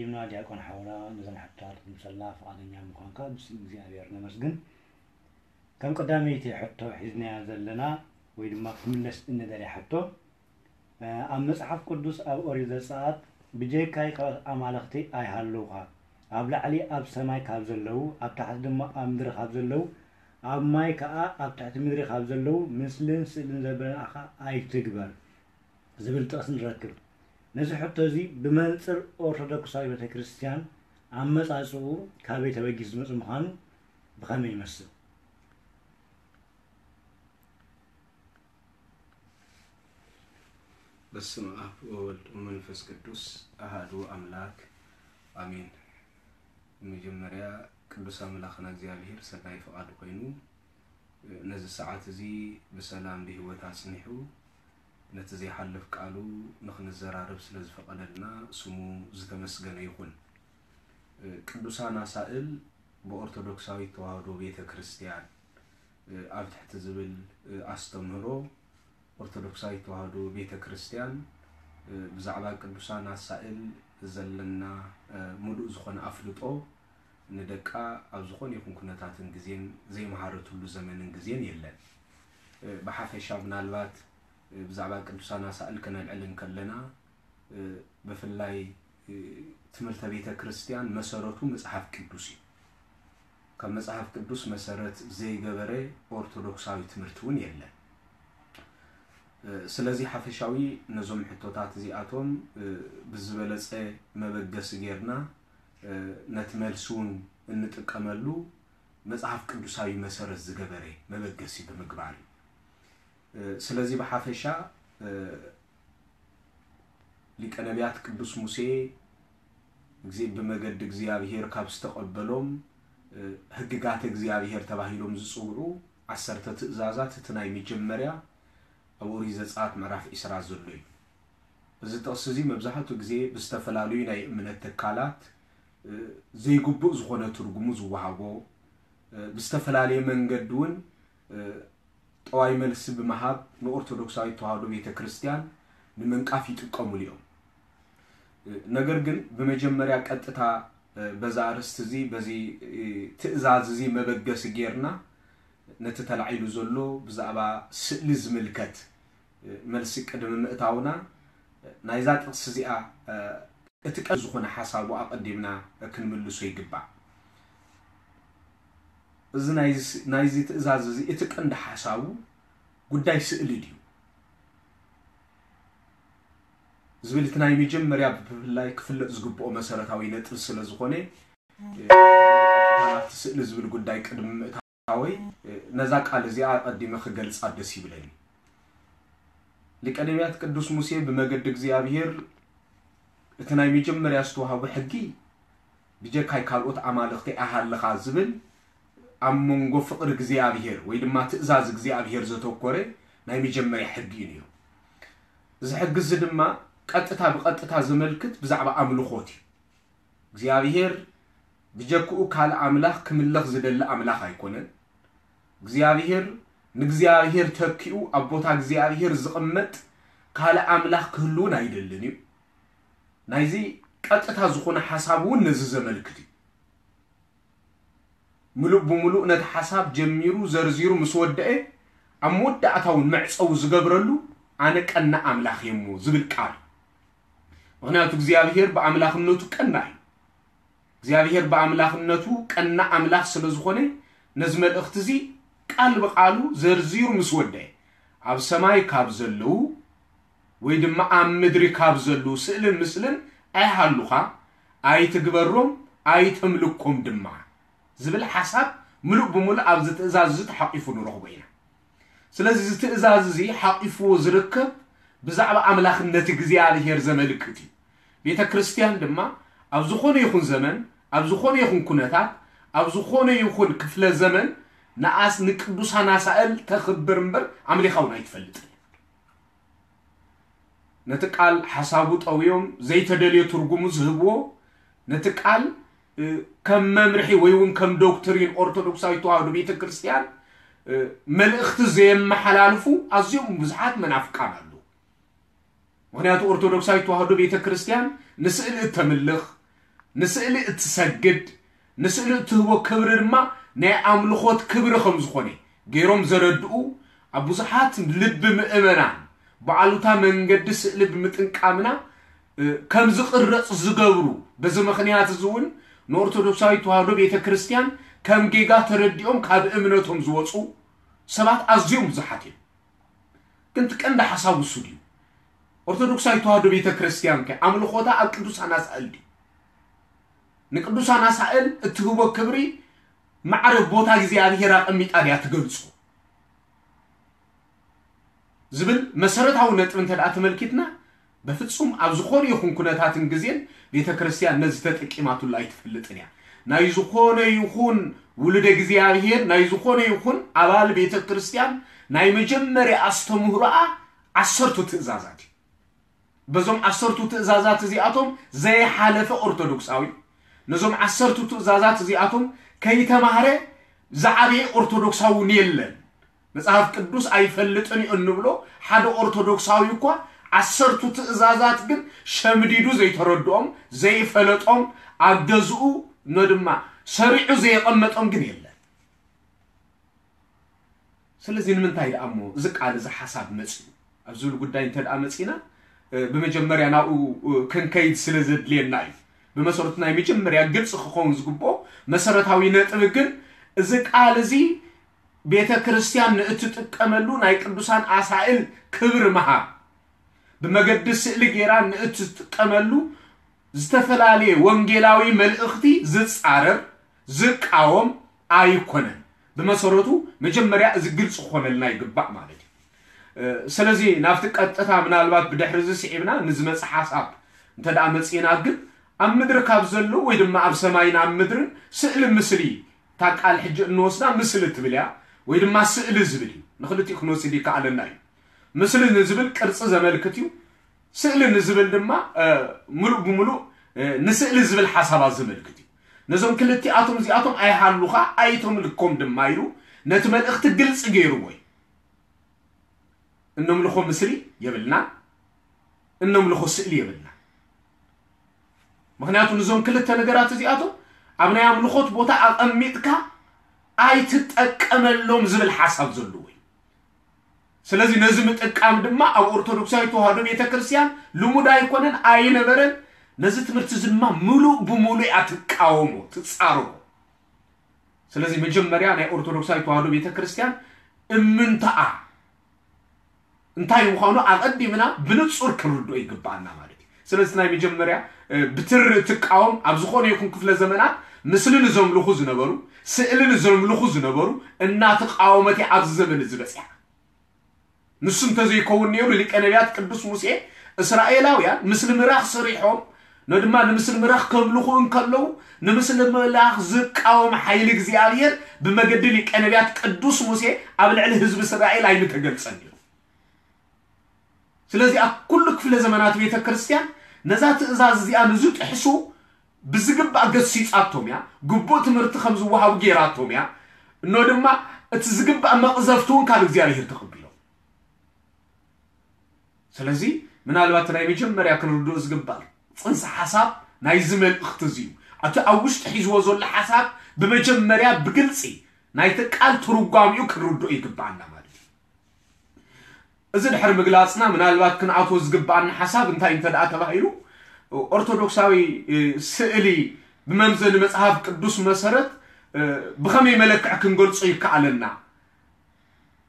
ይምና ዲያቆን ሓውና፣ ነዘን ሕቶታት ክምልሰልና ፍቓደኛ ምዃንካ ብስም እግዚኣብሔር ነመስግን። ከም ቀዳመይቲ ሕቶ ሒዝናያ ዘለና ወይ ድማ ክትምለስ እንደልያ ሕቶ፣ እ፣ ኣብ መጽሓፍ ቅዱስ ኣብ ኦሪት ዘጸኣት ብጀካይ ካልኦት ኣማልኽቲ ኣይሃልውኻ፣ ኣብ ላዕሊ ኣብ ሰማይ ካብ ዘለዉ፣ ኣብ ታሕቲ ድማ ኣብ ምድሪ ካብ ዘለዉ፣ ኣብ ማይ ከኣ ኣብ ትሕቲ ምድሪ ካብ ዘለዉ ምስልን ስእልን ዘበናእኻ ኣይትግበር ዝብል ጥቕሲ ንረክብ። ነዚ ሕቶ እዚ ብመንጽር ኦርቶዶክሳዊ ቤተ ክርስቲያን ኣመጻጽኡ ካበይ ተበጊሱ ዝመጽእ ምዃኑ ብኸመይ ይመስል? በስመ ኣብ ወወልድ ወመንፈስ ቅዱስ ኣሃዱ ኣምላክ ኣሜን። መጀመርያ ቅዱስ ኣምላኽና እግዚኣብሔር ሰናይ ፍቓዱ ኮይኑ ነዚ ሰዓት እዚ ብሰላም ብህይወት ኣጽኒሑ ነቲ ዘይሓልፍ ቃሉ ንኽንዘራረብ ስለ ዝፈቐደልና ስሙ ዝተመስገነ ይኹን። ቅዱሳን ኣሳእል ብኦርቶዶክሳዊት ተዋህዶ ቤተ ክርስቲያን ኣብ ትሕቲ ዝብል ኣስተምህሮ ኦርቶዶክሳዊት ተዋህዶ ቤተ ክርስቲያን ብዛዕባ ቅዱሳን ኣሳእል ዘለና ምሉእ ዝኾነ ኣፍልጦ ንደቃ ኣብ ዝኾነ ይኹን ኩነታትን ግዜን ዘይመሃረትሉ ዘመንን ግዜን የለን። ብሓፈሻ ምናልባት ብዛዕባ ቅዱሳን ኣሳእል ከነልዕል እንከለና ብፍላይ ትምህርተ ቤተ ክርስቲያን መሰረቱ መጽሓፍ ቅዱስ እዩ። ካብ መጽሓፍ ቅዱስ መሰረት ዘይገበረ ኦርቶዶክሳዊ ትምህርቲ እውን የለን። ስለዚ ሓፈሻዊ ነዞም ሕቶታት እዚኣቶም ብዝበለጸ መበገሲ ጌርና ነቲ መልሲ እውን እንጥቀመሉ መጽሓፍ ቅዱሳዊ መሰረት ዝገበረ መበገሲ ብምግባር እዩ። ስለዚ ብሓፈሻ ሊቀ ነቢያት ቅዱስ ሙሴ ብመገዲ እግዚኣብሔር ካብ ዝተቐበሎም ሕግጋተ እግዚኣብሔር ተባሂሎም ዝፅውዑ ዓሰርተ ትእዛዛት እቲ ናይ መጀመርያ ኣብ ኦሪት ዘፀኣት ምዕራፍ ዒስራ ዘሎ እዩ። እዚ ጥቕሲ እዚ መብዛሕትኡ ግዜ ብዝተፈላለዩ ናይ እምነት ትካላት ዘይግቡእ ዝኾነ ትርጉሙ ዝወሃቦ ብዝተፈላለየ መንገዲ እውን ጠዋይ መልሲ ብምሃብ ንኦርቶዶክሳዊት ተዋህዶ ቤተ ክርስቲያን ንምንቃፍ ይጥቀሙሉ እዮም። ነገር ግን ብመጀመርያ ቀጥታ በዛ ኣርእስቲ እዚ በዚ ትእዛዝ እዚ መበገሲ ጌርና ነቲ ተላዒሉ ዘሎ ብዛዕባ ስእሊ ዝምልከት መልሲ ቅድሚ ምእታውና ናይዛ ጥቕሲ እዚኣ እቲ ቀንዲ ዝኾነ ሓሳቡ ኣቐዲምና ክንምልሶ ይግባእ። እዚ ናይዚ ትእዛዝ እዚ እቲ ቀንዲ ሓሳቡ ጉዳይ ስእሊ ድዩ ዝብል እቲ ናይ መጀመርያ ብፍላይ ክፍለጥ ዝግብኦ መሰረታዊ ነጥቢ ስለ ዝኾነ ናብቲ ስእሊ ዝብል ጉዳይ ቅድሚ ምእታወይ ነዛ ቃል እዚኣ ኣቐዲመ ክገልጻ ደስ ይብለኒ። ሊቀ ነቢያት ቅዱስ ሙሴ ብመገዲ እግዚኣብሔር እቲ ናይ መጀመርያ ዝተዋህቡ ሕጊ ብጀካይ ካልኦት ኣማልኽቲ ኣይሃልኻ ዝብል ኣብ መንጎ ፍቕሪ እግዚኣብሔር ወይ ድማ ትእዛዝ እግዚኣብሔር ዘተኮረ ናይ መጀመርያ ሕጊ እዩ ነይሩ። እዚ ሕጊ እዚ ድማ ቀጥታ ብቐጥታ ዘመልክት ብዛዕባ ኣምልኾት እዩ። እግዚኣብሔር ብጀክኡ ካልእ ኣምላኽ ክምለኽ ዝደሊ ኣምላኽ ኣይኮነን። እግዚኣብሔር ንእግዚኣብሔር ተኪኡ ኣብ ቦታ እግዚኣብሔር ዝቕመጥ ካልእ ኣምላኽ ክህልውን ኣይደልን እዩ። ናይዚ ቀጥታ ዝኾነ ሓሳብ እውን ነዚ ዘመልክት እዩ። ምሉእ ብምሉእ ነቲ ሓሳብ ጀሚሩ ዘርዚሩ ምስ ወደአ ኣብ መወዳእታ እውን መዕፀዊ ዝገብረሉ ኣነ ቀና ኣምላኽ እየ እሞ ዝብል ቃል እዩ። ምኽንያቱ እግዚኣብሔር ብኣምላኽነቱ ቀና እዩ። እግዚኣብሔር ብኣምላኽነቱ ቀና ኣምላኽ ስለ ዝኾነ ነዚ መልእኽቲ እዚ ቃል ብቃሉ ዘርዚሩ ምስ ወደአ ኣብ ሰማይ ካብ ዘለዉ ወይ ድማ ኣብ ምድሪ ካብ ዘለዉ ስእልን ምስልን ኣይሃሉኻ ኣይትግበሮም ኣይተምልኮም ድማ ዝብል ሓሳብ ምሉእ ብምሉእ ኣብዚ ትእዛዝ እዚ ተሓቂፉ ንረኽቦ ኢና። ስለዚ እዚ ትእዛዝ እዚ ሓቂፍዎ ዝርከብ ብዛዕባ ኣምላኽነት እግዚኣብሔር ዘመልክት እዩ። ቤተ ክርስቲያን ድማ ኣብ ዝኾነ ይኹን ዘመን ኣብ ዝኾነ ይኹን ኩነታት ኣብ ዝኾነ ይኹን ክፍለ ዘመን ንኣስ ንቅዱሳን ኣሳእል ተኽብር እምበር ኣምሊኻ እውን ኣይትፈልጥን። ነቲ ቃል ሓሳቡ ጠውዮም ዘይተደልየ ትርጉሙ ዝህብዎ ነቲ ቃል ከም መምርሒ ወይ እውን ከም ዶክትሪን ኦርቶዶክሳዊት ተዋህዶ ቤተ ክርስቲያን መልእኽቲ ዘየመሓላልፉ ኣዝዮም ብዙሓት መናፍቃን ኣለዉ። ምኽንያቱ ኦርቶዶክሳዊት ተዋህዶ ቤተ ክርስቲያን ንስእሊ እተምልኽ ንስእሊ እትሰግድ፣ ንስእሊ እትህቦ ክብሪ ድማ ናይ ኣምልኾት ክብሪ ከም ዝኾነ ገይሮም ዘረድኡ ኣብ ብዙሓት ልቢ ምእመናን ብኣሉታ መንገዲ ስእሊ ብምጥንቃምና ከም ዝቕረጽ ዝገብሩ፣ በዚ ምኽንያት እዚ እውን ንኦርቶዶክሳዊት ተዋህዶ ቤተ ክርስቲያን ከም ጌጋ ተረዲኦም ካብ እምነቶም ዝወፁ ሰባት ኣዝዮም ብዙሓት እዮም። ግን እቲ ቀንዲ ሓሳብ እሱ ድዩ? ኦርቶዶክሳዊት ተዋህዶ ቤተ ክርስቲያን ከ ኣምልኾታ ኣብ ቅዱሳን ኣሳእል ድዩ? ንቅዱሳን ኣሳእል እትህቦ ክብሪ ማዕረ ቦታ እግዚኣብሔር ኣቐሚጣ ድያ ትገልጾ? ዝብል መሰረታዊ ነጥቢ እንተ ደኣ ተመልኪትና፣ በፍጹም ኣብ ዝኾነ ይኹን ኩነታትን ግዜን ቤተ ክርስቲያን ነዚ ተጠቂማትሉ ኣይትፈልጥን እያ። ናይ ዝኾነ ይኹን ውሉደ እግዚኣብሔር፣ ናይ ዝኾነ ይኹን ኣባል ቤተ ክርስቲያን ናይ መጀመርያ ኣስተምህሮኣ ዓሰርቱ ትእዛዛት እዩ። በዞም ዓሰርቱ ትእዛዛት እዚኣቶም ዘይሓለፈ ኦርቶዶክሳዊ፣ ነዞም ዓሰርቱ ትእዛዛት እዚኣቶም ከይተማህረ ዝዓበየ ኦርቶዶክሳዊ እውን የለን። መጽሓፍ ቅዱስ ኣይፈልጥን እዩ እንብሎ ሓደ ኦርቶዶክሳዊ እኳ ዓሰርቱ ትእዛዛት ግን ሸምዲዱ ዘይተረድኦም፣ ዘይፈለጦም፣ ኣብ ገዝኡ ኖ ድማ ሰሪዑ ዘየቐመጦም ግን የለን። ስለዚ ንምንታይ ደኣ እሞ እዚ ቃል እዚ ሓሳብ መጽኡ ኣብ ዝብል ጉዳይ እንተ ደኣ መጺና፣ እ፣ ብመጀመርያ ናብኡ፣ እ፣ ክንከይድ ስለ ዘድልየና እዩ። ብመሰረቱ ናይ መጀመርያ ግልጺ ክኸውን ዝግብኦ መሰረታዊ ነጥቢ ግን እዚ ቃል እዚ ቤተ ክርስቲያን ንእትጥቀመሉ ናይ ቅዱሳን ኣሳእል ክብሪ ምሃብ ብመገዲ ስእሊ ጌራ ንእትጥቀመሉ ዝተፈላለየ ወንጌላዊ መልእኽቲ ዝጻረር፣ ዝቃወም ኣይኮነን። ብመሰረቱ መጀመርያ እዚ ግልጺ ክኾነልና ይግባእ ማለት እዩ። እ፣ ስለዚ ናብቲ ቀጥታ ምናልባት ብድሕሪ እዚ ስዒብና ንዝመጽእ ሓሳብ እንተ ደኣ መጺእና ግን ኣብ ምድሪ ካብ ዘለዉ ወይ ድማ ኣብ ሰማይን ኣብ ምድርን ስእሊ ምስሊ፣ እታ ቃል ሕጂ እንወስዳ ምስሊ ትብል እያ ወይ ድማ ስእሊ ዝብል እዩ። ንኽልቲኡ ክንወስድ ይከኣለና እዩ። ምስሊ ንዝብል ቅርጺ ዘመልክት እዩ። ስእሊ ንዝብል ድማ፣ እ፣ ምሉእ ብምሉእ፣ እ፣ ንስእሊ ዝብል ሓሳባት ዘመልክት እዩ። ነዞም ክልቲኣቶም እዚኣቶም ኣይሃሉኻ ኣይተምልኮም ድማ ኢሉ ነቲ መልእኽቲ ግልጺ ገይርዎ እዩ። እነምልኾ ምስሊ የብልና፣ እነምልኾ ስእሊ የብልና። ምኽንያቱ ንዞም ክልተ ነገራት እዚኣቶም ኣብ ናይ ኣምልኾት ቦታ ኣቐሚጥካ ኣይትጠቀመሎም ዝብል ሓሳብ ዘለዎ እዩ። ስለዚ ነዚ ምጥቃም ድማ ኣብ ኦርቶዶክሳዊት ተዋህዶ ቤተ ክርስቲያን ልሙድ ኣይኮነን፣ ኣይነበረን። ነዚ ትምህርቲ እዚ ድማ ምሉእ ብምሉእ እያ ትቃወሞ፣ ትጻረሮ። ስለዚ መጀመርያ ናይ ኦርቶዶክሳዊት ተዋህዶ ቤተ ክርስቲያን እምንታኣ እንታይ ምዃኑ ኣቐዲምና ብንጹር ክንርድኦ ይግባኣና ማለት እዩ። ስለዚ ናይ መጀመርያ፣ እ፣ ብትሪ እትቃወም ኣብ ዝኾነ ይኹን ክፍለ ዘመናት ምስሊ ንዘምልኹ ዝነበሩ፣ ስእሊ ንዘምልኹ ዝነበሩ እናተቃወመት እያ ኣብዚ ዘመን እዚ በጺሓ። ንሱ እንተዘይከውን ነይሩ ሊቀ ነቢያት ቅዱስ ሙሴ እስራኤላውያን ምስሊ ምራኽ ሰሪሖም ኖ ድማ ንምስሊ ምራኽ ከምልኹ እንከለዉ ንምስሊ ምራኽ ዝቃወም ሓይሊ እግዚኣብሔር ብመገዲ ሊቀ ነቢያት ቅዱስ ሙሴ ኣብ ልዕሊ ህዝቢ እስራኤል ኣይምተገልጸን ነይሩ። ስለዚ ኣብ ኩሉ ክፍለ ዘመናት ቤተ ክርስቲያን ነዛ ትእዛዝ እዚኣ ንዝጥሕሱ ብዝግባእ ገሲጻቶም እያ፣ ግቡእ ትምህርቲ ከም ዝወሃቡ ገይራቶም እያ። እኖ ድማ እቲ ዝግባእ መቕዘፍቲ እውን ካብ እግዚኣብሔር ተቐቢሎም። ስለዚ ምናልባት ናይ መጀመርያ ክንርድኦ ዝግባእ ጽንሰ ሓሳብ ናይዚ መልእኽቲ እዚ እዩ። እቲ ኣብ ውሽጢ ሒዝዎ ዘሎ ሓሳብ ብመጀመርያ ብግልጺ ናይቲ ቃል ትርጓሚኡ ክንርድኦ ይግባኣና ማለት እዩ። እዚ ድሕሪ ምግላጽና ምናልባት ክንኣትዎ ዝግባኣና ሓሳብ እንታይ እንተ ደኣ ተባሂሉ ኦርቶዶክሳዊ፣ እ፣ ስእሊ ብመምዘኒ መጽሓፍ ቅዱስ መሰረት፣ እ፣ ብኸመይ መለክዕ ክንገልጾ ይከኣለና?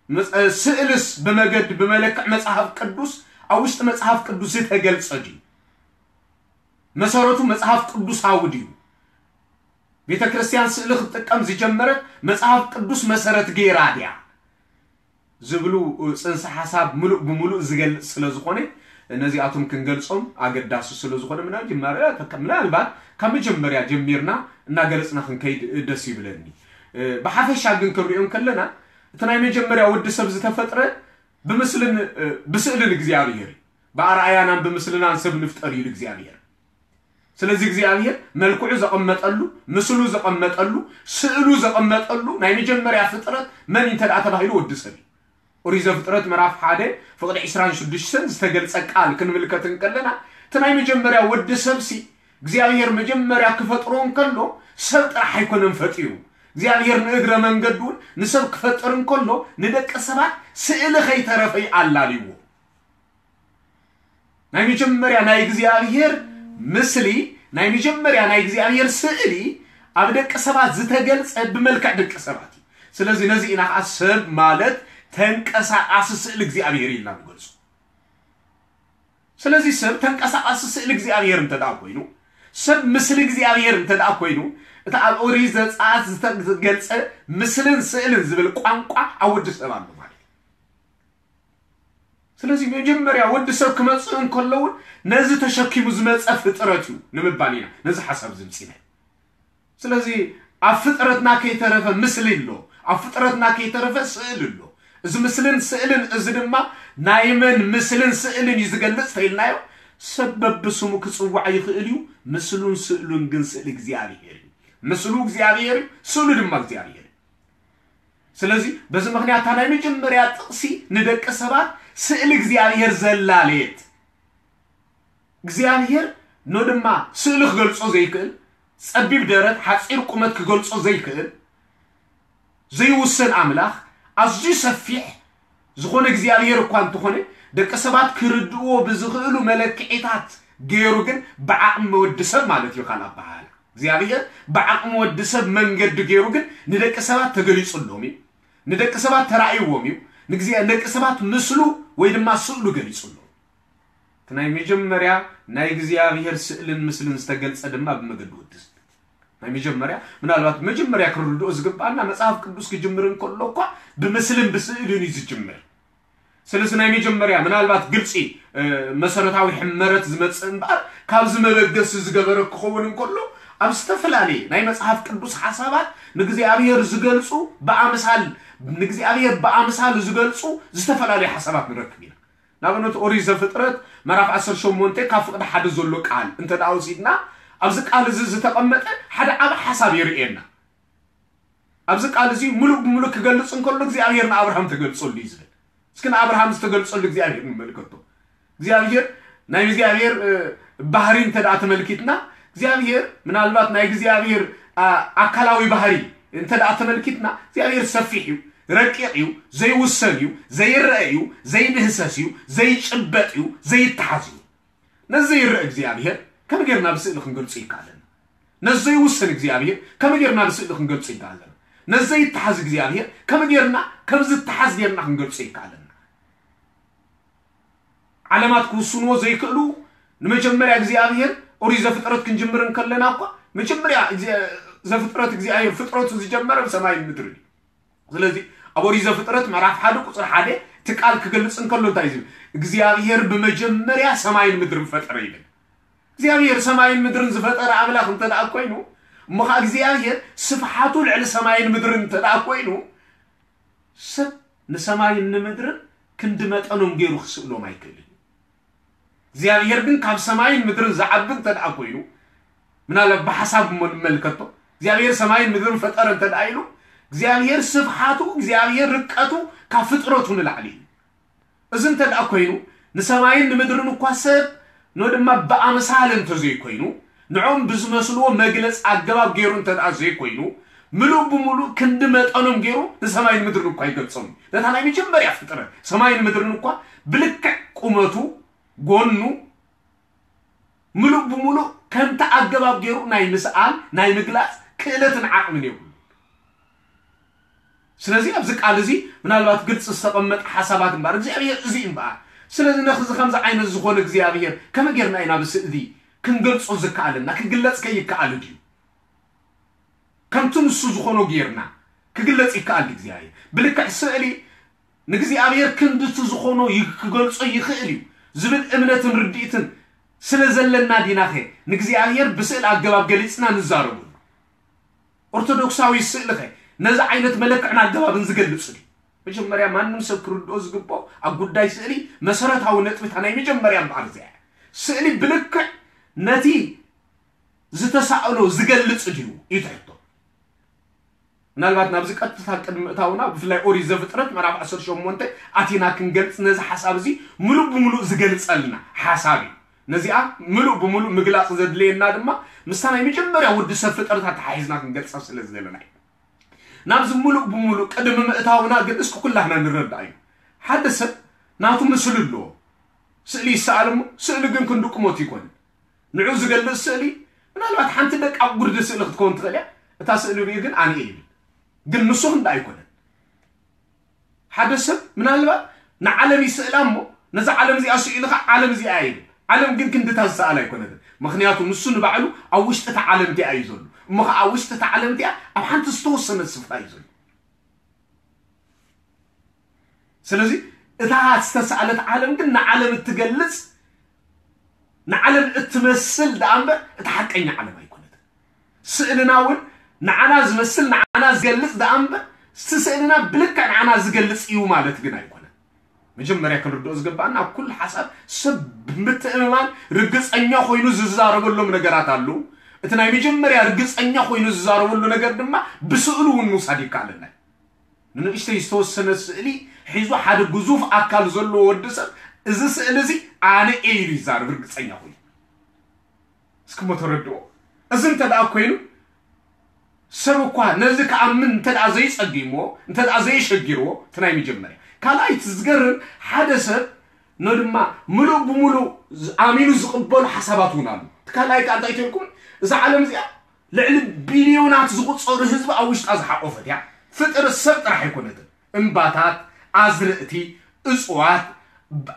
መጽ-፣ ስእልስ ብመገድ ብመለክዕ መጽሓፍ ቅዱስ ኣብ ውሽጢ መጽሓፍ ቅዱስ ዝተገልጸ ድዩ? መሰረቱ መጽሓፍ ቅዱሳዊ ድዩ? ቤተ ክርስቲያን ስእሊ ክትጥቀም ዝጀመረት መጽሓፍ ቅዱስ መሰረት ገይራ ድያ? ዝብሉ ጽንሰ ሓሳብ ምሉእ ብምሉእ ዝገልጽ ስለ ዝኾነ ነዚኣቶም ክንገልጾም ኣገዳሲ ስለ ዝኾነ ምና-፣ ጅማረ-፣ ምናልባት ካብ መጀመርያ ጀሚርና እናገለጽና ክንከይድ ደስ ይብለኒ። እ፣ ብሓፈሻ ግን ክንሪኦ እንከለና እቲ ናይ መጀመርያ ወዲ ሰብ ዝተፈጥረ ብምስልን፣ እ፣ ብስእልን እግዚኣብሔር እዩ። ብኣርኣያናን ብምስልናን ሰብ ንፍጠር ኢሉ እግዚኣብሔር። ስለዚ እግዚኣብሔር መልክዑ ዘቐመጠሉ፣ ምስሉ ዘቐመጠሉ፣ ስእሉ ዘቐመጠሉ ናይ መጀመርያ ፍጥረት መን እንተ ደኣ ተባሂሉ ወዲ ሰብ እዩ። ኦሪት ዘፍጥረት ምዕራፍ ሓደ ፍቕዲ ዕስራን ሽዱሽተን ዝተገልጸ ቃል ክንምልከት እንከለና እቲ ናይ መጀመርያ ወዲ ሰብሲ እግዚኣብሔር መጀመርያ ክፈጥሮ እንከሎ ሰብ ጥራሕ ኣይኮነን ፈጢሩ። እግዚኣብሔር ንእግረ መንገዱ እውን ንሰብ ክፈጥር እንከሎ ንደቂ ሰባት ስእሊ ከይተረፈ ኣላልይዎ። ናይ መጀመርያ ናይ እግዚኣብሔር ምስሊ፣ ናይ መጀመርያ ናይ እግዚኣብሔር ስእሊ ኣብ ደቂ ሰባት ዝተገልጸ ብመልክዕ ደቂ ሰባት እዩ። ስለዚ ነዚ ኢና ከዓ ሰብ ማለት ተንቀሳቃሲ ስእሊ እግዚኣብሔር ኢልና ንገልጾ። ስለዚ ሰብ ተንቀሳቃሲ ስእሊ እግዚኣብሔር እንተ ደኣ ኮይኑ፣ ሰብ ምስሊ እግዚኣብሔር እንተ ደኣ ኮይኑ፣ እቲ ኣብ ኦሪት ዘጸኣት ዝተገልጸ ምስልን ስእልን ዝብል ቋንቋ ኣብ ወዲ ሰብ ኣሎ ማለት እዩ። ስለዚ መጀመርያ ወዲ ሰብ ክመጽእ እንከሎ እውን ነዚ ተሸኪሙ ዝመጸ ፍጥረት እዩ ንምባል ኢና ነዚ ሓሳብ ዝምጺና። ስለዚ ኣብ ፍጥረትና ከይተረፈ ምስሊ ኣሎ፣ ኣብ ፍጥረትና ከይተረፈ ስእል ኣሎ። እዚ ምስልን ስእልን እዚ ድማ ናይ መን ምስልን ስእልን እዩ ዝገልጽ ተኢልናዮ፣ ሰብ በብስሙ ክጽዋዕ ይኽእል እዩ። ምስሉን ስእሉን ግን ስእሊ እግዚኣብሔር እዩ። ምስሉ እግዚኣብሔር እዩ፣ ስእሉ ድማ እግዚኣብሔር እዩ። ስለዚ በዚ ምኽንያት እታ ናይ መጀመርያ ጥቕሲ ንደቂ ሰባት ስእሊ እግዚኣብሔር ዘላለየት፣ እግዚኣብሔር ኖ ድማ ስእሊ ክገልጾ ዘይክእል፣ ጸቢብ ደረት ሓጺር ቁመት ክገልጾ ዘይክእል፣ ዘይውሰን ኣምላኽ፣ ኣዝዩ ሰፊሕ ዝኾነ እግዚኣብሔር እኳ እንተኾነ፣ ደቂ ሰባት ክርድእዎ ብዝኽእሉ መለክዒታት ገይሩ ግን ብዓቕሚ ወዲ ሰብ ማለት እዩ። ካልእ ኣበሃህላ እግዚኣብሔር ብዓቕሚ ወዲ ሰብ መንገዲ ገይሩ ግን ንደቂ ሰባት ተገሊጹሎም እዩ። ንደቂ ሰባት ተራእይዎም እዩ። ንግዜ- ንደቂ ሰባት ምስሉ ወይ ድማ ስእሉ ገሊጹሎም። እቲ ናይ መጀመርያ ናይ እግዚኣብሔር ስእልን ምስልን ዝተገልጸ ድማ ብመገዲ ወዲ ሰብ። ናይ መጀመርያ ምናልባት መጀመርያ ክንርድኦ ዝግባኣና መጽሓፍ ቅዱስ ክጅምር እንከሎ እኳ ብምስልን ብስእልን እዩ ዝጅምር። ስለዚ ናይ መጀመርያ ምናልባት ግልጺ መሰረታዊ ሕመረት ዝመጽእ እምበኣር ካብዚ መበገሲ ዝገበረ ክኸውን እንከሎ ኣብ ዝተፈላለየ ናይ መጽሓፍ ቅዱስ ሓሳባት ንእግዚኣብሔር ዝገልጹ ብኣምሳል ንእግዚኣብሔር ብኣምሳል ዝገልጹ ዝተፈላለዩ ሓሳባት ንረክብ ኢና። ንኣብነት ኦሪት ዘፍጥረት ምዕራፍ ዓሰርተ ሸሞንተ ካብ ፍቕዲ ሓደ ዘሎ ቃል እንተ ደኣ ወሲድና ኣብዚ ቃል እዚ ዝተቐመጠ ሓደ ዓቢ ሓሳብ የርእየና። ኣብዚ ቃል እዚ ሙሉእ ብሙሉእ ክገልጽ እንከሎ እግዚኣብሔር ንኣብርሃም ተገልጸሉ እዩ ዝብል። እስኪ ንኣብርሃም ዝተገልጸሉ እግዚኣብሔር ንመልከቶ። እግዚኣብሔር ናይ እግዚኣብሔር ባህሪ እንተ ደኣ ተመልኪትና እግዚኣብሔር ምናልባት ናይ እግዚኣብሔር ኣካላዊ ባህሪ እንተ ደኣ ተመልኪትና እግዚኣብሔር ሰፊሕ እዩ፣ ረቂቕ እዩ፣ ዘይውሰን እዩ፣ ዘይረአ እዩ፣ ዘይድህሰስ እዩ፣ ዘይጭበጥ እዩ፣ ዘይተሓዝ እዩ። ነዚ ዘይረአ እግዚኣብሔር ከመይ ጌርና ብስእሊ ክንገልጾ ይከኣለና? ነዚ ዘይውሰን እግዚኣብሔር ከመይ ጌርና ብስእሊ ክንገልጾ ይከኣለና? ነዚ ዘይተሓዝ እግዚኣብሔር ከመይ ጌርና ከም ዝተሓዝ ጌርና ክንገልጾ ይከኣለና? ዓለማት ክውስንዎ ዘይክእሉ ንመጀመርያ እግዚኣብሔር ኦሪት ዘፍጥረት ክንጅምር እንከለና እኳ መጀመርያ ዘፍጥረት እግዚኣብሔር ፍጥረቱ ዝጀመረ ብሰማይን ምድርን እዩ። ስለዚ ኣብ ኦሪት ዘፍጥረት ምዕራፍ ሓደ ቁፅሪ ሓደ እቲ ቃል ክገልፅ እንከሎ እንታይ ዝብል እግዚኣብሔር ብመጀመርያ ሰማይን ምድርን ፈጠረ ይብል። እግዚኣብሔር ሰማይን ምድርን ዝፈጠረ ኣምላኽ እንተ ደኣ ኮይኑ እሞ ከዓ እግዚኣብሔር ስፍሓቱ ልዕሊ ሰማይን ምድርን እንተ ደኣ ኮይኑ ሰብ ንሰማይን ንምድርን ክንዲ መጠኖም ገይሩ ክስእሎም ኣይክእልን። እግዚኣብሔር ግን ካብ ሰማይን ምድርን ዝዓቢ እንተ ደኣ ኮይኑ ምናልባት ብሓሳብ እሞ ንመልከቶ እግዚኣብሔር ሰማይን ምድርን ፈጠረ እንተ ደኣ ኢሉ እግዚኣብሔር ስፍሓቱ እግዚኣብሔር ርቀቱ ካብ ፍጥረቱ ንላዕሊ እዩ። እዚ እንተ ደኣ ኮይኑ ንሰማይን ንምድርን እኳ ሰብ ኖ ድማ ብኣምሳል እንተዘይኮይኑ ንዖም ብዝመስልዎ መግለፂ ኣገባብ ገይሩ እንተ ደኣ ዘይኮይኑ ምሉእ ብምሉእ ክንዲ መጠኖም ገይሩ ንሰማይን ምድርን እኳ ይገልጾም። ነታ ናይ መጀመርያ ፍጥረት ሰማይን ምድርን እኳ ብልክዕ ቁመቱ ጎኑ ምሉእ ብምሉእ ከምቲ ኣገባብ ገይሩ ናይ ምስኣል ናይ ምግላፅ ክእለትን ዓቕምን የብሉ። ስለዚ ኣብዚ ቃል እዚ ምናልባት ግልፂ ዝተቐመጠ ሓሳባት እምበኣር እግዚኣብሔር እዚ እምበኣር። ስለዚ ነዚ ከምዚ ዓይነት ዝኾነ እግዚኣብሔር ከመይ ጌርና ኢና ብስእሊ ክንገልፆ ዝከኣለና? ክግለፅ ከይከኣል ድዩ? ከምቲ ንሱ ዝኾኖ ጌርና ክግለፅ ይከኣል እግዚኣብሔር? ብልክዕ ስእሊ ንእግዚኣብሔር ክንድቲ ዝኾኖ ክገልጾ ይኽእል እዩ ዝብል እምነትን ርድኢትን ስለ ዘለና ዲናኸ ንእግዚኣብሔር ብስእል ኣገባብ ገሊጽና ንዛረበሉ? ኦርቶዶክሳዊ ስእልኸ ነዚ ዓይነት መለክዕን ኣገባብን ዝገልጽ ድዩ? መጀመርያ ማንም ሰብ ክርድኦ ዝግብኦ ኣብ ጉዳይ ስእሊ መሰረታዊ ነጥብታ ናይ መጀመርያ እምበኣር እዚኣ ስእሊ ብልክዕ ነቲ ዝተሳእሎ ዝገልጽ ድዩ እዩ ትሕቶ። ምናልባት ናብዚ ቀጥታ ቅድሚ ምእታውና ብፍላይ ኦሪት ዘፍጥረት ምዕራፍ ዓሰርተ ሸሞንተ ኣቲና ክንገልጽ ነዚ ሓሳብ እዚ ምሉእ ብምሉእ ዝገልጸልና ሓሳብ እዩ። ነዚኣ ምሉእ ብምሉእ ምግላፅ ዘድለየና ድማ ምስታ ናይ መጀመርያ ወዲ ሰብ ፍጥረታት ተሓሒዝና ክንገልፃ ስለ ዝደለና እዩ። ናብዚ ምሉእ ብምሉእ ቅድሚ ምእታውና ግን እስኪ ኩላህና ንረዳእ እዩ። ሓደ ሰብ ናቱ ምስሉ ኣለዎ። ስእሊ ይሰኣል እሞ ስእሊ ግን ክንዲ ቁመቱ ይኮንን። ንዑ ዝገልጽ ስእሊ ምናልባት ሓንቲ ደቃቕ ጉርዲ ስእሊ ክትከውን ትኽእል እያ። እታ ስእሊ ሪኡ ግን ኣነ እየ ይብል። ግን ንሱ ክንዲ ኣይኮነን። ሓደ ሰብ ምናልባት ንዓለም ይስእላ እሞ ነዛ ዓለም እዚኣ ስኢሉ ኸዓ ዓለም እዚኣ ይብል። ዓለም ግን ክንድታ ዝሰኣል ኣይኮነትን። ምኽንያቱ ንሱ ንባዕሉ ኣብ ውሽጢ እታ ዓለም እቲኣ እዩ ዘሎ። እሞ ኸዓ ኣብ ውሽጢ እታ ዓለም እቲኣ ኣብ ሓንቲ ዝተወሰነት ስፍራ እዩ ዘሎ። ስለዚ እታ ዝተሳእለት ዓለም ግን ንዓለም እትገልጽ ንዓለም እትመስል ደኣ እምበር እታ ሓቀኛ ዓለም ኣይኮነትን። ስእልና እውን ንዓና ዝመስል ንዓና ዝገልጽ ደኣ እምበር እቲ ስእልና ብልክዕ ንዓና ዝገልጽ እዩ ማለት ግን ኣይኮነን። መጀመርያ ክንርድኦ ዝግባኣና ኣብ ኩሉ ሓሳብ ሰብ ብምትእምማን ርግጸኛ ኮይኑ ዝዛረበሎም ነገራት ኣለዉ። እቲ ናይ መጀመርያ ርግጸኛ ኮይኑ ዝዛረበሉ ነገር ድማ ብስእሉ እውን ምውሳድ ይከኣለና እዩ። ንንእሽተይ ዝተወሰነ ስእሊ ሒዙ ሓደ ግዙፍ ኣካል ዘለዎ ወዲ ሰብ እዚ ስእሊ እዚ ኣነ እየ ኢሉ ይዛረብ ርግጸኛ ኮይኑ። እስኪ እሞ ተረድኦ። እዚ እንተ ደኣ ኮይኑ ሰብ እኳ ነዚ ክኣምን እንተ ደኣ ዘይጸጊሞ እንተ ደኣ ዘይሸጊርዎ እቲ ናይ መጀመርያ ካልኣይ እቲ ዝገርም ሓደ ሰብ ኖ ድማ ምሉእ ብምሉእ ዝ- ኣሚኑ ዝቕበሉ ሓሳባት እውን ኣሎ። እቲ ካልኣይ ከኣ እንታይ ተልኩም እዛ ዓለም እዚኣ ልዕሊ ቢልዮናት ዝቑጸሩ ህዝቢ ኣብ ውሽጣ ዝሓቆፈት እያ። ፍጥረት ሰብ ጥራሕ ኣይኮነትን። እምባታት፣ ኣዝርእቲ፣ እጽዋት፣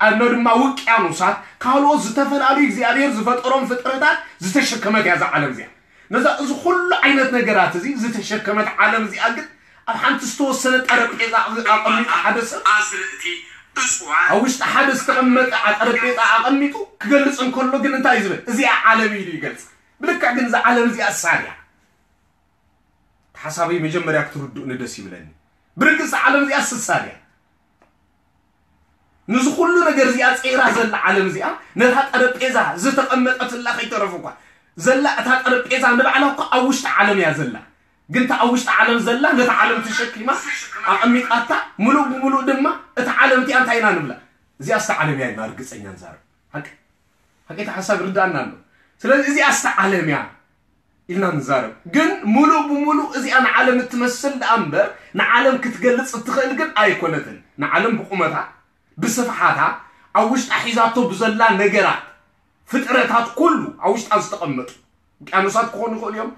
ኣኖ ድማ ውቅያኖሳት፣ ካልኦት ዝተፈላለዩ እግዚኣብሔር ዝፈጠሮም ፍጥረታት ዝተሸከመት እያ እዛ ዓለም እዚኣ። ነዛ እዚ ኩሉ ዓይነት ነገራት እዚ ዝተሸከመት ዓለም እዚኣ ግን ኣብ ሓንቲ ዝተወሰነ ጠረጴዛ ኣቐሚጡ ሓደ ሰብ ኣዝርእቲ፣ እጽዋት፣ ኣብ ውሽጢ ሓደ ዝተቐመጠ ዓ- ጠረጴዛ ኣቐሚጡ ክገልጽ እንከሎ ግን እንታይ እዩ ዝብል? እዚኣ ዓለም ኢሉ ይገልጽ። ብልክዕ ግን እዛ ዓለም እዚኣ ሳር እያ። ሓሳበይ መጀመርያ ክትርድኡኒ ደስ ይብለኒ። ብርግጽ ዓለም እዚኣ ስሳር እያ። ንዚ ኩሉ ነገር እዚኣ ጸይራ ዘላ ዓለም እዚኣ ነታ ጠረጴዛ ዝተቐመጠትላ ከይተረፉ እኳ ዘላ እታ ጠረጴዛ ንባዕላ እኳ ኣብ ውሽጢ ዓለም እያ ዘላ። ግን እታ ኣብ ውሽጢ ዓለም ዘላ ነታ ዓለም ተሸኪማ ኣቐሚጣታ ምሉእ ብምሉእ ድማ እታ ዓለም እቲኣ እንታይ ኢና ንብላ? እዚኣ ስታ ዓለም እያ ኢልና ርግጸኛ ንዛረብ። ሓቂ ሓቂ እቲ ሓሳብ ርዳእና ኣሎ። ስለዚ እዚኣ ስታ ዓለም እያ ኢልና ንዛረብ። ግን ሙሉእ ብሙሉእ እዚኣ ንዓለም እትመስል ደኣ እምበር ንዓለም ክትገልጽ እትኽእል ግን ኣይኮነትን። ንዓለም ብቁመታ ብስፍሓታ ኣብ ውሽጣ ሒዛቶ ብዘላ ነገራት ፍጥረታት ኩሉ ኣብ ውሽጣ ዝተቐመጡ ውቅያኖሳት ክኾኑ ይኽእሉ እዮም፣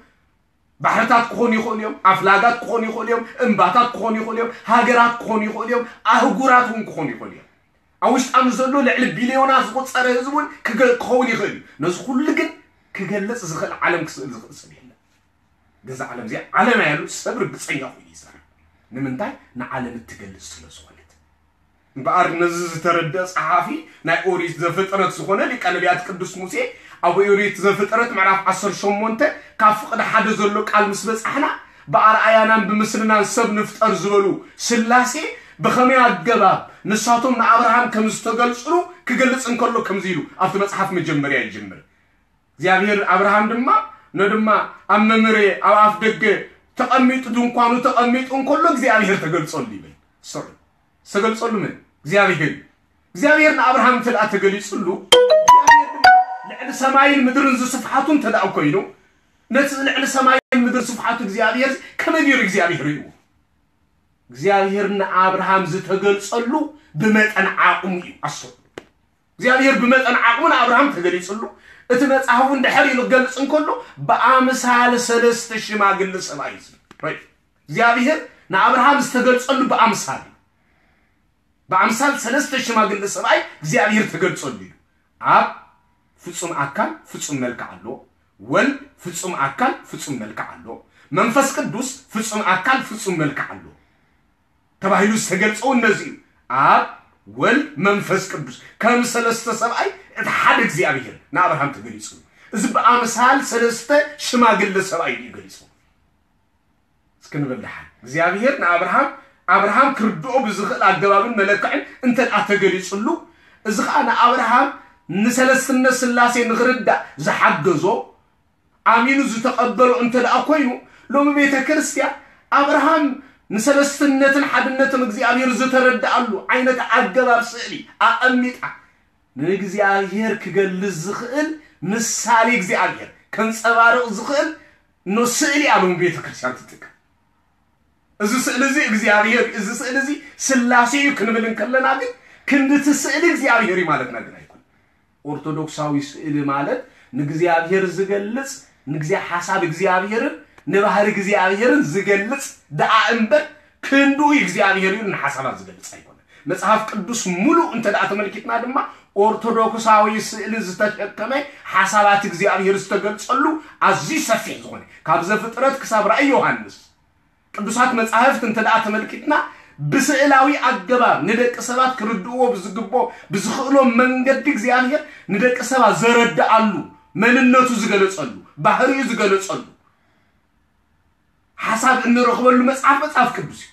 ባሕርታት ክኾኑ ይኽእሉ እዮም፣ ኣፍላጋት ክኾኑ ይኽእሉ እዮም፣ እምባታት ክኾኑ ይኽእሉ እዮም፣ ሃገራት ክኾኑ ይኽእሉ እዮም፣ ኣህጉራት እውን ክኾኑ ይኽእሉ እዮም። ኣብ ውሽጣ ምስ ዘሎ ልዕሊ ቢልዮናት ዝቑጸረ ህዝቢ እውን ክገ- ክኸውን ይኽእል እዩ። ነዚ ኩሉ ግን ክገልጽ ዝኽእል ዓለም ክስእል ዝኽእል ሰብ የለን። ግን እዛ ዓለም እዚኣ ዓለም እያ ኢሉ ሰብ ርግጸኛ ኮይኑ ይዛረብ። ንምንታይ? ንዓለም እትገልጽ ስለ ዝኾነት። እምበኣር ነዚ ዝተረድአ ጸሓፊ ናይ ኦሪት ዘፍጥረት ዝኾነ ሊቀ ነቢያት ቅዱስ ሙሴ ኣብ ኦሪት ዘፍጥረት ምዕራፍ ዓሰርተ ሸሞንተ ካብ ፍቕዲ ሓደ ዘሎ ቃል ምስ በጻሕና ብኣርኣያናን ብምስልናን ሰብ ንፍጠር ዝበሉ ስላሴ ብኸመይ ኣገባብ ንሳቶም ንኣብርሃም ከም ዝተገልጽሉ ክገልጽ እንከሎ ከምዚ ኢሉ ኣብቲ መጽሓፍ መጀመርያ ይጅምር። እግዚኣብሔር ኣብርሃም ድማ ነድማ ኣብ መምሬ ኣብ ኣፍ ደገ ተቐሚጡ ድንኳኑ ተቐሚጡ እንከሎ እግዚኣብሔር ተገልጸሉ ይብል። ስዑ ዝተገልጸሉ መን? እግዚኣብሔር እዩ። እግዚኣብሔር ንኣብርሃም እንተ ደኣ ተገሊጹሉ እግዚኣብሔር ድማ ልዕሊ ሰማይን ምድርን ዝስፍሓቱ እንተ ደኣ ኮይኑ ነቲ ልዕሊ ሰማይን ምድርን ስፍሓቱ እግዚኣብሔር ከመይ ገይሩ እግዚኣብሔር ርእይዎ? እግዚኣብሔር ንኣብርሃም ዝተገልጸሉ ብመጠን ዓቕሙ እዩ። ኣስተውዕሉ። እግዚኣብሔር ብመጠን ዓቕሙ ንኣብርሃም ተገሊጹሉ። እቲ መጽሓፉ እንድሕር ኢሉ ክገልጽ እንከሎ ብኣምሳል ሰለስተ ሽማግለ ሰብኣይ እዩ ዝብል። ራይት። እግዚኣብሔር ንኣብርሃም ዝተገልጸሉ ብኣምሳል እዩ። ብኣምሳል ሰለስተ ሽማግለ ሰብኣይ እግዚኣብሔር ተገልጸሉ እዩ። ኣብ ፍጹም ኣካል ፍጹም መልክዕ ኣሎ። ወልድ ፍጹም ኣካል ፍጹም መልክዕ ኣሎ። መንፈስ ቅዱስ ፍጹም ኣካል ፍጹም መልክዕ ኣሎ። ተባሂሉ ዝተገልጸ እውን ነዚ እዩ። ኣብ ወልድ መንፈስ ቅዱስ ከም ሰለስተ ሰብኣይ እቲ ሓደ እግዚኣብሔር ንኣብርሃም ተገሊጹ። እዚ ብኣምሳል ሰለስተ ሽማግለ ሰብኣይ እዩ ገሊጹ። እስኪ ንበል ደሓን። እግዚኣብሔር ንኣብርሃም ኣብርሃም ክርድኦ ብዝኽእል ኣገባብን መለክዕን እንተ ደኣ ተገሊጹሉ እዚ ኸኣ ንኣብርሃም ንሰለስትነት ስላሴ ንኽርዳእ ዝሓገዞ ኣሚኑ ዝተቐበሎ እንተ ደኣ ኮይኑ ሎሚ ቤተ ክርስቲያን ኣብርሃም ንሰለስትነትን ሓድነትን እግዚኣብሔር ዝተረድኣሉ ዓይነት ኣገባብ ስእሊ ኣቐሚጣ ንእግዚኣብሔር ክገልጽ ዝኽእል ምሳሌ እግዚኣብሔር ከንጸባርቕ ዝኽእል ኖ ስእሊ ኣለዎም ቤተ ክርስቲያን ትጥቀም። እዚ ስእሊ እዚ እግዚኣብሔር እዩ፣ እዚ ስእሊ እዚ ስላሴ እዩ ክንብል እንከለና ግን ክንድቲ ስእሊ እግዚኣብሔር እዩ ማለትና ግን ኣይኮን። ኦርቶዶክሳዊ ስእሊ ማለት ንእግዚኣብሔር ዝገልጽ፣ ንግዜ ሓሳብ እግዚኣብሔርን ንባህሪ እግዚኣብሔርን ዝገልጽ ደኣ እምበር ክንዱ እግዚኣብሔር እዩ ንሓሳባት ዝገልጽ ኣይኮነ። መጽሓፍ ቅዱስ ሙሉእ እንተ ደኣ ተመልኪትና ድማ ኦርቶዶክሳዊ ስእሊ ዝተሸከመ ሓሳባት እግዚኣብሔር ዝተገልጸሉ ኣዝዩ ሰፊሕ ዝኾነ ካብ ዘፍጥረት ክሳብ ራእይ ዮሃንስ ቅዱሳት መጻሕፍት እንተ ደኣ ተመልኪትና ብስእላዊ ኣገባብ ንደቂ ሰባት ክርድእዎ ብዝግቦ ብዝኽእሎም መንገዲ እግዚኣብሔር ንደቂ ሰባት ዘረድኣሉ መንነቱ ዝገለጸሉ ባህሪኡ ዝገለጸሉ ሓሳብ እንረኽበሉ መጽሓፍ መጽሓፍ ቅዱስ እዩ።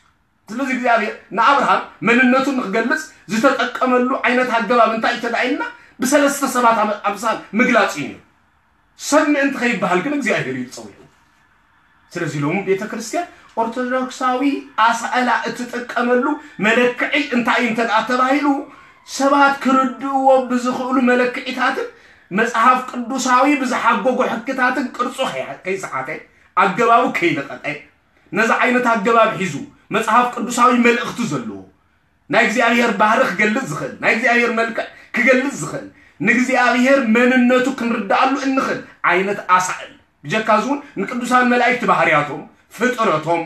ስለዚ እግዚኣብሔር ንኣብርሃም መንነቱ ንክገልጽ ዝተጠቀመሉ ዓይነት ኣገባብ እንታይ እዩ ተዳኢልና ብሰለስተ ሰባት ኣምሳል ምግላጽ እዩ ነይሩ። ሰብ ምእንቲ ከይበሃል ግን እግዚኣብሔር እዩ ዝጸውዑ። ስለዚ ሎም ቤተ ክርስቲያን ኦርቶዶክሳዊ ኣሳእላ እትጥቀመሉ መለክዒ እንታይ እዩ እንተ ተባሂሉ ሰባት ክርድእዎ ብዝኽእሉ መለክዒታትን መጽሓፍ ቅዱሳዊ ብዝሓጎጎ ሕግታትን ቅርጹ ከይሰሓተ ኣገባቡ ከይለቐጠ ነዚ ዓይነት ኣገባብ ሒዙ መጽሓፍ ቅዱሳዊ መልእኽቲ ዘለዎ ናይ እግዚኣብሔር ባህሪ ክገልጽ ዝኽእል ናይ እግዚኣብሔር መልክዕ ክገልጽ ዝኽእል ንእግዚኣብሔር መንነቱ ክንርድኣሉ እንኽእል ዓይነት ኣሳእል ብጀካ እዚ እውን ንቅዱሳን መላእክቲ ባህርያቶም ፍጥረቶም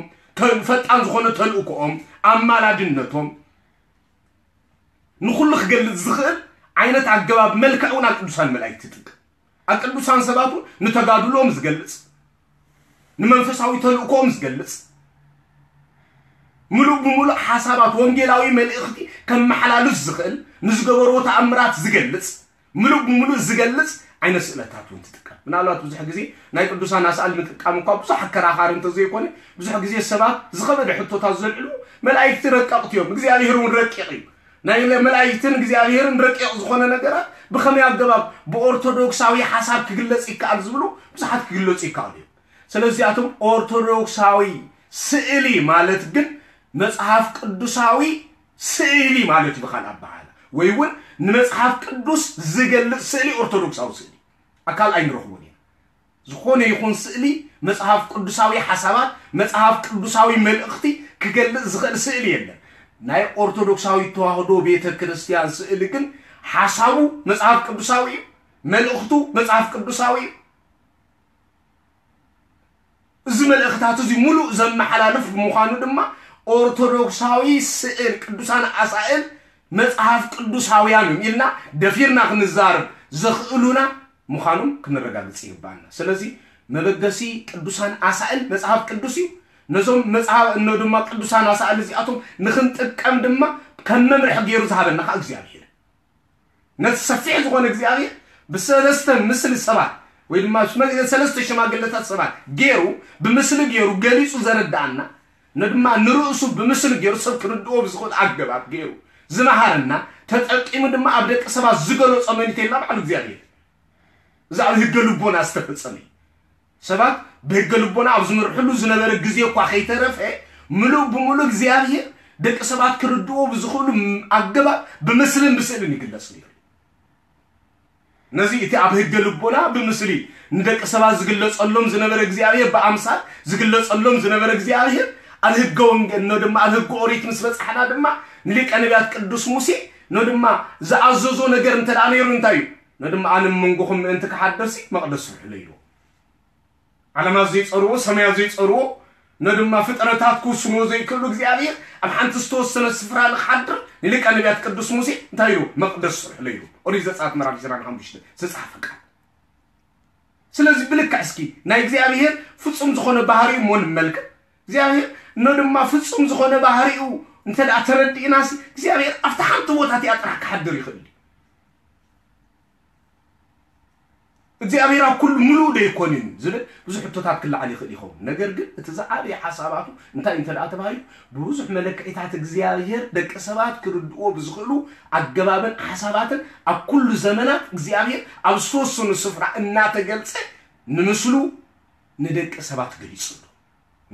ፈጣን ዝኾነ ተልእኮኦም ኣማላድነቶም ንኹሉ ክገልጽ ዝኽእል ዓይነት ኣገባብ መልክዕ እውን ኣብ ቅዱሳን መላእክቲ ይጥቀም ኣብ ቅዱሳን ሰባት እውን ንተጋድሎም ዝገልጽ ንመንፈሳዊ ተልእኮኦም ዝገልጽ ምሉእ ብምሉእ ሓሳባት ወንጌላዊ መልእኽቲ ከመሓላልፍ ዝኽእል ንዝገበርዎ ተኣምራት ዝገልጽ ምሉእ ብምሉእ ዝገልጽ ዓይነት ስእለታት እውን ትጥቀም ምናልባት ብዙሕ ግዜ ናይ ቅዱሳን ኣስኣል ምጥቃም እኳ ብዙሕ ኣከራኻሪ እንተዘይኮነ ብዙሕ ግዜ ሰባት ዝኸበደ ሕቶታት ዘልዕሉ መላእክቲ ረቀቕቲ እዮም እግዚኣብሔር እውን ረቂቕ እዩ ናይ መላእክትን እግዚኣብሔርን ረቂቕ ዝኾነ ነገራት ብኸመይ ኣገባብ ብኦርቶዶክሳዊ ሓሳብ ክግለጽ ይከኣል ዝብሉ ብዙሓት ክግለጹ ይከኣሉ እዮም ስለዚኣቶም ኦርቶዶክሳዊ ስእሊ ማለት ግን መጽሓፍ ቅዱሳዊ ስእሊ ማለት እዩ ብኻል ኣበሃላ ወይ እውን ንመጽሓፍ ቅዱስ ዝገልጽ ስእሊ ኦርቶዶክሳዊ ስእሊ ኣካል ኣይንረኽቦን ኢና ዝኾነ ይኹን ስእሊ መጽሓፍ ቅዱሳዊ ሓሳባት መጽሓፍ ቅዱሳዊ መልእኽቲ ክገልጽ ዝኽእል ስእሊ የለን ናይ ኦርቶዶክሳዊ ተዋህዶ ቤተ ክርስቲያን ስእሊ ግን ሓሳቡ መጽሓፍ ቅዱሳዊ እዩ መልእኽቱ መጽሓፍ ቅዱሳዊ እዩ እዚ መልእኽታት እዚ ሙሉእ ዘመሓላልፍ ብምዃኑ ድማ ኦርቶዶክሳዊ ስእል ቅዱሳን ኣሳእል መጽሓፍ ቅዱሳውያን እዮም ኢልና ደፊርና ክንዛረብ ዘኽእሉና ምዃኖም ክንረጋግጽ ይግባኣና። ስለዚ መበገሲ ቅዱሳን ኣሳእል መጽሓፍ ቅዱስ እዩ። ነዞም መጽሓፍ እኖ ድማ ቅዱሳን ኣሳእል እዚኣቶም ንኽንጥቀም ድማ ከም መምርሒ ገይሩ ዝሃበና ከዓ እግዚኣብሔር ነቲ ሰፊሕ ዝኾነ እግዚኣብሔር ብሰለስተ ምስሊ ሰባት ወይ ድማ ሰለስተ ሽማግለታት ሰባት ገይሩ ብምስሊ ገይሩ ገሊጹ ዘረዳኣና ነድማ ንርእሱ ብምስሊ ገይሩ ሰብ ክርድኦ ብዝኽእል ኣገባብ ገይሩ ዝመሃረና ተጠቂሙ ድማ ኣብ ደቂ ሰባት ዝገለጾ መን ኢልና በዓሉ እግዚኣብሔር እዚ ኣብ ህገ ልቦና ዝተፈጸመ እዩ ሰባት ብህገ ልቦና ኣብ ዝምርሕሉ ዝነበረ ግዜ እኳ ከይተረፈ ምሉእ ብምሉእ እግዚኣብሔር ደቂ ሰባት ክርድዎ ብዝኽእሉ ኣገባብ ብምስልን ብስእልን ይግለጽ ነይሩ ነዚ እቲ ኣብ ህገ ልቦና ብምስሊ ንደቂ ሰባት ዝግለጸሎም ዝነበረ እግዚኣብሔር ብኣምሳል ዝግለጸሎም ዝነበረ እግዚኣብሔር ኣብ ህገ ወንጌል ኖ ድማ ኣብ ህገ ኦሪት ምስ በጻሕና ድማ ንሊቀ ነቢያት ቅዱስ ሙሴ ኖ ድማ ዝኣዘዞ ነገር እንተ ነይሩ እንታይ እዩ ኖ ድማ ኣነ መንጎኹም ምእንቲ ክሓደርሲ መቕደስ ስርሕለይ ኢልዎ ዓለማት ዘይጸርዎ ሰማያት ዘይጸርዎ ኖ ድማ ፍጥረታት ክውስንዎ ዘይክእሉ እግዚኣብሔር ኣብ ሓንቲ ዝተወሰነ ስፍራ ንክሓድር ንሊቀ ነቢያት ቅዱስ ሙሴ እንታይ ኢሉ መቕደስ ስርሕለይ ኢሉ ኦሪት ዘጸኣት ምዕራፍ ዕስራን ሓሙሽተን ዝተጻሕፈ ቃል ስለዚ ብልክዕ እስኪ ናይ እግዚኣብሔር ፍጹም ዝኾነ ባህሪኡ እሞ ንመልክት እግዚኣብሔር እኖ ድማ ፍጹም ዝኾነ ባህሪኡ እንተ ደኣ ተረዲእናሲ እግዚኣብሔር ኣብቲ ሓንቲ ቦታ እቲኣ ጥራሕ ክሓድር ይኽእል እዩ እግዚኣብሔር ኣብ ኩሉ ምሉእ ዶ ኣይኮንን ዝብል ብዙሕ ሕቶታት ክለዓል ይኽእል ይኸውን ነገር ግን እቲ ዝዓበየ ሓሳባቱ እንታይ እንተ ደኣ ተባሂሉ ብብዙሕ መለክዒታት እግዚኣብሔር ደቂ ሰባት ክርድእዎ ብዝኽእሉ ኣገባብን ሓሳባትን ኣብ ኩሉ ዘመናት እግዚኣብሔር ኣብ ዝተወሰኑ ስፍራ እናተገልጸ ንምስሉ ንደቂ ሰባት ገሊጹ ኣሎ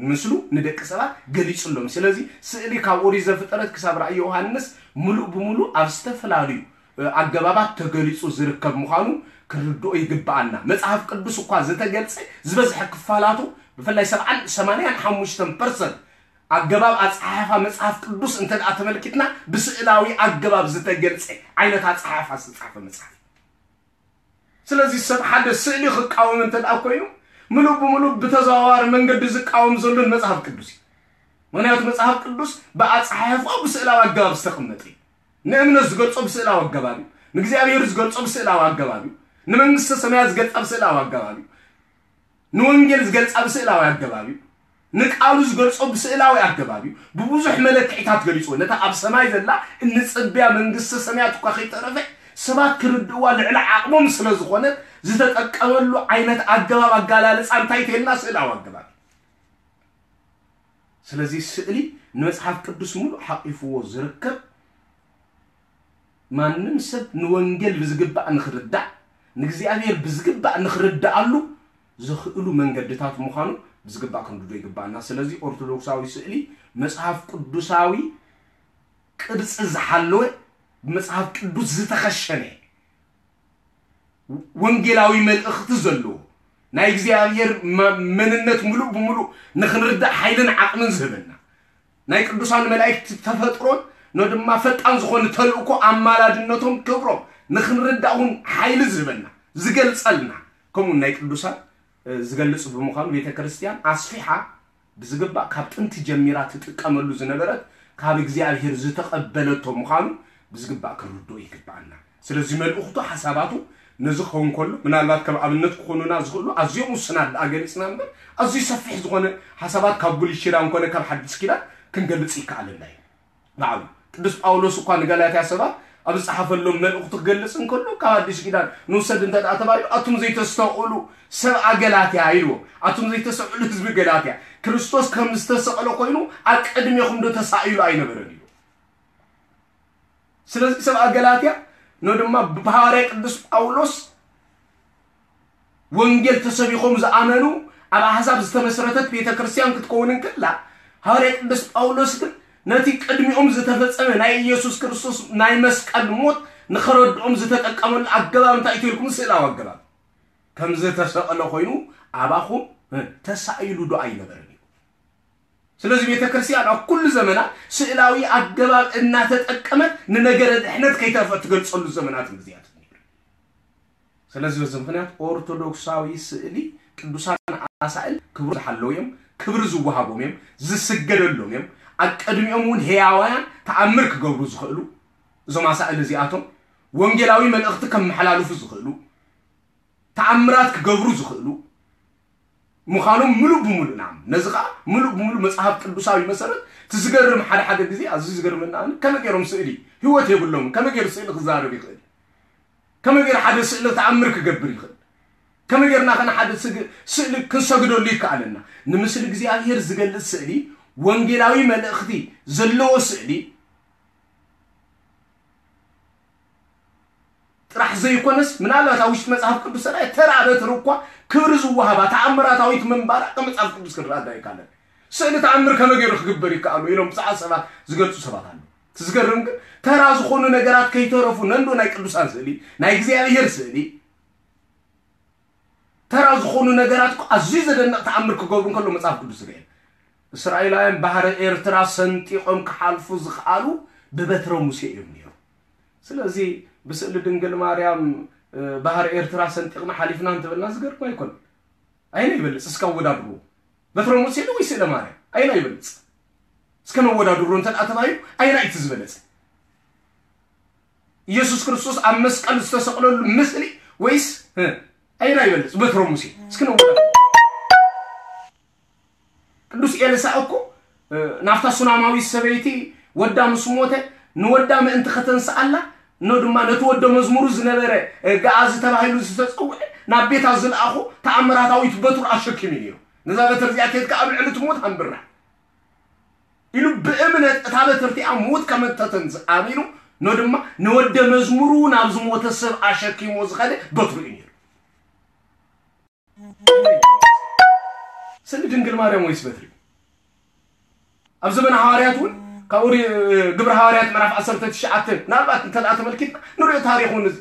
ንምስሉ ንደቂ ሰባት ገሊጹ ኣሎ ስለዚ ስእሊ ካብ ኦሪት ዘፍጠረት ክሳብ ራእይ ዮሃንስ ምሉእ ብምሉእ ኣብ ዝተፈላለዩ ኣገባባት ተገሊጹ ዝርከብ ምዃኑ ክንርድኦ ይግብኣና። መጽሓፍ ቅዱስ እኳ ዝተገልጸ ዝበዝሐ ክፋላቱ ብፍላይ ሰብዓን ሰማንያን ሓሙሽተን ፐርሰንት ኣገባብ ኣጸሓሕፋ መጽሓፍ ቅዱስ እንተ ደኣ ተመልኪትና ብስእላዊ ኣገባብ ዝተገልጸ ዓይነት ኣጸሓሕፋ ዝተጻሕፈ መጽሓፍ እዩ። ስለዚ ሰብ ሓደ ስእሊ ክቃወም እንተ ደኣ ኮይኑ ምሉእ ብምሉእ ብተዘዋዋሪ መንገዲ ዝቃወም ዘሎ ንመጽሓፍ ቅዱስ እዩ። ምክንያቱ መጽሓፍ ቅዱስ ብኣጸሓሕፋኡ ብስእላዊ ኣገባብ ዝተቐመጠ እዩ። ንእምነት ዝገልጾ ብስእላዊ ኣገባብ እዩ። ንእግዚኣብሔር ዝገልጾ ብስእላዊ ኣገባብ እዩ። ንመንግስተ ሰማያት ዝገልጻ ብስእላዊ ኣገባብ እዩ። ንወንጌል ዝገልጻ ብስእላዊ ኣገባብ እዩ። ንቃሉ ዝገልጾ ብስእላዊ ኣገባብ እዩ። ብብዙሕ መለክዒታት ገሊጽዎ። ነታ ኣብ ሰማይ ዘላ እንጽብያ መንግስተ ሰማያት እኳ ከይተረፈ ሰባት ክርድእዋ ልዕሊ ዓቕሞም ስለ ዝኾነት ዝተጠቀመሉ ዓይነት ኣገባብ ኣጋላልጻ እንታይ ተልና ስእላዊ ኣገባብ እዩ። ስለዚ ስእሊ ንመጽሓፍ ቅዱስ ሙሉእ ሓቂፍዎ ዝርከብ ማንም ሰብ ንወንጌል ብዝግባእ ንኽርዳእ ንእግዚኣብሔር ብዝግባእ ንኽርዳኣሉ ዘኽእሉ መንገድታት ምዃኑ ብዝግባእ ክንርዶ ይግባኣና። ስለዚ ኦርቶዶክሳዊ ስእሊ መጽሓፍ ቅዱሳዊ ቅርጺ ዝሓለወ ብመጽሓፍ ቅዱስ ዝተኸሸነ ወንጌላዊ መልእኽቲ ዘለዎ ናይ እግዚኣብሔር መንነት ሙሉእ ብሙሉእ ንኽንርዳእ ሓይልን ዓቕምን ዝህበና ናይ ቅዱሳን መላእክቲ ተፈጥሮን ኖ ድማ ፈጣን ዝኾነ ተልእኮ ኣማላድነቶም ክብሮም ንኽንርዳእ እውን ሓይሊ ዝህበና ዝገልጸልና ከምኡ ናይ ቅዱሳን ዝገልጽ ብምዃኑ ቤተ ክርስቲያን ኣስፊሓ ብዝግባእ ካብ ጥንቲ ጀሚራ ትጥቀመሉ ዝነበረት ካብ እግዚኣብሔር ዝተቐበለቶ ምዃኑ ብዝግባእ ክንርድኦ ይግባኣና። ስለዚ መልእኽቱ ሓሳባቱ ነዚ ክኸውን ከሎ ምናልባት ከም ኣብነት ክኾኑና ዝኽእሉ ኣዝዮም ውስናት ደኣ ገሊጽና እምበር ኣዝዩ ሰፊሕ ዝኾነ ሓሳባት ካብ ብሉይ ኪዳን ኮነ ካብ ሓዲስ ኪዳን ክንገልጽ ይከኣለና እዩ። ባዕሉ ቅዱስ ጳውሎስ እኳ ንጋላትያ ሰባት ኣብ ዝጸሓፈሎም መልእኽቱ ክገልጽ እንከሎ ካብ ኣዲስ ኪዳን ንውሰድ እንተ ደኣ ተባሂሉ ኣቱም ዘይተስተውዕሉ ሰብኣ ገላትያ ኢልዎ። ኣቱም ዘይተስተውዕሉ ህዝቢ ገላትያ ክርስቶስ ከም ዝተሰቕለ ኮይኑ ኣብ ቅድሜኹም ዶ ተሳኢሉ ኣይነበረን ኢሉ። ስለዚ ሰብኣ ገላትያ ኖ ድማ ብሃዋርያ ቅዱስ ጳውሎስ ወንጌል ተሰቢኾም ዝኣመኑ ኣብ ኣሕዛብ ዝተመስረተት ቤተ ክርስቲያን ክትከውን እንክላ ሃዋርያ ቅዱስ ጳውሎስ ግን ነቲ ቅድሚኦም ዝተፈጸመ ናይ ኢየሱስ ክርስቶስ ናይ መስቀል ሞት ንኸረድኦም ዝተጠቀመሉ ኣገባብ እንታይ ኢልኩም ስእላዊ ኣገባብ ከም ዝተሰቐለ ኮይኑ ኣባኹም ተሳኢሉ ዶ ኣይነበረን እዩ። ስለዚ ቤተ ክርስቲያን ኣብ ኩሉ ዘመናት ስእላዊ ኣገባብ እናተጠቀመት ንነገረ ድሕነት ከይተርፈ ትገልጸሉ ዘመናት ግዚያት ነይሩ። ስለዚ በዚ ምክንያት ኦርቶዶክሳዊ ስእሊ ቅዱሳን ኣሳእል ክብሪ ዝሓለዉ እዮም፣ ክብሪ ዝወሃቦም እዮም፣ ዝስገደሎም እዮም። ኣብ ቅድሚኦም እውን ህያዋያን ተኣምር ክገብሩ ዝኽእሉ እዞም ኣሳእል እዚኣቶም ወንጌላዊ መልእኽቲ ከመሓላልፉ ዝኽእሉ ተኣምራት ክገብሩ ዝኽእሉ ምዃኖም ምሉእ ብምሉእ ንኣምን። ነዚ ኸዓ ምሉእ ብምሉእ መጽሓፍ ቅዱሳዊ መሰረት እቲ ዝገርም ሓደ ሓደ ግዜ ኣዝዩ ዝገርመና ኣነ ከመይ ገይሮም ስእሊ ህይወት የብሎምን ከመይ ገይሩ ስእሊ ክዛረብ ይኽእል ከመይ ገይሩ ሓደ ስእሊ ተኣምር ክገብር ይኽእል ከመይ ገይርና ከነ ሓደ ስእሊ ክንሰግደሉ ይከኣለና ንምስሊ እግዚኣብሔር ዝገልጽ ስእሊ ወንጌላዊ መልእኽቲ ዘለዎ ስእሊ ጥራሕ ዘይኮነስ ምናልባት ኣብ ውሽጢ መጽሓፍ ቅዱስ ሰራይ ተራ በትሪ እኳ ክብሪ ዝወሃባ ተኣምራታዊት ምንባራ ከም መጽሓፍ ቅዱስ ክንረዳ ይካለን። ስእሊ ተኣምር ከመይ ገይሩ ክግበር ይከኣሉ ኢሎም ብዙሓት ሰባት ዝገልጹ ሰባት ኣለዉ። እቲ ዝገርም ግን ተራ ዝኾኑ ነገራት ከይተረፉ ነንዶ ናይ ቅዱሳን ስእሊ ናይ እግዚኣብሔር ስእሊ ተራ ዝኾኑ ነገራት እኮ ኣዝዩ ዘደንቕ ተኣምር ክገብሩ እንከሎ መጽሓፍ ቅዱስ ርኤ። እስራኤላውያን ባህሪ ኤርትራ ሰንጢቖም ክሓልፉ ዝኽኣሉ ብበትረ ሙሴ እዮም ነይሩ። ስለዚ ብስእሊ ድንግል ማርያም ባህሪ ኤርትራ ሰንጢቕና ሓሊፍና እንተበልና ዝገርም ኣይኮን። ኣይና ይበልጽ እስካ ወዳድርዎ። በትረ ሙሴ ዶ ወይ ስእለ ማርያም? ኣይና ይበልጽ? እስከ ነወዳድሮ እንተ ደኣ ተባሂሉ ኣይና እቲ ዝበለጸ? ኢየሱስ ክርስቶስ ኣብ መስቀል ዝተሰቕለሉ ምስሊ ወይስ ኣይና ይበልጽ በትሮ ሙሴ እስኪ ነውዳ ቅዱስ ኤልሳ እኮ ናፍታ ሱናማዊት ሰበይቲ ወዳ ምስ ሞተ ንወዳ ምእንቲ ከተንስኣላ ኖ ድማ ነቲ ወደ መዝሙሩ ዝነበረ ገኣዚ ተባሂሉ ዝተጸውዐ ናብ ቤታ ዝለኣኹ ተኣምራታዊት በትሩ ኣሸኪሙ ነይሩ። ነዛ በትር እዚኣ ኬድካ ኣብ ልዕሊ እቲ ሞት ኣንብራ ኢሉ ብእምነት እታ በትር እቲኣ ምዉት ከም እተተንስ ኣሚኑ ኖ ድማ ንወደ መዝሙሩ ናብ ዝሞተ ሰብ ኣሸኪሞ ዝኸደ በትሩ እዩ ነይሩ። ስእሊ ድንግል ማርያም ወይስ በትሪ? ኣብ ዘመነ ሃዋርያት እውን ካብ ኦሪ ግብረ ሃዋርያት ምዕራፍ ዓሰርተ ትሽዓተ ምናልባት እንተ ደኣ ተመልኪትና ንሪኦ ታሪኹ ንዚ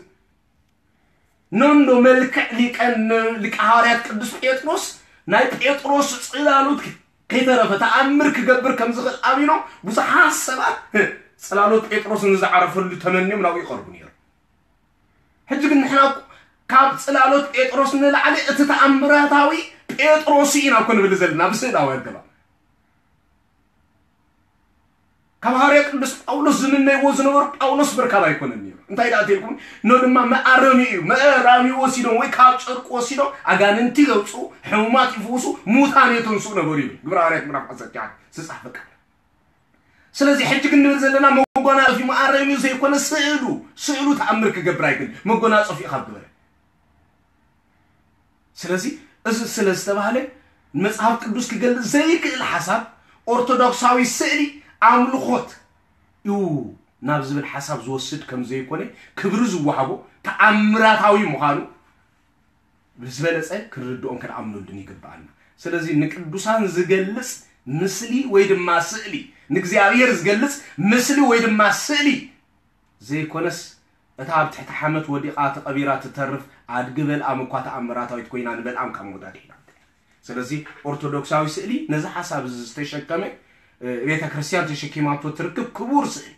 ነንዶ መልክዕ ሊቀ ሊቀ ሃዋርያት ቅዱስ ጴጥሮስ ናይ ጴጥሮስ ጽላሎት ከይተረፈ ተኣምር ክገብር ከም ዝኽእል ኣሚኖም ብዙሓት ሰባት ጽላሎት ጴጥሮስ ንዝዓረፈሉ ተመንዮም ናብኡ ይቐርቡ ነይሩ። ሕጂ ግን ንሕና እኮ ካብ ጽላሎት ጴጥሮስ ንላዕሊ እቲ ተኣምራታዊ ጴጥሮስ ኢና እኮ ንብል ዘለና ብስእላዊ ኣገባብ። ካብ ሃዋርያ ቅዱስ ጳውሎስ ዝምነይዎ ዝነበሩ ጳውሎስ ምርካብ ኣይኮነን ነይሩ። እንታይ ደኣ ተልኩም? ኖ ድማ መኣረሚ እዩ። መእራሚ ወሲዶም ወይ ካብ ጨርቁ ወሲዶም ኣጋንንቲ ዘውፅኡ፣ ሕሙማት ይፍውሱ፣ ሙታን የተንስኡ ነበሩ ይብል ግብረ ሃዋርያት ምዕራፍ ዓሰርተ ትሽዓተ ዝፃሕፈ ቃል። ስለዚ ሕጂ ግን ንብል ዘለና መጎናጸፊ መኣረሚ ዘይኮነ ስእሉ ስእሉ ተኣምር ክገብር ኣይክእል መጎናጸፊ ካብ ግበረ ስለዚ እዚ ስለ ዝተባህለ መጽሓፍ ቅዱስ ክገልጽ ዘይክእል ሓሳብ ኦርቶዶክሳዊ ስእሊ ኣምልኾት እዩ ናብ ዝብል ሓሳብ ዝወስድ ከም ዘይኮነ ክብሪ ዝወሃቦ ተኣምራታዊ ምዃኑ ብዝበለጸ ክንርድኦን ክንኣምነሉን ይግብኣና። ስለዚ ንቅዱሳን ዝገልጽ ምስሊ ወይ ድማ ስእሊ ንእግዚኣብሔር ዝገልጽ ምስሊ ወይ ድማ ስእሊ ዘይኮነስ እታ ኣብ ትሕቲ ሓመድ ወዲቓ ተቐቢራ ትተርፍ ኣድጊ በልኣም እኳ ተኣምራታዊት ኮይና ንበልኣም ካብ ሞት ኣድሒና። ስለዚ ኦርቶዶክሳዊ ስእሊ ነዚ ሓሳብ እዚ ዝተሸከመ ቤተ ክርስቲያን ተሸኪማቶ ትርክብ ክቡር ስእሊ፣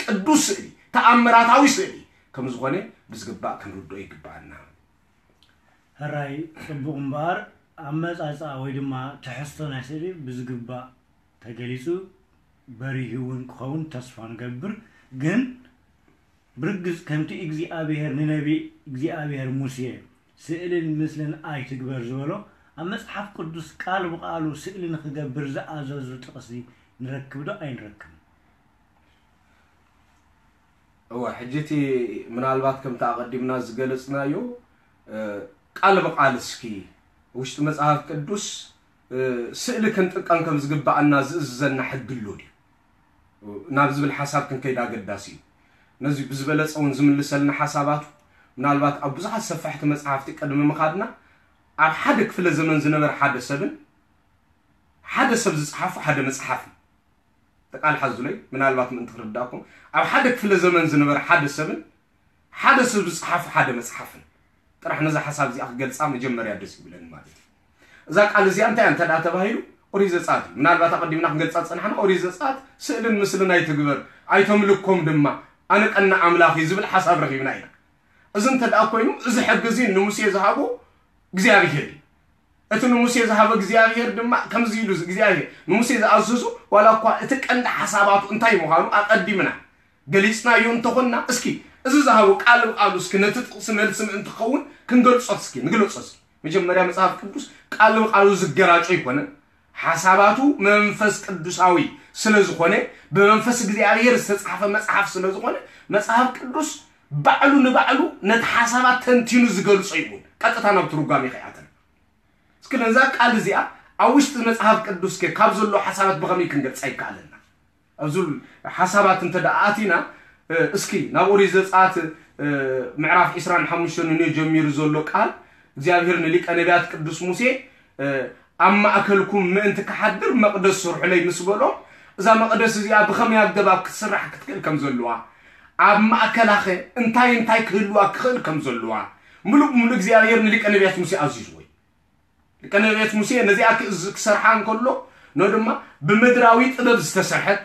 ቅዱስ ስእሊ፣ ተኣምራታዊ ስእሊ ከም ዝኾነ ብዝግባእ ክንርድኦ ይግባኣና። ሕራይ ጽቡቕ እምበኣር ኣመጻጽኣ ወይ ድማ ትሕዝቶ ናይ ስእሊ ብዝግባእ ተገሊጹ በሪሁ እውን ክኸውን ተስፋ ንገብር። ግን ብርግጽ ከምቲ እግዚኣብሔር ንነቢ እግዚኣብሔር ሙሴ ስእልን ምስልን ኣይትግበር ዝበሎ ኣብ መጽሓፍ ቅዱስ ቃል ብቓሉ ስእሊ ንኽገብር ዝኣዘዙ ጥቕሲ ንረክብ ዶ ኣይንረክብን? እወ ሕጂ እቲ ምናልባት ከምቲ ኣቐዲምና ዝገለጽናዮ ቃል ብቃል እስኪ ውሽጢ መጽሓፍ ቅዱስ ስእሊ ክንጥቀም ከም ዝግባኣና ዝእዝዘና ሕጊ ኣሎ ድዩ ናብ ዝብል ሓሳብ ክንከይድ ኣገዳሲ እዩ። ነዚ ብዝበለጸ እውን ዝምልሰልና ሓሳባቱ ምናልባት ኣብ ብዙሓት ሰፋሕቲ መጽሓፍቲ ቅድሚ ምኻድና ኣብ ሓደ ክፍለ ዘመን ዝነበረ ሓደ ሰብን ሓደ ሰብ ዝጸሓፎ ሓደ መጽሓፍን ተቃልሓ ዝለይ ምናልባት ምእንቲ ክርዳእኩም ኣብ ሓደ ክፍለ ዘመን ዝነበረ ሓደ ሰብን ሓደ ሰብ ዝጸሓፉ ሓደ መጽሓፍን ጥራሕ ነዛ ሓሳብ እዚኣ ክገልጻ መጀመርያ ደስ ይብለኒ ማለት እዩ። እዛ ቃል እዚኣ እንታይ እንተ ደኣ ተባሂሉ ኦሪት ዘጸኣት እዩ። ምናልባት ኣቐዲምና ክንገልጻ ዝጸናሕና ኦሪት ዘጸኣት ስእልን ምስልን ኣይትግበር ኣይተምልኮም ድማ ኣነ ቀና ኣምላኽ እዩ ዝብል ሓሳብ ረኺብና ኢና። እዚ እንተ ደኣ ኮይኑ እዚ ሕጊ እዚ ንሙሴ ዝሃቦ እግዚኣብሄር እዩ። እቲ ንሙሴ ዝሃበ እግዚኣብሄር ድማ ከምዚ ኢሉ እግዚኣብሄር ንሙሴ ዝኣዘዞ ዋላ እኳ እቲ ቀንዲ ሓሳባቱ እንታይ ምዃኑ ኣቐዲምና ገሊጽናዮ እንተኾንና እስኪ እዚ ዝሃቦ ቃል ብቃሉ እስኪ ነቲ ጥቕሲ መልሲ ምእንቲ ክኸውን ክንገልጾ እስኪ ንግለጾ እስኪ መጀመርያ መጽሓፍ ቅዱስ ቃል ብቃሉ ዝገራጮ ኣይኮነን ሓሳባቱ መንፈስ ቅዱሳዊ ስለ ዝኾነ ብመንፈስ እግዚኣብሄር ዝተጻሕፈ መጽሓፍ ስለ ዝኾነ መጽሓፍ ቅዱስ ባዕሉ ንባዕሉ ነቲ ሓሳባት ተንቲኑ ዝገልጾ ይኹን ቀጥታ ናብ ትርጓሜ ከይኣተና እስኪ ነዛ ቃል እዚኣ ኣብ ውሽጢ መጽሓፍ ቅዱስ ከ ካብ ዘሎ ሓሳባት ብኸመይ ክንገልጻ ይከኣለና ኣብዚ ሓሳባት እንተ ደኣ ኣቲና እስኪ ናብ ኦሪት ዘጸኣት ምዕራፍ ዕስራን ሓሙሽተን ንዮ ጀሚሩ ዘሎ ቃል እግዚኣብሔር ንሊቀ ነቢያት ቅዱስ ሙሴ ኣብ ማእከልኩም ምእንቲ ክሓድር መቕደስ ስርሑለይ ምስ በሎም እዛ መቕደስ እዚኣ ብኸመይ ኣገባብ ክትስራሕ ክትክእል ከም ዘለዋ ኣብ ማእከላኸ እንታይ እንታይ ክህልዋ ክኽእል ከም ዘለዋ ምሉእ ብምሉእ እግዚኣብሔር ንሊቀ ነቢያት ሙሴ ኣዚዝዎ እዩ። ሊቀ ነቢያት ሙሴ ነዚኣ ክእዝ ክሰርሓ እንከሎ ኖ ድማ ብምድራዊ ጥበብ ዝተሰርሐት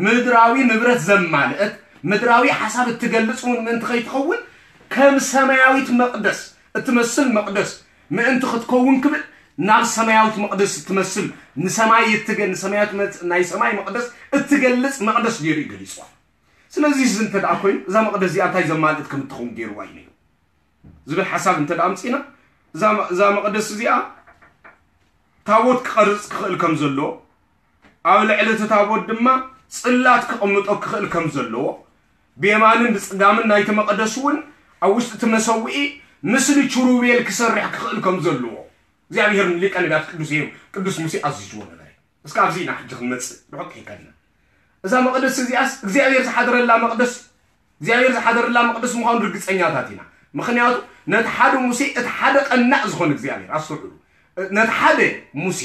ምድራዊ ንብረት ዘማልአት ምድራዊ ሓሳብ እትገልጽ እውን ምእንቲ ከይትኸውን ከም ሰማያዊት መቕደስ እትመስል መቕደስ ምእንቲ ክትከውን ክብል ናብ ሰማያዊት መቕደስ እትመስል ንሰማይ እትገ ንሰማያዊት መ- ናይ ሰማይ መቕደስ እትገልጽ መቕደስ ገይሩ እዩ ገሊጽዋ። ስለዚ እዚ እንተ ደኣ ኮይኑ እዛ መቕደስ እዚኣ እንታይ ዘማልእት ከም እትኸውን ገይርዋ እዩ ነይሩ ዝብል ሓሳብ እንተ ደኣ ኣምጺና እዛ እዛ መቕደስ እዚኣ ታቦት ክቐርጽ ክኽእል ከም ዘሎ ኣብ ልዕሊ እቲ ታቦት ድማ ጽላት ክቕምጦ ክኽእል ከም ዘለዎ ብየማንን ብጽጋምን ናይቲ መቐደስ እውን ኣብ ውሽጢ እቲ መሰውኢ ምስሊ ችሩቤል ክሰርሕ ክኽእል ከም ዘለዎ እግዚኣብሔር ንሊቀ ነቢያት ቅዱስ እዩ ቅዱስ ሙሴ ኣዚዝዎ ነበረ። እስከ ኣብዚ ኢና ሕጂ ክንመጽእ ርሑቅ ከይከድና እዛ መቕደስ እዚኣስ እግዚኣብሔር ዝሓደረላ መቕደስ እግዚኣብሔር ዝሓደረላ መቕደስ ምዃኑ ርግጸኛታት ኢና። ምኽንያቱ ነቲ ሓደ ሙሴ እቲ ሓደ ቀናእ ዝኾነ እግዚኣብሔር ኣስተውዕሉ ነቲ ሓደ ሙሴ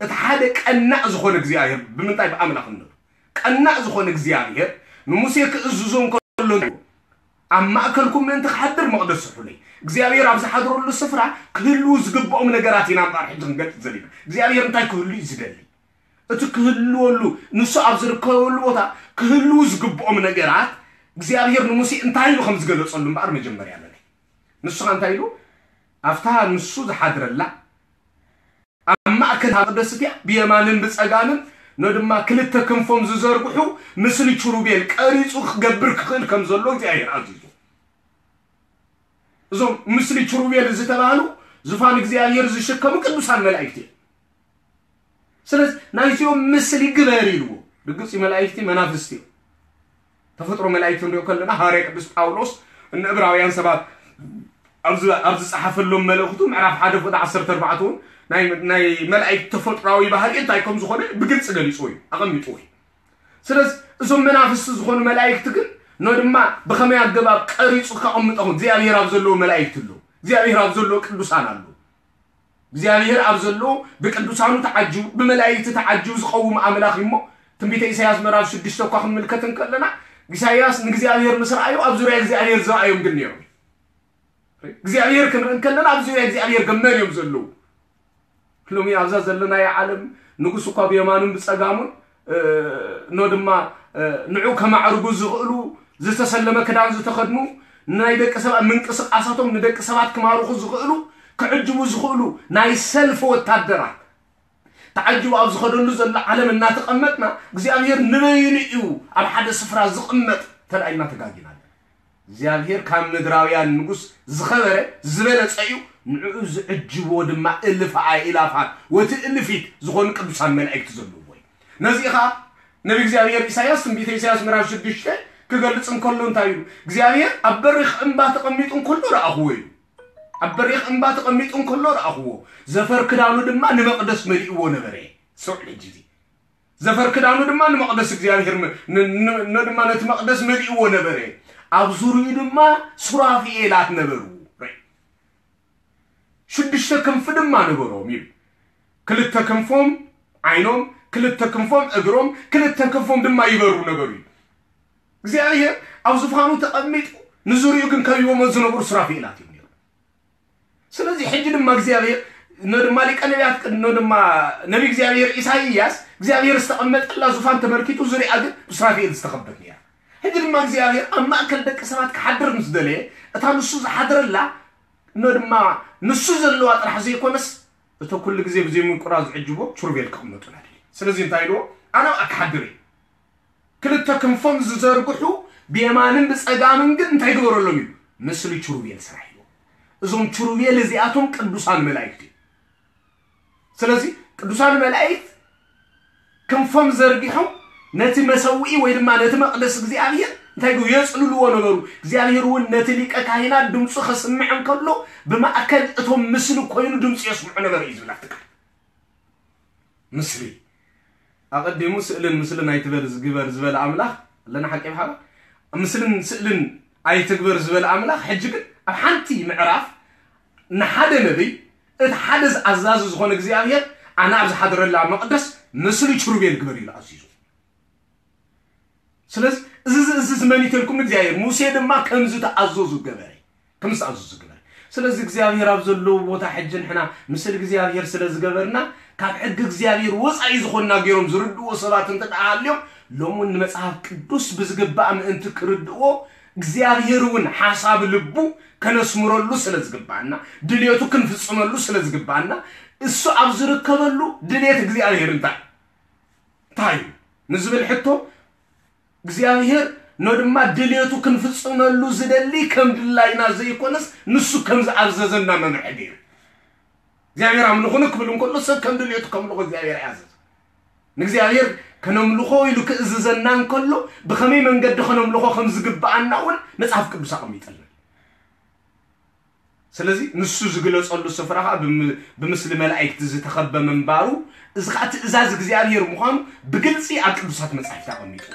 እቲ ሓደ ቀናእ ዝኾነ እግዚኣብሔር ብምንታይ ብኣምላኽነቱ ቀናእ ዝኾነ እግዚኣብሔር ንሙሴ ክእዝዞ እንከሎ፣ ኣብ ማእከልኩም ምእንቲ ክሓድር መቕደስ ስርሑለይ። እግዚኣብሔር ኣብ ዝሓድረሉ ስፍራ ክህልዉ ዝግብኦም ነገራት ኢና እምበኣር ሕጂ ክንገልጽ ዘለና። እግዚኣብሔር እንታይ ክህሉ እዩ ዝደሊ? እቲ ክህልወሉ፣ ንሱ ኣብ ዝርከበሉ ቦታ ክህልዉ ዝግብኦም ነገራት እግዚኣብሔር ንሙሴ እንታይ ኢሉ ከም ዝገለጸሉ እምበኣር መጀመርያ ንርኢ። ንሱ ኸ እንታይ ኢሉ? ኣብታ ንሱ ዝሓድረላ ኣብ ማእከል መቕደስ እቲኣ ብየማንን ብጸጋምን፣ ኖ ድማ ክልተ ክንፎም ዝዘርግሑ፣ ምስሊ ኪሩቤል ቀሪጹ ክገብር ክኽእል ከም ዘሎ እግዚኣብሔር ኣዚዙ። እዞም ምስሊ ኪሩቤል ዝተባህሉ ዙፋን እግዚኣብሔር ዝሽከሙ ቅዱሳን መላእክቲ እዮም። ስለዚ ናይዚኦም ምስሊ ግበር ኢልዎ። ርግጽ እዩ፣ መላእክቲ መናፍስቲ እዮም። ተፈጥሮ መላእክቲ ንሪኦ ከለና፣ ሃዋርያ ቅዱስ ጳውሎስ ንዕብራውያን ሰባት ኣብ ዝ-፣ ኣብ ዝጸሓፈሎም መልእኽቱ ምዕራፍ ሓደ ፍቕዲ ዓሰርተ ኣርባዕተ እውን ናይ፣ ናይ መላእክቲ ተፈጥሮኣዊ ባህሪ እንታይ ከም ዝኾነ ብግልጺ ገሊጽዎ እዩ፣ ኣቐሚጥዎ እዩ። ስለዚ እዞም መናፍስቲ ዝኾኑ መላእክቲ ግን፣ ኖ ድማ ብኸመይ ኣገባብ ቀሪጹ ከቐምጦም? እግዚኣብሔር ኣብ ዘለዎ መላእክቲ ኣለዉ፣ እግዚኣብሔር ኣብ ዘለዎ ቅዱሳን ኣለዉ። እግዚኣብሔር ኣብ ዘለዎ ብቅዱሳኑ ተዓጅቡ፣ ብመላእክቲ ተዓጅቡ ዝቐውም ኣምላኽ እዩ እሞ፣ ትንቢተ ኢሳያስ ምዕራፍ ሽዱሽተ እኳ ክንምልከት እንከለና፣ ኢሳያስ ንእግዚኣብሔር ምስ ረኣዩ ኣብ ዙርያ እግዚኣብሔር ዝረኣዮም ግን ነይሮም። እግዚኣብሔር ክንርኢ እንከለና ኣብ ዙርያ እግዚኣብሔር ግን መን እዮም ዘለዉ? ሎሚ ኣብዛ ዘለናዮ ዓለም ንጉስ እኳ ብየማኑን ብጸጋሙን፣ እ፣ ኖ ድማ፣ እ፣ ንዑ ከማዕርጉ ዝኽእሉ፣ ዝተሰለመ ክዳን ዝተኸድኑ፣ ናይ ደቂ ሰባት ምንቅስቃሳቶም ንደቂ ሰባት ክማርኹ ዝኽእሉ፣ ክዕጅቡ ዝኽእሉ ናይ ሰልፊ ወታደራት ተዓጅቡ ኣብ ዝኸደሉ ዘሎ ዓለም እናተቐመጥና፣ እግዚኣብሔር ንበይኑ እዩ ኣብ ሓደ ስፍራ ዝቕመጥ ተባኢልና ተጋጊና ኣለና። እግዚኣብሔር ካብ ምድራውያን ንጉስ ዝኸበረ ዝበለጸ እዩ፣ ንዕኡ ዝዕጅብዎ ድማ እልፍ ኣእላፋት ወትእልፊት ዝኾኑ ቅዱሳን መላእክቲ ዘለውዎ እዩ። ነዚ ኸኣ ነቢ እግዚኣብሔር ኢሳያስ ትንቢተ ኢሳያስ ምዕራፍ ሽዱሽተ ክገልጽ እንከሎ እንታይ ኢሉ? እግዚኣብሔር ኣብ በሪኽ እምባ ተቐሚጡ እንከሎ ረኣኽዎ ኢሉ። ኣብ በሪኽ እምባ ተቐሚጡ እንከሎ ረኣኽዎ። ዘፈር ክዳኑ ድማ ንመቕደስ መሊእዎ ነበረ። ስምዑ ሕጂ እዚ። ዘፈር ክዳኑ ድማ ንመቕደስ እግዚኣብሔር መ-፣ ን-፣ ን-፣ ን-፣ ድማ ነቲ መቕደስ መሊእዎ ነበረ። ኣብ ዙርዩ ድማ ሱራፊኤላት ነበሩ። ራይ። ሽዱሽተ ክንፊ ድማ ነበሮም እዩ። ክልተ ክንፎም ዓይኖም፣ ክልተ ክንፎም እግሮም፣ ክልተ ክንፎም ድማ ይበሩ ነበሩ እዩ። እግዚኣብሔር ኣብ ዙፋኑ ተቐሚጡ ንዙርዩ ግን ከቢቦሞ ዝነበሩ ሱራፊኤላት እዮም ነይሮም። ስለዚ ሕጂ ድማ እግዚኣብሔር፣ ኖ ድማ ሊቀ ነቢያት ቅድ-፣ ኖ ድማ ነቢ እግዚኣብሔር ኢሳይያስ እግዚኣብሔር ዝተቐመጠላ ዙፋን ተመልኪቱ ዙሪያ ግን ብሱራፊኤል ዝተኸበት ነይራ። ሕጂ ድማ እግዚኣብሔር ኣብ ማእከል ደቂ ሰባት ክሓድር ምስ ደለየ፣ እታ ንሱ ዝሓድረላ፣ ኖ ድማ ንሱ ዘለዋ ጥራሕ ዘይኮነስ፣ እቶ ኩሉ ግዜ ብዘይ ምንቁራ ዝዕጅቦ ኪሩቤል ክቕመጡና ደልዩ። ስለዚ እንታይ ኢልዎ? ኣነ ኣብኣ ክሓድር እየ። ክልተ ክንፎም ዝዘርግሑ ብየማንን ብጸጋምን ግን እንታይ ግበረሎም እዩ? ምስሊ ኪሩቤል ስራሕ እዩ። እዞም ኪሩቤል እዚኣቶም ቅዱሳን መላእክት እዩ። ስለዚ ቅዱሳን መላእክት ክንፎም ዘርጊሖም ነቲ መሰውኢ ወይ ድማ ነቲ መቕደስ እግዚኣብሔር እንታይ ግቡ? የጽልልዎ ነበሩ። እግዚኣብሔር እውን ነቲ ሊቀ ካህናት ድምፁ ከስምዕ እንከሎ ብማእከል እቶም ምስሊ ኮይኑ ድምፂ የስምዑ ነበረ እዩ ዝብል ኣብቲ ቃል። ምስሊ። ኣቐዲሙ ስእልን ምስልን ኣይትበል ዝግበር ዝበለ ኣምላኽ ኣለና ሓቂ ብሓባር። ምስልን ስእልን ኣይትግበር ዝበለ ኣምላኽ ሕጂ ግን ኣብ ሓንቲ ምዕራፍ ንሓደ ነቢይ እቲ ሓደ ኣዛዚ ዝኾነ እግዚኣብሔር ኣነ ኣብ ዝሓድረላ መቕደስ ምስሊ ኪሩቤል ግበር ኢሉ ኣዚዙ። ስለዚ እዚ፣ እዚ፣ እዚ መን እዩ ተልኩም እግዚኣብሔር? ሙሴ ድማ ከምዚ ተኣዘዙ ገበረ። ከምዚ ተኣዘዙ ገበረ። ስለዚ እግዚኣብሔር ኣብ ዘለዎ ቦታ ሕጂ ንሕና ምስል እግዚኣብሔር ስለ ዝገበርና ካብ ሕጊ እግዚኣብሔር ወፃኢ ዝኾንና ገይሮም ዝርድእዎ ሰባት እንተ ደኣ ሃልዮም ሎሚ እውን ንመጽሓፍ ቅዱስ ብዝግባእ ምእንቲ ክርድእዎ እግዚኣብሔር እውን ሓሳብ ልቡ ከነስምረሉ ስለ ዝግባኣና ድልየቱ ክንፍጽመሉ ስለ ዝግባኣና እሱ ኣብ ዝርከበሉ ድልየት እግዚኣብሔር እንታይ እንታይ እዩ ንዝብል ሕቶ እግዚኣብሔር ኖ ድማ ድልየቱ ክንፍጽመሉ ዝደሊ ከም ድላይና ዘይኮነስ ንሱ ከም ዝኣዘዘና መምርሒ ገይሩ እግዚኣብሔር ኣምልኹኒ ክብል እንከሎ ሰብ ከም ድልየቱ ከምልኾ እግዚኣብሔር ኣያዘዘ ንእግዚኣብሔር ከነምልኾ ኢሉ ክእዝዘና እንከሎ ብኸመይ መንገዲ ከነምልኾ ከም ዝግብኣና እውን መጽሓፍ ቅዱስ ኣቐሚጠልና ስለዚ ንሱ ዝግለጸሉ ስፍራ ኸዓ ብምስሊ መላእክቲ ዝተኸበ ምንባሩ እዚ ኸዓ ትእዛዝ እግዚኣብሔር ምዃኑ ብግልጺ ኣብ ቅዱሳት መጻሕፍቲ ኣቐሚጡ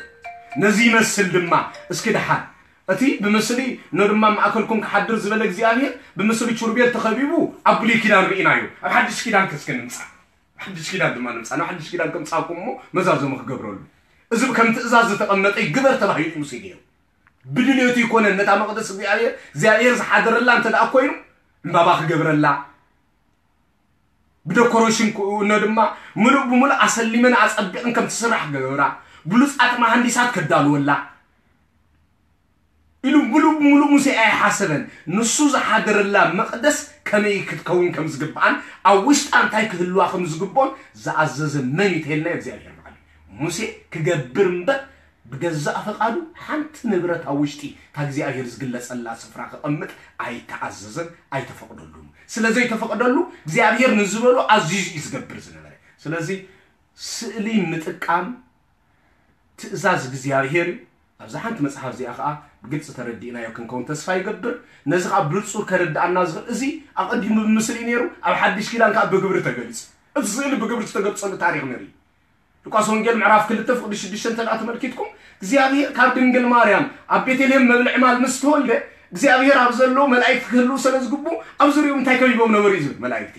ነዚ ይመስል ድማ እስኪ ደሓን እቲ ብምስሊ ኖ ድማ ማእከልኩም ክሓድር ዝበለ እግዚኣብሔር ብምስሊ ኪሩቤል ተኸቢቡ ኣብ ብሉይ ኪዳን ርኢናዮ ኣብ ሓድሽ ኪዳን ከስከ ንምጻእ ሓድሽ ኪዳን ድማ ንምጻእ ናብ ሓድሽ ኪዳን ከምጻእኩም እሞ መዛዘሙ ክገብረሉ እዚ ከም ትእዛዝ ዝተቐመጠ ግበር ተባሂሉ እዩ ሙሴ ገይሩ። ብድልዮቱ ይኮነን ነታ መቕደስ እግዚኣብሔር እግዚኣብሔር ዝሓደረላ እንተ ደኣ ኮይኑ ዕምባባ ክገብረላ ብደኮሬሽን ክእነ ድማ ምሉእ ብምሉእ ኣሰሊመን ኣጸቢቕን ከም ትስራሕ ክገብራ ብሉጻት መሃንዲሳት ከዳልወላ ኢሉ ምሉእ ብምሉእ ሙሴ ኣይሓሰበን። ንሱ ዝሓደረላ መቕደስ ከመይ ክትከውን ከም ዝግብኣን ኣብ ውሽጣ እንታይ ክህልዋ ከም ዝግብኦን ዝኣዘዘ መን እዩ ተልና እግዚኣብሔር በዓል ሙሴ ክገብር እምበር ብገዛእ ፈቓዱ ሓንቲ ንብረት ኣብ ውሽጢ ካብ እግዚኣብሔር ዝግለጸላ ስፍራ ክቐምጥ ኣይተኣዘዘን ኣይተፈቕደሉን። ስለ ዘይተፈቕደሉ እግዚኣብሔር ንዝበሎ ኣዚዙ እዩ ዝገብር ዝነበረ። ስለዚ ስእሊ ምጥቃም ትእዛዝ እግዚኣብሔር እዩ። ኣብዛ ሓንቲ መጽሓፍ እዚኣ ኸዓ ብግልፂ ተረዲእናዮ ክንከውን ተስፋ ይገብር። ነዚ ከዓ ብንጹር ከረድኣና ዝኽእል እዚ ኣቐዲሙ ብምስሊ እዩ ነይሩ፣ ኣብ ሓድሽ ኪዳን ከዓ ብግብሪ ተገሊጹ። እቲ ስእሊ ብግብሪ ዝተገልጸሉ ታሪኽ ንርኢ። ሉቃስ ወንጌል ምዕራፍ ክልተ ፍቕዲ ሽዱሽተ እንተ ደኣ ተመልኪትኩም እግዚኣብሔር ካብ ድንግል ማርያም ኣብ ቤተልሔም መብልዒ ማል ምስ ተወልደ እግዚኣብሔር ኣብ ዘለዉ መላእክቲ ክህልዉ ስለ ዝግብኡ ኣብ ዙሪኡ እንታይ ከቢቦም ነበሩ እዩ ዝብል መላእክቲ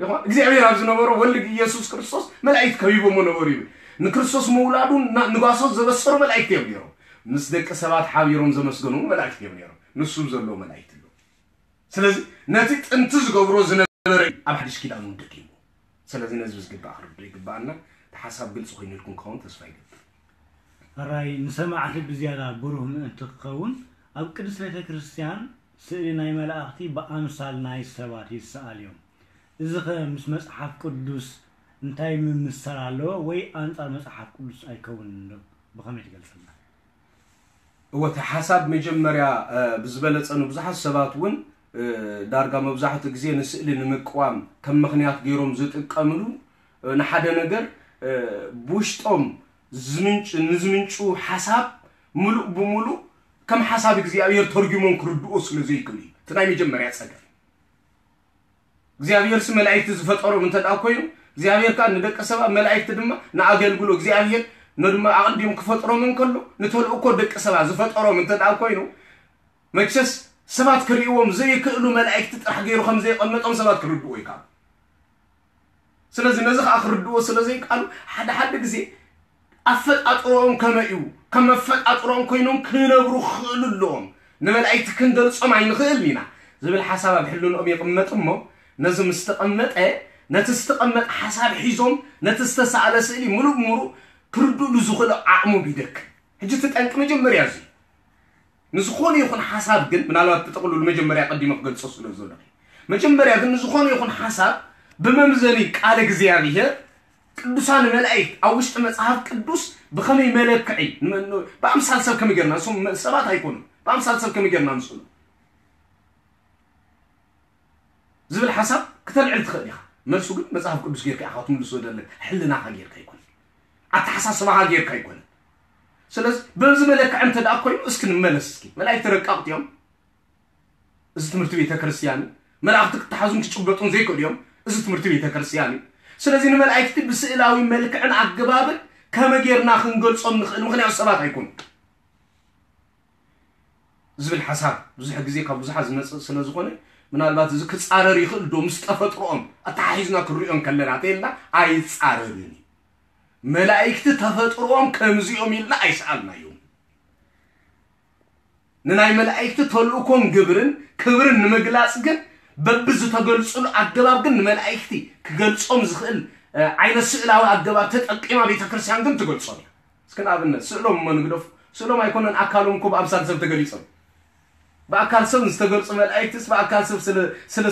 ይኾን እግዚኣብሔር ኣብ ዝነበሮ ወልድ ኢየሱስ ክርስቶስ መላእክት ከቢቦሞ ነበሩ ይብል። ንክርስቶስ ምውላዱ ንጓሶት ዘበሰሩ መላእክት እዮም ነይሮም። ምስ ደቂ ሰባት ሓቢሮም ዘመስገኑ እውን መላእክት እዮም ነይሮም። ንሱ ዘለዎ መላእክት ኣሎ። ስለዚ ነቲ ጥንቲ ዝገብሮ ዝነበረ ኣብ ሓድሽ ኪዳን እውን ደጊሙ። ስለዚ ነዚ ዝግባእ ክርዶ ይግባኣና። እቲ ሓሳብ ግልፂ ኮይኑልኩም ክኸውን ተስፋ ይገብር። ሕራይ ንሰማዕቲ ብዝያዳ ብሩህ ምእንቲ ክኸውን ኣብ ቅድስት ቤተ ክርስቲያን ስእሊ ናይ መላእኽቲ ብኣምሳል ናይ ሰባት ይሰኣል እዮም። እዚኸ ምስ መጽሓፍ ቅዱስ እንታይ ምምስሳል ኣለዎ ወይ ኣንጻር መጽሓፍ ቅዱስ ኣይከውንን ዶ? ብኸመይ ትገልጸልና? እወ እቲ ሓሳብ መጀመርያ ብዝበለጸ ንብዙሓት ሰባት እውን ዳርጋ መብዛሕትኡ ግዜ ንስእሊ ንምቅዋም ከም ምኽንያት ገይሮም ዝጥቀምሉ ንሓደ ነገር ብውሽጦም ዝምንጭ ንዝምንጩ ሓሳብ ምሉእ ብምሉእ ከም ሓሳብ እግዚኣብሔር ተርጉሞም ክርድኦ ስለ ዘይክእሉ እዩ እቲ ናይ መጀመርያ ጸገም። እግዚኣብሔርሲ መላእክቲ ዝፈጠሮም እንተ ደኣ ኮይኑ እግዚኣብሔር ከዓ ንደቂ ሰባት መላእክቲ ድማ ንኣገልግሎ እግዚኣብሔር ነድማ ኣቐዲሙ ክፈጥሮም እንከሎ ንተልእኮ ደቂ ሰባት ዝፈጠሮም እንተ ደኣ ኮይኑ መቸስ ሰባት ክርእይዎም ዘይክእሉ መላእክቲ ጥራሕ ገይሩ ከም ዘየቐመጦም ሰባት ክርድዎ ይከኣሉ። ስለዚ ነዚ ከዓ ክርድዎ ስለ ዘይከኣሉ ሓደ ሓደ ግዜ ኣፈጣጥሮኦም ከመይ እዩ ከም መፈጣጥሮኦም ኮይኖም ክነብሩ ክኽእሉ ኣለዎም። ንመላእክቲ ክንገልጾም ኣይንኽእልን ኢና ዝብል ሓሳብ ኣብ ሕልንኦም ይቕመጥ እሞ ነዚ ምስ ተቐመጠ ነቲ ዝተቐመጠ ሓሳብ ሒዞም ነቲ ዝተሳእለ ስእሊ ምሉእ ብምሉእ ክርድእሉ ዝኽእሉ ዓቕሞም ይደክም። ሕጂ እቲ ጠንቂ መጀመርያ እዚ እዩ። ንዝኾነ ይኹን ሓሳብ ግን ምናልባት ብጥቕሉል መጀመርያ ቀዲመ ክገልጾ ስለ ዝደለኹ መጀመርያ ግን ንዝኾነ ይኹን ሓሳብ ብመምዘኒ ቃል እግዚኣብሔር ቅዱሳን መላእክት ኣብ ውሽጢ መጽሓፍ ቅዱስ ብኸመይ መለክዒ ብኣምሳል ሰብ ከመይ ጌርና ንሶም ሰባት ኣይኮኑን ብኣምሳል ሰብ ከመይ ጌርና ንስእሉ ዝብል ሓሳብ ክተልዕል ትኽእል ኢኻ። መልሱ ግን መጽሓፍ ቅዱስ ጌርካ ኢኻ ክትምልሶ ዘለካ፣ ሕልናኻ ጌርካ ኣይኮነን፣ ኣተሓሳስባኻ ጌርካ ኣይኮነን። ስለዚ በዚ መለክዒ እንተ ደኣ ኮይኑ እስኪ ንመለስ እስኪ። መላእክቲ ረቀቕቲ እዮም። እዚ ትምህርቲ ቤተ ክርስቲያን እዩ። መላእኽቲ ክተሓዙን ክጭበጡን ዘይክእሉ እዮም። እዚ ትምህርቲ ቤተ ክርስቲያን እዩ። ስለዚ ንመላእክቲ ብስእላዊ መልክዕን ኣገባብን ከመ ጌርና ክንገልጾም ንኽእል፣ ምኽንያቱ ሰባት ኣይኮኑን። ዝብል ሓሳብ ብዙሕ ግዜ ካብ ብዙሓት ዝመፅእ ስለ ዝኾነ ምናልባት እዚ ክፃረር ይኽእል ዶ ምስ ተፈጥሮኦም ኣተሓሒዝና ክንሪኦ እንከለና ተይልና ኣይፃረርን እዩ። መላእክቲ ተፈጥሮኦም ከምዚኦም ኢልና ኣይሰኣልናዮም። ንናይ መላእክቲ ተልእኮን ግብርን ክብርን ንምግላፅ ግን በብዝተገልፅሉ ኣገባብ ግን ንመላእክቲ ክገልፆም ዝኽእል ዓይነት ስእላዊ ኣገባብ ተጠቂማ ቤተክርስቲያን ግን ትገልፆም እያ። እስኪ ንኣብነት ስእሎም እሞ ንግደፉ። ስእሎም ኣይኮነን ኣካሎም እኮ ብኣምሳል ሰብ ተገሊፆም። ብኣካል ሰብ ዝተገልፁ መላእክትስ ብኣካል ሰብ ስለ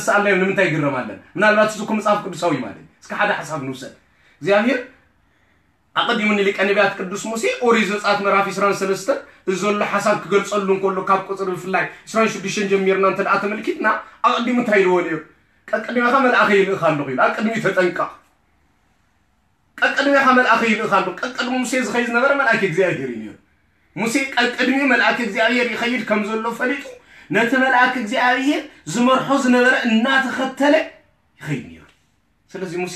ዝሰኣልናዮም ንምንታይ ይግረም ኣለን? ምናልባት እዚ እኮ መፅሓፍ ቅዱሳዊ ማለት እዩ። እስኪ ሓደ ሓሳብ ንውሰድ። እግዚኣብሔር ኣቐዲሙ ንሊቀ ነቢያት ቅዱስ ሙሴ ኦሪት ዘፀኣት ምዕራፍ ዕስራን ሰለስተን እዚ ዘሎ ሓሳብ ክገልፀሉ እንከሎ ካብ ቁፅሪ ብፍላይ ዕስራን ሽዱሽተን ጀሚርና እንተ ደኣ ተመልኪትና ኣቐዲሙ እንታይ ኢልዎ ነይሩ? ቀቅድሜኻ መልኣኸ ይልእኽ ኣለኹ ኢሉ። ኣብ ቅድሚኡ ተጠንቀቕ። ቀቅድሜኻ መልኣኸ ይልእኽ ኣሎ። ቀቅድሚ ሙሴ ዝኸይድ ዝነበረ መልኣክ እግዚኣብሔር እዩ ነይሩ። ሙሴ ቀቅድሚኡ መልኣክ እግዚኣብሔር ይኸይድ ከም ዘሎ ፈሊጡ ነቲ መልኣክ እግዚኣብሔር ዝመርሖ ዝነበረ እናተኸተለ ይኸይድ ነይሩ። ስለዚ ሙሴ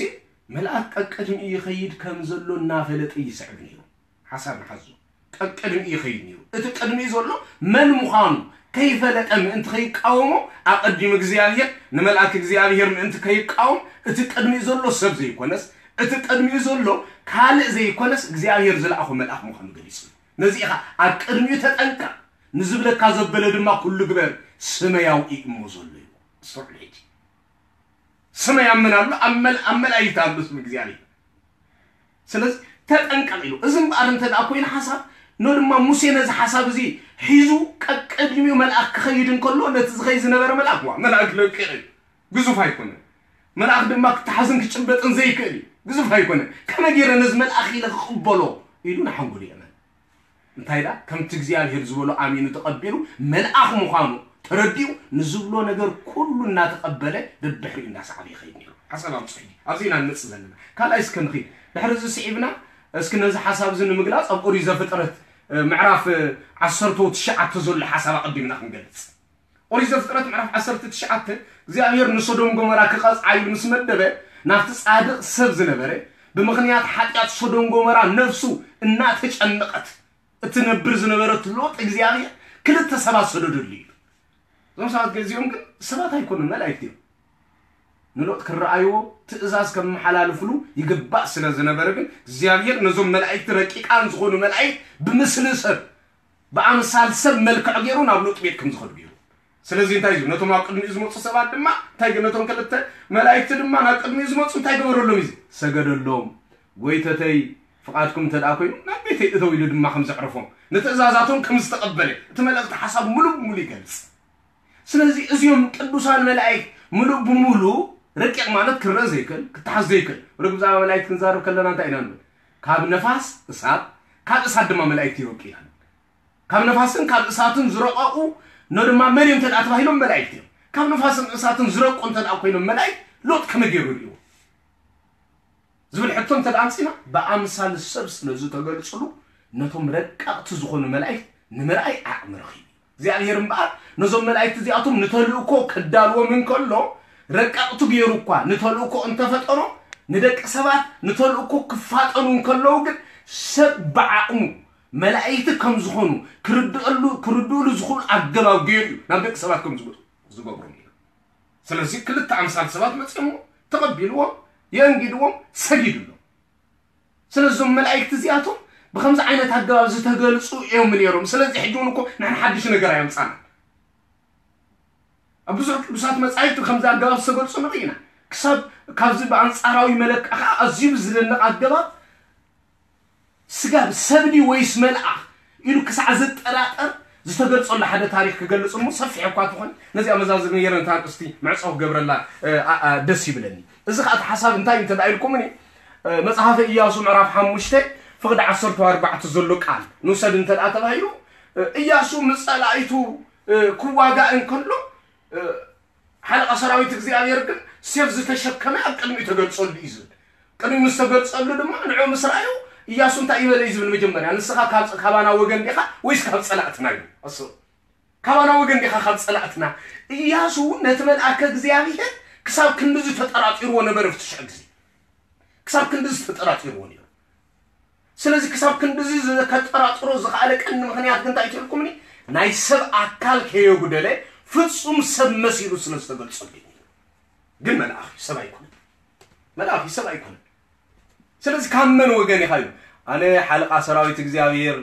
መልኣክ ቀቅድሚኡ ይኸይድ ከም ዘሎ እናፈለጠ ይስዕብ ነይሩ። ሓሳብ ንሓዞ። ቀቅድሚኡ ይኸይድ ነይሩ። እቲ ቅድሚኡ ዘሎ መን ምዃኑ ከይፈለጠ ምእንቲ ከይቃወሞ ኣቐዲሙ እግዚኣብሔር ንመልኣክ እግዚኣብሔር ምእንቲ ከይቃወም እቲ ቅድሚኡ ዘሎ ሰብ ዘይኮነስ እቲ ቅድሚኡ ዘሎ ካልእ ዘይኮነስ እግዚኣብሔር ዝለኣኾ መልኣኽ ምዃኑ ገሊጹ። ነዚ ኢኻ ኣብ ቅድሚኡ ተጠንቀቕ፣ ንዝብለካ ዘበለ ድማ ኩሉ ግበር፣ ስመይ ኣብኡ እሞ ዘሎ እዩ። ኣስተውዕሉ ሕጂ። ስመይ ኣብ መን ኣሎ? ኣብ መል-፣ ኣብ መላእክት ኣሎ ስም እግዚኣብሔር። ስለዚ ተጠንቀቕ ኢሉ። እዚ እምበኣር እንተ ደኣ ኮይኑ ሓሳብ፣ ኖ ድማ ሙሴ ነዚ ሓሳብ እዚ ሒዙ ቀቅድሚኡ መልኣክ ክኸይድ እንከሎ፣ ነቲ ዝኸይድ ዝነበረ መልኣክ፣ ዋ፣ መልኣክ ለቂቕ እዩ። ግዙፍ ኣይኮነን። መልኣክ ድማ ክተሓዝን ክጭበጥን ዘይክእል እዩ። ግዙፍ ኣይኮነን። ከመይ ገይረ ነዚ መልኣክ ኢለ ክቕበሎ? ኢሉ ንሓንጎሉ የእመን። እንታይ ደኣ? ከምቲ እግዚኣብሔር ዝበሎ ኣሚኑ ተቐቢሉ፣ መልኣኽ ምዃኑ ተረዲኡ፣ ንዝብሎ ነገር ኩሉ እናተቐበለ፣ በብድሕሪኡ እንዳሰዓበ ይኸይድ ነይሩ። ሓሳብ ኣምጽሑ። ኣብዚ ኢና ንመጽእ ዘለና። ካልኣይ እስከ ንኺድ። ድሕሪ እዚ ስዒብና፣ እስኪ ነዚ ሓሳብ እዚ ንምግላጽ፣ ኣብ ኦሪት ዘፍጥረት፣ እ፣ ምዕራፍ፣ እ፣ ዓሰርተ ትሽዓተ ዘሎ ሓሳብ ኣቐዲምና ክንገልጽ። ኦሪት ዘፍጥረት ምዕራፍ ዓሰርተ ትሽዓተ፣ እግዚኣብሔር ንሶዶም ጎመራ ክቐጽዓ ኢሉ ምስ መደበ፣ ናብቲ ጻድቕ ሰብ ዝነበረ፣ ብምኽንያት ሓጢኣት ሶዶም ጎመራ ነፍሱ እናተጨነቐት እትነብር ዝነበረት ሎጥ እግዚኣብሔር ክልተ ሰባት ሰደደሉ እዩ። እዞም ሰባት ገዚኦም ግን ሰባት ኣይኮኑን፣ መላእክት እዮም። ንሎጥ ክረኣይዎ ትእዛዝ ከመሓላልፍሉ ይግባእ ስለ ዝነበረ ግን እግዚኣብሔር ነዞም መላእክቲ ረቂቃን ዝኾኑ መላእክት ብምስሊ ሰብ ብኣምሳል ሰብ መልክዕ ገይሩ ናብ ሎጥ ቤት ከም ዝኸዱ ገይሩ። ስለዚ እንታይ እዩ? ነቶም ኣብ ቅድሚኡ ዝመፁ ሰባት ድማ እንታይ ገ-፣ ነቶም ክልተ መላእክቲ ድማ ናብ ቅድሚኡ ዝመፁ እንታይ ገበረሎም እዩ? ሰገደሎም። ጎይተተይ ፍቓድኩም እንተ ደኣ ኮይኑ ናብ ቤተይ እተው ኢሉ ድማ ከም ዘዕረፎም ንትእዛዛቶም ከም ዝተቐበለ እቲ መልእኽቲ ሓሳብ ሙሉእ ብሙሉእ ይገልጽ። ስለዚ እዚኦም ቅዱሳን መላእክት ሙሉእ ብሙሉእ ረቂቕ ማለት ክረአ ዘይክእል፣ ክተሓዝ ዘይክእል። ወደ ብዛዕባ መላእክት ክንዛረብ ከለና እንታይ ኢና ንብል? ካብ ነፋስ እሳት፣ ካብ እሳት ድማ መላእክት ይረቁ ኢና ንብል። ካብ ነፋስን ካብ እሳትን ዝረቐቑ ኖ ድማ መን እዮም እንተ ደኣ ተባሂሎም መላእክት እዮም። ካብ ነፋስን እሳትን ዝረቁ እንተ ደኣ ኮይኖም መላእክት ሎጥ ከመይ ገይሩ ርእይዎ? ዝብል ሕቶ እንተ ደኣ ኣምጺና፣ ብኣምሳል ሰብ ስለ ዝተገልጽሉ፣ ነቶም ረቀቕቲ ዝኾኑ መላእክት ንምርኣይ ዓቕሚ ረኺቡ። እግዚኣብሔር እምበኣር፣ ነዞም መላእክት እዚኣቶም ንተልእኮ ከዳልዎም እንከሎ፣ ረቀቕቲ ገይሩ እኳ ንተልእኮ እንተፈጠሮም፣ ንደቂ ሰባት ንተልእኮ ክፋጠኑ እንከለዉ ግን፣ ሰብ ብዓቕሙ መላእክቲ ከም ዝኾኑ ክርድእሉ-፣ ክርድእሉ ዝኽእሉ ኣገባብ ገይሩ እዩ ናብ ደቂ ሰባት ከም ዝመጹ ዝገብሮም እዩ። ስለዚ ክልተ ኣምሳል ሰባት መጺኦሞ ተቐቢልዎም፣ የእንጊድዎም፣ ሰጊድሎም። ስለዚ እዞም መላእክቲ እዚኣቶም ብኸምዚ ዓይነት ኣገባብ ዝተገልጹ እዮም ነይሮም። ስለዚ ሕጂ እውን እኮ ንሕና ሓድሽ ነገር ኣየምጻና። ኣብ ብዙሕ ቅዱሳት መጻሕፍቲ ብኸምዚ ኣገባብ ዝተገልጹ ንርኢ ኢና። ክሳብ ካብዚ ብኣንጻራዊ መለክዓ ኸዓ ኣዝዩ ብዝደንቕ ኣገባብ ስጋብ ሰብ ድዩ ወይስ መልኣኽ ኢሉ ክሳዕ ዝጠራጠር ዝተገልጸሉ ሓደ ታሪኽ ክገልጽ እሞ ሰፊሕ እኳ ትኾን፣ ነዚኣ መዛዘሚ ገይረ ነታ ኣርእስቲ ምዕጻው ክገብረላ፣ እ፣ ኣ-፣ ኣ-፣ ደስ ይብለኒ። እዚ ኸኣ እቲ ሓሳብ እንታይ እዩ እንተ ደኣ ኢልኩምኒ፣ እ፣ መጽሓፈ ኢያሱ ምዕራፍ ሓሙሽተ ፍቕዲ ዓሰርተ ኣርባዕተ ዘሎ ቃል ንውሰድ እንተ ደኣ ተባሂሉ፣ እ፣ ኢያሱ ምስ ጸላኢቱ፣ እ፣ ክዋጋእ እንከሎ፣ እ፣ ሓለቓ ሰራዊት እግዚኣብሔር ግን ሴፍ ዝተሸከመ ኣብ ቅድሚኡ ተገልጸሉ እዩ ዝብል። ቅድሚኡ ምስ ተገልጸሉ ድማ ንዕኡ ምስ ረኣዩ፣ ኢያሱ እንታይ ይበለ እዩ ዝብል መጀመርያ? "ንስኻ ካብ፣ ካባና ወገን ዲኻ ወይስ ካብ ጸላእትና?" እዩ። ኣስብ፣ ካባና ወገን ዲኻ ካብ ጸላእትና? ኢያሱ ነቲ መልኣከ እግዚኣብሔር ክሳብ ክንድዚ ተጠራጢርዎ ነበረ፣ ኣብቲ ሽዑ ግዜ ክሳብ ክንድዚ ተጠራጢርዎ ነይሩ። ስለዚ ክሳብ ክንድዚ ዝ-፣ ከጠራጥሮ ዝኸኣለ ቀንዲ ምኽንያት ግን እንታይ ትብልኩምኒ? ናይ ሰብ ኣካል ከየጉደለ ፍጹም ሰብ መሲሉ ስለ ዝተገልጸሉ እዩ። ግን መልኣኽ እዩ፣ ሰብ ኣይኮነን። መልኣኽ እዩ፣ ሰብ ኣይኮነን። ስለዚ ካብ መን ወገን ኢኻ እዩ? ኣነ ሓለቓ ሰራዊት እግዚኣብሔር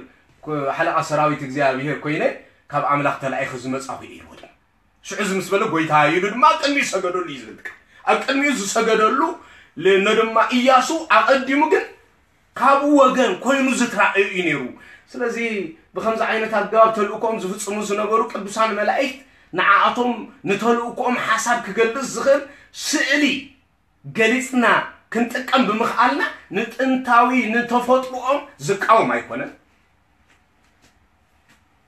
ኮ-፣ ሓለቓ ሰራዊት እግዚኣብሔር ኮይነ ካብ ኣምላኽ ተላኢኹ ዝመጻኹ እየ ኢልዎ ድማ። ሽዑ እዚ ምስ በለ፣ "ጎይታ" ኢሉ ድማ ኣብ ቅድሚኡ ሰገደሉ እዩ ዝብል ቃል። ኣብ ቅድሚኡ ዝሰገደሉ ል-፣ ኖ ድማ ኢያሱ ኣቐዲሙ ግን ካብኡ ወገን ኮይኑ ዝተራእዩ እዩ ነይሩ። ስለዚ ብኸምዚ ዓይነት ኣገባብ ተልእኮኦም ዝፍጽሙ ዝነበሩ ቅዱሳን መላእክት ንዓኣቶም ንተልእኮኦም ሓሳብ ክገልጽ ዝኽእል ስእሊ ገሊጽና ክንጥቀም ብምኽኣልና ንጥንታዊ ንተፈጥሮኦም ዝቃወም ኣይኮነን።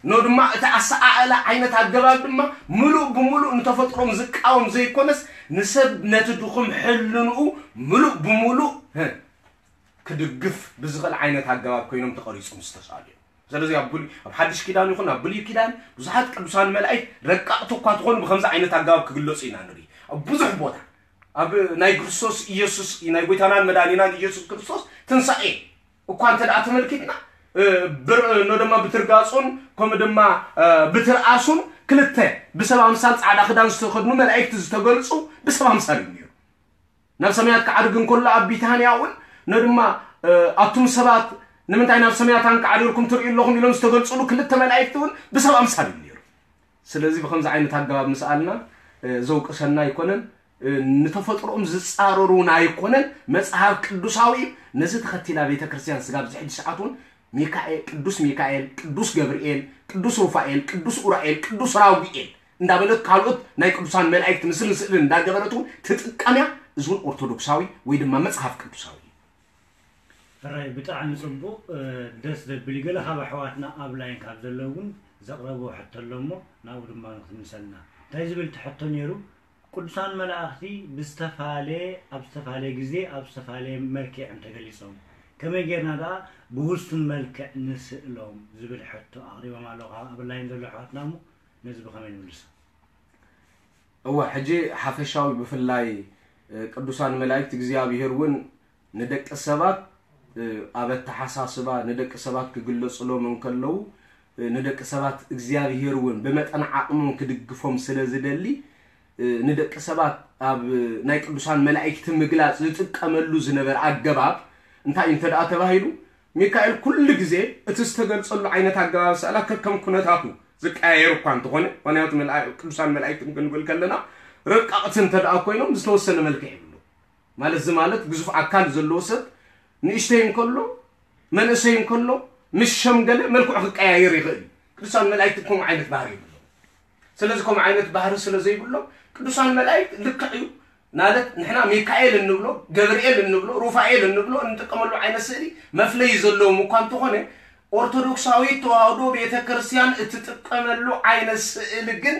ኖ ድማ እቲ ኣሰኣእላ ዓይነት ኣገባብ ድማ ምሉእ ብምሉእ ንተፈጥሮም ዝቃወም ዘይኮነስ ንሰብ ነቲ ድኹም ሕልንኡ ምሉእ ብምሉእ፣ ህ፣ ክድግፍ ብዝኽእል ዓይነት ኣገባብ ኮይኖም ተቐሪጾም ዝተሳእሉ እዮም። ስለዚ ኣብ ብሉይ፣ ኣብ ሓድሽ ኪዳን ይኹን ኣብ ብሉይ ኪዳን ብዙሓት ቅዱሳን መላእክት ረቀቕቲ እኳ ትኾኑ ብኸምዚ ዓይነት ኣገባብ ክግለጹ ኢና ንርኢ። ኣብ ብዙሕ ቦታ ኣብ ናይ ክርስቶስ ኢየሱስ፣ ናይ ጎይታናን መድኃኒናን ኢየሱስ ክርስቶስ ትንሳኤ እኳ እንተ ደኣ ተመልኪትና፣ እ፣ ብር-፣ ኖ ድማ ብትርጋጹን ከምኡ ድማ፣ እ፣ ብትርኣሱን ክልተ ብሰብ ኣምሳል ጻዕዳ ክዳን ዝተኸድኑ መላእክቲ ዝተገልጹ ብሰብ ኣምሳል እዩ ነይሩ። ናብ ሰማያት ክዓርግ እንከሎ ኣብ ቢታንያ እውን ነድማ ኣቱም ሰባት ንምንታይ ናብ ሰማያት ኣንቃዕሪርኩም ትርእዩ ኣለኹም ኢሎም ዝተገልጹሉ ክልተ መላእክቲ እውን ብሰብ ኣምሳል እዩ ነይሩ። ስለዚ ብከምዚ ዓይነት ኣገባብ ምስኣልና ዘውቅሰና ኣይኮነን፣ ንተፈጥሮኦም ዝጻረሩ እውን ኣይኮነን። መጽሓፍ ቅዱሳዊ እዩ። ነዚ ተኸቲላ ቤተ ክርስቲያን ስጋብ ዝሕጂ ሰዓት እውን ሚካኤል፣ ቅዱስ ሚካኤል፣ ቅዱስ ገብርኤል፣ ቅዱስ ሩፋኤል፣ ቅዱስ ኡራኤል፣ ቅዱስ ራጉኤል እንዳበለት ካልኦት ናይ ቅዱሳን መላእክት ምስልን ስእልን እንዳገበረት እውን ትጥቀምያ። እዚ እውን ኦርቶዶክሳዊ ወይ ድማ መጽሓፍ ቅዱሳዊ እዩ። ሕራይ ብጣዕሚ ፅቡቕ። ደስ ዘብል እዩ። ገለ ካብ ኣሕዋትና ኣብ ላይን ካብ ዘለዉ እውን ዘቕረብዎ ሕቶ ኣሎ እሞ ናብኡ ድማ ንክትምልሰልና። እንታይ ዝብል እቲ ሕቶ ነይሩ? ቅዱሳን መላእኽቲ ብዝተፋለየ ኣብ ዝተፋለየ ግዜ ኣብ ዝተፋለየ መልክዕ እዮም ተገሊጾም። ከመይ ጌርና ደኣ ብውሱን መልክዕ ንስእሎም ዝብል ሕቶ ኣቕሪቦም ኣለዉ ካብ ኣብ ላይን ዘለዉ ኣሕዋትና እሞ ነዚ ብኸመይ ንምልሶ? እወ ሕጂ ሓፈሻዊ ብፍላይ ቅዱሳን መላእክት እግዚኣብሔር እውን ንደቂ ሰባት ኣብ ኣተሓሳስባ ንደቂ ሰባት ክግለፅሎም እንከለዉ ንደቂ ሰባት እግዚኣብሔር እውን ብመጠን ዓቕሞም ክድግፎም ስለ ዝደሊ ንደቂ ሰባት ኣብ ናይ ቅዱሳን መላእክቲ ምግላፅ ዝጥቀመሉ ዝነበረ ኣገባብ እንታይ እዩ እንተ ደኣ ተባሂሉ ሚካኤል ኩሉ ግዜ እቲ ዝተገልፀሉ ዓይነት ኣገባብ ስእላ ከከም ኩነታቱ ዝቀያየር እኳ እንተኾነ ምክንያቱ ቅዱሳን መላእክቲ ክንብል ከለና ረቃቕቲ እንተ ደኣ ኮይኖም ዝተወሰነ መልክዕ ይብሉ ማለት እዚ ማለት ግዙፍ ኣካል ዘለዎ ሰብ ንእሽተይ እንከሎ መንእሰይ እንከሎ ምስ ሸምገለ መልክዑ ክቀያየር ይኽእል እዩ። ቅዱሳን መላእክቲ ከምኡ ዓይነት ባህሪ ይብሉ። ስለዚ ከምኡ ዓይነት ባህሪ ስለ ዘይብሎም ቅዱሳን መላእክት ልክዕ እዩ ማለት ንሕና ሚካኤል እንብሎ ገብርኤል እንብሎ ሩፋኤል እንብሎ እንጥቀመሉ ዓይነት ስእሊ መፍለይ ዘለዎም እኳ እንተኾነ ኦርቶዶክሳዊት ተዋህዶ ቤተ ክርስቲያን እትጥቀመሉ ዓይነት ስእሊ ግን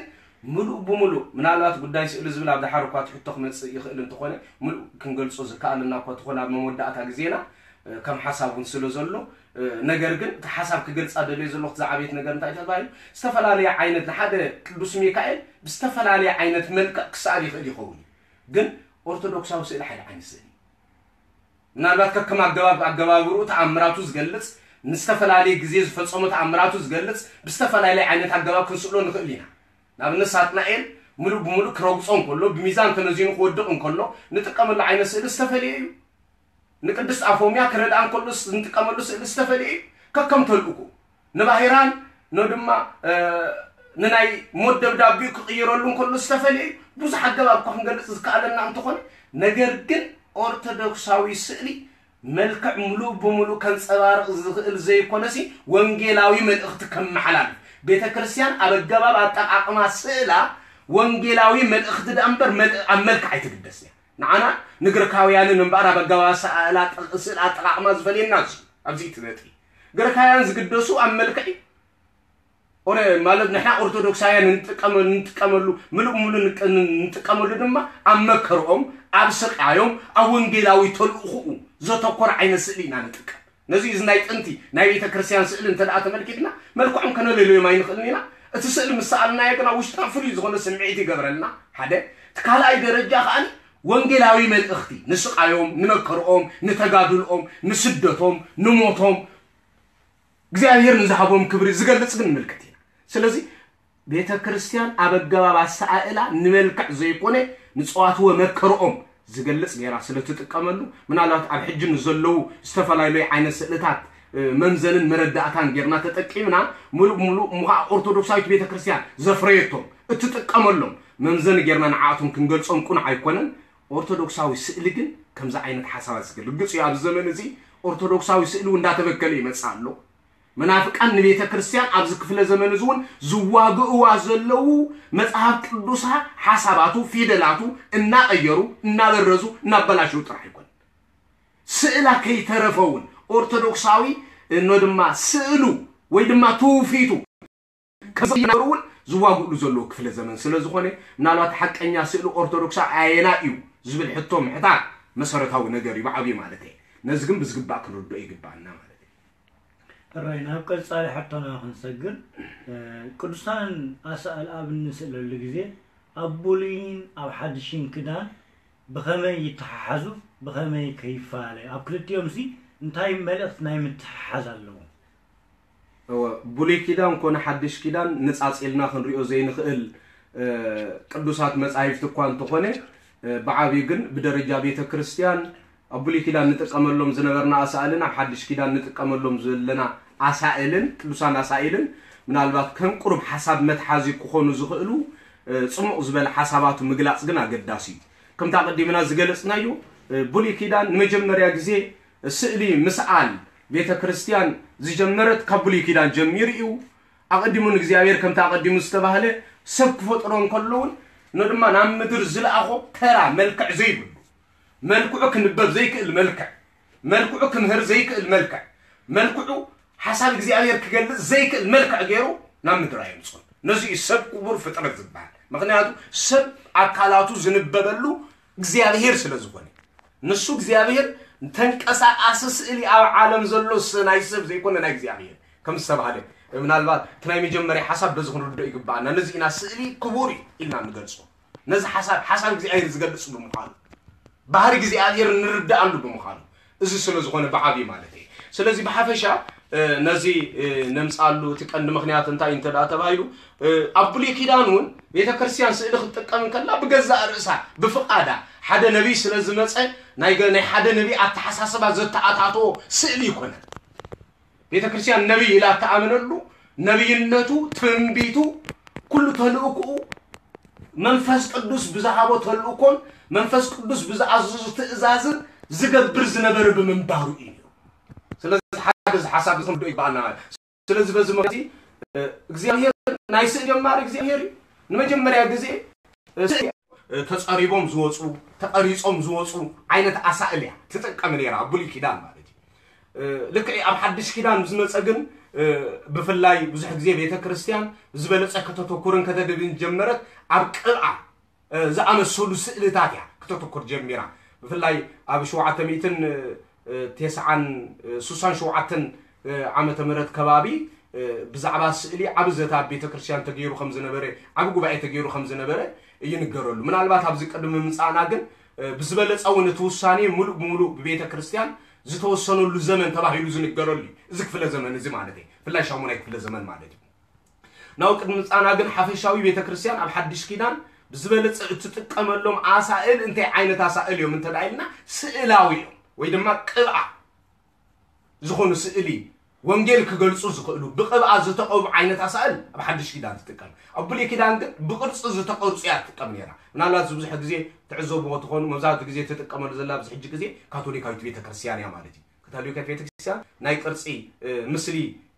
ምሉእ ብምሉእ ምናልባት ጉዳይ ስእሊ ዝብል ኣብ ደሓር እኳ ትሕቶ ክመፅእ ይኽእል እንተኾነ ምሉእ ክንገልፆ ዝከኣለና እኳ እንተኾነ ኣብ መወዳእታ ግዜና ከም ሓሳብ እውን ስለ ዘሎ ነገር ግን እቲ ሓሳብ ክገልፃ ደልዮ ዘለኹ እቲ ዝዓበየት ነገር እንታይ ተባሂሉ ዝተፈላለየ ዓይነት ንሓደ ቅዱስ ሚካኤል ብዝተፈላለየ ዓይነት መልክዕ ክሰኣል ይኽእል ይኸውን እዩ ግን ኦርቶዶክሳዊ ስእሊ ሓደ ዓይነት ስእሊ ምናልባት ከከም ኣገባብ ኣገባብርኡ ተኣምራቱ ዝገልፅ ንዝተፈላለየ ግዜ ዝፈፀሞ ተኣምራቱ ዝገልፅ ብዝተፈላለየ ዓይነት ኣገባብ ክንስእሎ ንኽእል ኢና ንኣብነት ሳጥናኤል ሙሉእ ብሙሉእ ክረግፆ እንከሎ ብሚዛን ተመዚኑ ክወድቕ እንከሎ ንጥቀመሉ ዓይነት ስእሊ ዝተፈለየ እዩ ንቅድስት ኣፎምያ ክረድኣ እንከሎ ንጥቀመሉ ስእሊ ዝተፈለየ እዩ ከከም ተልእኮ ንባሂራን ኖ ድማ ንናይ ሞት ደብዳቤኡ ክቕይረሉ እንከሎ ዝተፈለየ እዩ ብዙሕ ኣገባብ እኳ ክንገልፅ ዝከኣለና እንተኾነ ነገር ግን ኦርቶዶክሳዊ ስእሊ መልክዕ ሙሉእ ብሙሉእ ከንፀባርቕ ዝኽእል ዘይኮነሲ ወንጌላዊ መልእኽቲ ከመሓላልፍ ቤተ ክርስቲያን ኣብ ኣገባብ ኣጠቓቕማ ስእላ ወንጌላዊ መልእኽቲ ደኣ እምበር ኣብ መልክዕ ኣይትግደስ እያ ንዓና ንግሪካውያንን እምበኣር ኣብ ኣገባብ ስእሊ ኣጠቓቕማ ዝፈልየና እዚ ኣብዚ እቲ ነጥቢ ግሪካውያን ዝግደሱ ኣብ መልክዕ ኦረ ማለት ንሕና ኦርቶዶክሳውያን ንጥቀመሉ ንጥቀመሉ ምሉእ ምሉ ንጥቀመሉ ድማ ኣብ መከርኦም ኣብ ስቃዮም ኣብ ወንጌላዊ ተልእኹኡ ዘተኮረ ዓይነት ስእሊ ኢና ንጥቀም ነዚ እዚ ናይ ጥንቲ ናይ ቤተ ክርስቲያን ስእሊ እንተ ደኣ ተመልኪትና መልክዖም ከነለለዮም ኣይንኽእልን ኢና እቲ ስእሊ ምስ ሰኣልናዮ ግና ውሽጥና ፍሉይ ዝኾነ ስምዒት ይገብረልና ሓደ እቲ ካልኣይ ደረጃ ከኣኒ ወንጌላዊ መልእኽቲ ንስቃዮም ንመከርኦም ንተጋድልኦም ንስደቶም ንሞቶም እግዚኣብሔር ንዝሃቦም ክብሪ ዝገልጽ ግን ምልክት ኢና ስለዚ ቤተ ክርስቲያን ኣብ ኣገባብ ኣሰኣእላ ንመልክዕ ዘይኮነ ንፀዋትወ መከርኦም ዝገልጽ ገይራ ስለ ትጥቀመሉ ምናልባት ኣብ ሕጂ ንዘለዉ ዝተፈላለዩ ዓይነት ስእልታት መምዘንን መረዳእታን ጌርና ተጠቂምና ሙሉእ ሙሉእ ምዃ ኦርቶዶክሳዊት ቤተ ክርስቲያን ዘፍረየቶም እትጥቀመሎም መምዘኒ ጌርና ንዓኣቶም ክንገልጾም ቁኑዕ ኣይኮነን ኦርቶዶክሳዊ ስእሊ ግን ከምዚ ዓይነት ሓሳባት ዝገልግጽ እዩ ኣብዚ ዘመን እዚ ኦርቶዶክሳዊ ስእሊ እውን እንዳተበከለ ይመጽእ ኣሎ መናፍቃን ንቤተ ክርስቲያን ኣብዚ ክፍለ ዘመን እዚ እውን ዝዋግእዋ ዘለዉ መጽሓፍ ቅዱሳ ሓሳባቱ ፊደላቱ እናቐየሩ እናበረዙ እናበላሸው ጥራሕ ይኮን ስእላ ከይተረፈ እውን ኦርቶዶክሳዊ እኖ ድማ ስእሉ ወይ ድማ ትውፊቱ ከዘይነበሩ እውን ዝዋግእሉ ዘለዉ ክፍለ ዘመን ስለ ዝኾነ ምናልባት ሓቀኛ ስእሊ ኦርቶዶክሳ ኣየና እዩ ዝብል ሕቶ ምሕታት መሰረታዊ ነገር እዩ ብዓብዩ ማለት እየ ነዚ ግን ብዝግባእ ክንርድኦ ይግባኣና ማለት እዩ ሕራይ ናብ ቀጻሊ ሕቶና ክንሰግር ቅዱሳን ኣሳእል ኣብ እንስእለሉ ግዜ ኣብ ብሉይን ኣብ ሓድሽን ክዳን ብኸመይ ይተሓሓዙ ብኸመይ ከይፈላለዩ ኣብ ክልቲኦም ሲ እንታይ መልእኽቲ ናይ ምትሕሓዝ ኣለዎም እወ ብሉይ ኪዳን ኮነ ሓድሽ ኪዳን ንጻጽ ኢልና ክንሪኦ ዘይንኽእል ቅዱሳት መጻሕፍቲ እኳ እንተኾነ ብዓብዩ ግን ብደረጃ ቤተ ክርስቲያን ኣብ ብሉይ ኪዳን ንጥቀመሎም ዝነበርና ኣሳእልን ኣብ ሓድሽ ኪዳን ንጥቀመሎም ዘለና ኣሳእልን ቅዱሳን ኣሳእልን ምናልባት ከም ቁሩብ ሓሳብ መትሓዚ ክኾኑ ዝኽእሉ ጽሙቕ ዝበለ ሓሳባቱ ምግላጽ ግን ኣገዳሲ እዩ። ከምቲ ኣቐዲምና ዝገለጽናዮ ብሉይ ኪዳን ንመጀመርያ ግዜ ስእሊ ምስኣል ቤተ ክርስቲያን ዝጀመረት ካብ ብሉይ ኪዳን ጀሚሩ እዩ። ኣቐዲሙ ንእግዚኣብሔር ከምቲ ኣቐዲሙ ዝተባህለ ሰብ ክፈጥሮ እንከሎ እውን ንድማ ናብ ምድር ዝለኣኾ ተራ መልክዕ ዘይብሉ፣ መልክዑ ክንበብ ዘይክእል መልክዕ፣ መልክዑ ክምህር ዘይክእል መልክዕ፣ መልክዑ ሓሳብ እግዚኣብሔር ክገልጽ ዘይክእል መልክዕ ገይሩ ናብ ምድር ኣየምጽኡን። ነዚ እዩ ሰብ ክቡር ፍጥረት ዝበሃል። ምክንያቱ ሰብ ኣካላቱ ዝንበበሉ እግዚኣብሔር ስለ ዝኾነ፣ ንሱ እግዚኣብሔር ተንቀሳቃሲ ስእሊ ኣብ ዓለም ዘሎ ስ- ናይ ሰብ ዘይኮነ ናይ እግዚኣብሔር ከም ዝተባህለ፣ ምናልባት እቲ ናይ መጀመርያ ሓሳብ በዚ ክንርድኦ ይግባኣና። ነዚ ኢና ስእሊ ክቡር እዩ ኢልና ንገልጾ። ነዚ ሓሳብ ሓሳብ እግዚኣብሔር ዝገልጽ ብምዃኑ፣ ባህሪ እግዚኣብሔር ንርዳኣሉ ብምዃኑ፣ እዚ ስለ ዝኾነ ብዓብዩ ማለት እዩ። ስለዚ ብሓፈሻ ነዚ ነምፃሉ እቲ ቀንዲ ምክንያት እንታይ እንተ ተባሂሉ፣ ኣብ ብሉይ ኪዳን እውን ቤተ ክርስቲያን ስእሊ ክትጥቀም እንከላ ብገዛእ ርእሳ ብፍቓዳ ሓደ ነቢይ ስለ ዝመፀ ናይ ገ- ናይ ሓደ ነቢይ ኣተሓሳስባ ዘተኣታተዎ ስእሊ ይኮነ። ቤተ ክርስቲያን ነቢይ ኢላ እተኣመነሉ ነቢይነቱ፣ ትንቢቱ፣ ኩሉ ተልእኮኡ መንፈስ ቅዱስ ብዝሃቦ ተልእኮን መንፈስ ቅዱስ ብዝኣዘዙ ትእዛዝን ዝገብር ዝነበረ ብምንባሩ እዩ። ስለዚ ሓደ እዚ ሓሳብ እዚ ክንዶ ይግባኣና ማለት። ስለዚ በዚ ምክንያት እግዚኣብሔር ናይ ስእሊ ጀማሪ እግዚኣብሔር እዩ። ንመጀመርያ ግዜ ስእሊ ተጸሪቦም ዝወፁ፣ ተቐሪጾም ዝወፁ ዓይነት ኣሳእል እያ ትጥቀም ነይራ ኣብ ብሉይ ኪዳን ማለት እዩ። ልክዕ ኣብ ሓድሽ ኪዳን ዝመፀ ግን ብፍላይ ብዙሕ ግዜ ቤተ ክርስቲያን ዝበለፀ ከተተኩርን ከተደብን ጀመረት ኣብ ቅብኣ ዝኣመሰሉ ስእልታት እያ ክተተኩር ጀሚራ። ብፍላይ ኣብ ሸውዓተ ሚእትን ተስዓን ስሳን ሸውዓተን ዓመተ ምህረት ከባቢ ብዛዕባ ስእሊ ዓቢ ዘተ ኣብ ቤተ ክርስቲያን ተገይሩ ከም ዝነበረ፣ ዓቢ ጉባኤ ተገይሩ ከም ዝነበረ ይንገረሉ። ምናልባት ኣብዚ ቅድሚ ምምጻእና ግን ብዝበለጸ እውን እቲ ውሳኔ ሙሉእ ብሙሉእ ብቤተ ክርስቲያን ዝተወሰነሉ ዘመን ተባሂሉ ዝንገረሉ እዩ። እዚ ክፍለ ዘመን እዚ ማለት እዩ። ብፍላይ ሻሙናይ ክፍለ ዘመን ማለት እዩ። ናብ ቅድሚ ምጻና ግን ሓፈሻዊ ቤተ ክርስቲያን ኣብ ሓድሽ ኪዳን ብዝበለጸ እትጥቀመሎም ኣሳእል እንታይ ዓይነት ኣሳእል እዮም እንተ ኢልና ስእላዊ እዮም ወይ ድማ ቅብኣ ዝኾኑ ስእሊ ወንጌል ክገልጹ ዝኽእሉ ብቅብኣ ዝተቐቡ ዓይነት ኣሳእል ኣብ ሓድሽ ኪዳን ትጥቀም። ኣብ ብሉይ ኪዳን ግን ብቅርጺ ዝተቐርጹ እያ ትጥቀም ነይራ። ምናልባት እዚ ብዙሕ ግዜ ትዕዘብዎ ትኾኑ፣ መብዛሕትኡ ግዜ ትጥቀመሉ ዘላ ኣብዚ ሕጂ ግዜ ካቶሊካዊት ቤተ ክርስቲያን እያ ማለት እዩ። ካቶሊካዊት ቤተ ክርስቲያን ናይ ቅርጺ እ፣ ምስሊ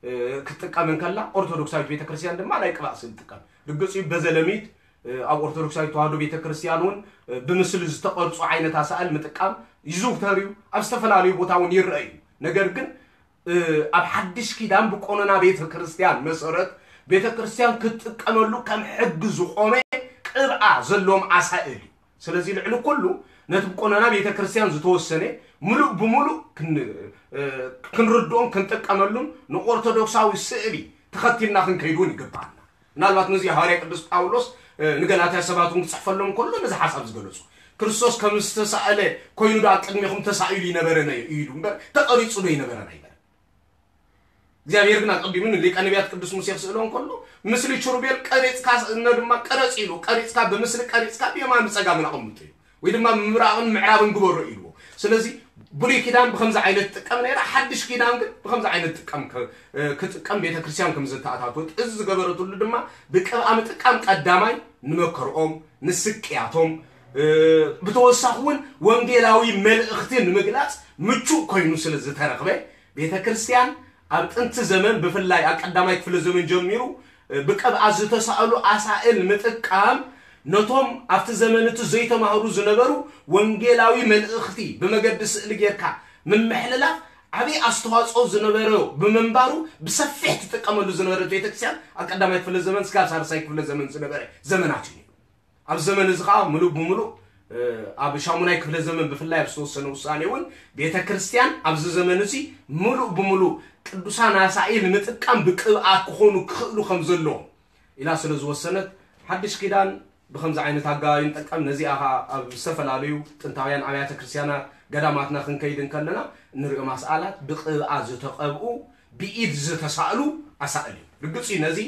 እ፣ ክትጥቀም እንከላ ኦርቶዶክሳዊት ቤተ ክርስቲያን ድማ ናይ ቅብኣ ስእሊ ትጥቀም። ርግጽ እዩ በዘለሚት እ፣ ኣብ ኦርቶዶክሳዊት ተዋህዶ ቤተ ክርስቲያን እውን እ፣ ብምስሊ ዝተቐርጹ ዓይነት ኣሳእል ምጥቃም ይዝውተር እዩ። ኣብ ዝተፈላለዩ ቦታ እውን ይረአ እዩ። ነገር ግን እ፣ ኣብ ሓድሽ ኪዳን ብቆኖና ቤተ ክርስቲያን መሰረት ቤተ ክርስቲያን ክትጥቀመሉ ከም ሕጊ ዝኾነ ቅብኣ ዘለዎም ኣሳእል እዩ። ስለዚ ልዕሊ ኩሉ ነቲ ብቆኖና ቤተ ክርስቲያን ዝተወሰነ ምሉእ ብምሉእ ክን- እ፣ ክንርድኦን ክንጥቀመሉን ንኦርቶዶክሳዊ ስእሊ ተኸቲልና ክንከይድ እውን ይግባኣና። ምናልባት ነዚ ሃዋርያ ቅዱስ ጳውሎስ እ፣ ንገላትያ ሰባት እውን ክፅሕፈሎም ከሎ ነዚ ሓሳብ ዝገለጹ ክርስቶስ ከም ዝተሳእለ ኮይኑ ዶ ኣብ ቅድሚኹም ተሳኢሉ ይነበረን እዩ ኢሉ እምበር ተቐሪጹ ዶ ይነበረን ኣይበለን። እግዚኣብሔር ግን ኣቐዲሙ ንሊቀ ነቢያት ቅዱስ ሙሴ ክስእሎ እንከሎ ምስሊ ችሩቤል ቀሪጽካ እነ ድማ ቀረጽ ኢሉ ቀሪጽካ ብምስሊ ቀሪጽካ ብየማን ብጸጋምን ኣቐምጡ እዩ ወይ ድማ ምብራቕን ምዕራብን ግበሮ ኢልዎ። ስለዚ ብሉይ ኪዳን ብከምዚ ዓይነት ትጥቀም ነይራ፣ ሓድሽ ኪዳን ግን ብከምዚ ዓይነት ጥቀም ክ- እ፣ ክጥቀም ቤተክርስትያን ከም ዝተኣታተወት እዚ ዝገበረትሉ ድማ ብቅብኣ ምጥቃም ቀዳማይ ንመከርኦም ንስቅያቶም እ፣ ብተወሳኺ እውን ወንጌላዊ መልእኽቲ ንምግላጽ ምቹእ ኮይኑ ስለ ዝተረኽበ ቤተ ክርስቲያን ኣብ ጥንቲ ዘመን ብፍላይ ኣብ ቀዳማይ ክፍለ ዘመን ጀሚሩ ብቅብኣ ዝተሳእሉ ኣሳእል ምጥቃም ነቶም ኣብቲ ዘመን እቲ ዘይተማህሩ ዝነበሩ ወንጌላዊ መልእኽቲ ብመገዲ ስእሊ ጌርካ ምምሕልላፍ ዓብዪ ኣስተዋፅኦ ዝነበሮ ብምንባሩ ብሰፊሕ ትጥቀመሉ ዝነበረት ቤተክርስትያን ኣብ ቀዳማይ ክፍለ ዘመን እስካብ ሳልሳይ ክፍለ ዘመን ዝነበረ ዘመናት እዩ። ኣብ ዘመን እዚ ከዓ ምሉእ ብምሉእ ኣብ ሻሙናይ ክፍለ ዘመን ብፍላይ ኣብ ዝተወሰነ ውሳኔ እውን ቤተ ክርስቲያን ኣብዚ ዘመን እዚ ምሉእ ብምሉእ ቅዱሳን ኣሳኢል ምጥቃም ብቅብኣት ክኾኑ ክኽእሉ ከም ዘለዎም ኢላ ስለ ዝወሰነት ሓድሽ ኪዳን ብከምዚ ዓይነት ኣገባብ ንጠቀም። ነዚኣ ከዓ ኣብ ዝተፈላለዩ ጥንታውያን ኣብያተ ክርስቲያናት ገዳማትና ክንከይድ እንከለና እንሪኦም ኣስኣላት ብቅብኣ ዝተቀብኡ ብኢድ ዝተሳእሉ ኣሳእል እዩ። ርግፅ እዩ ነዚ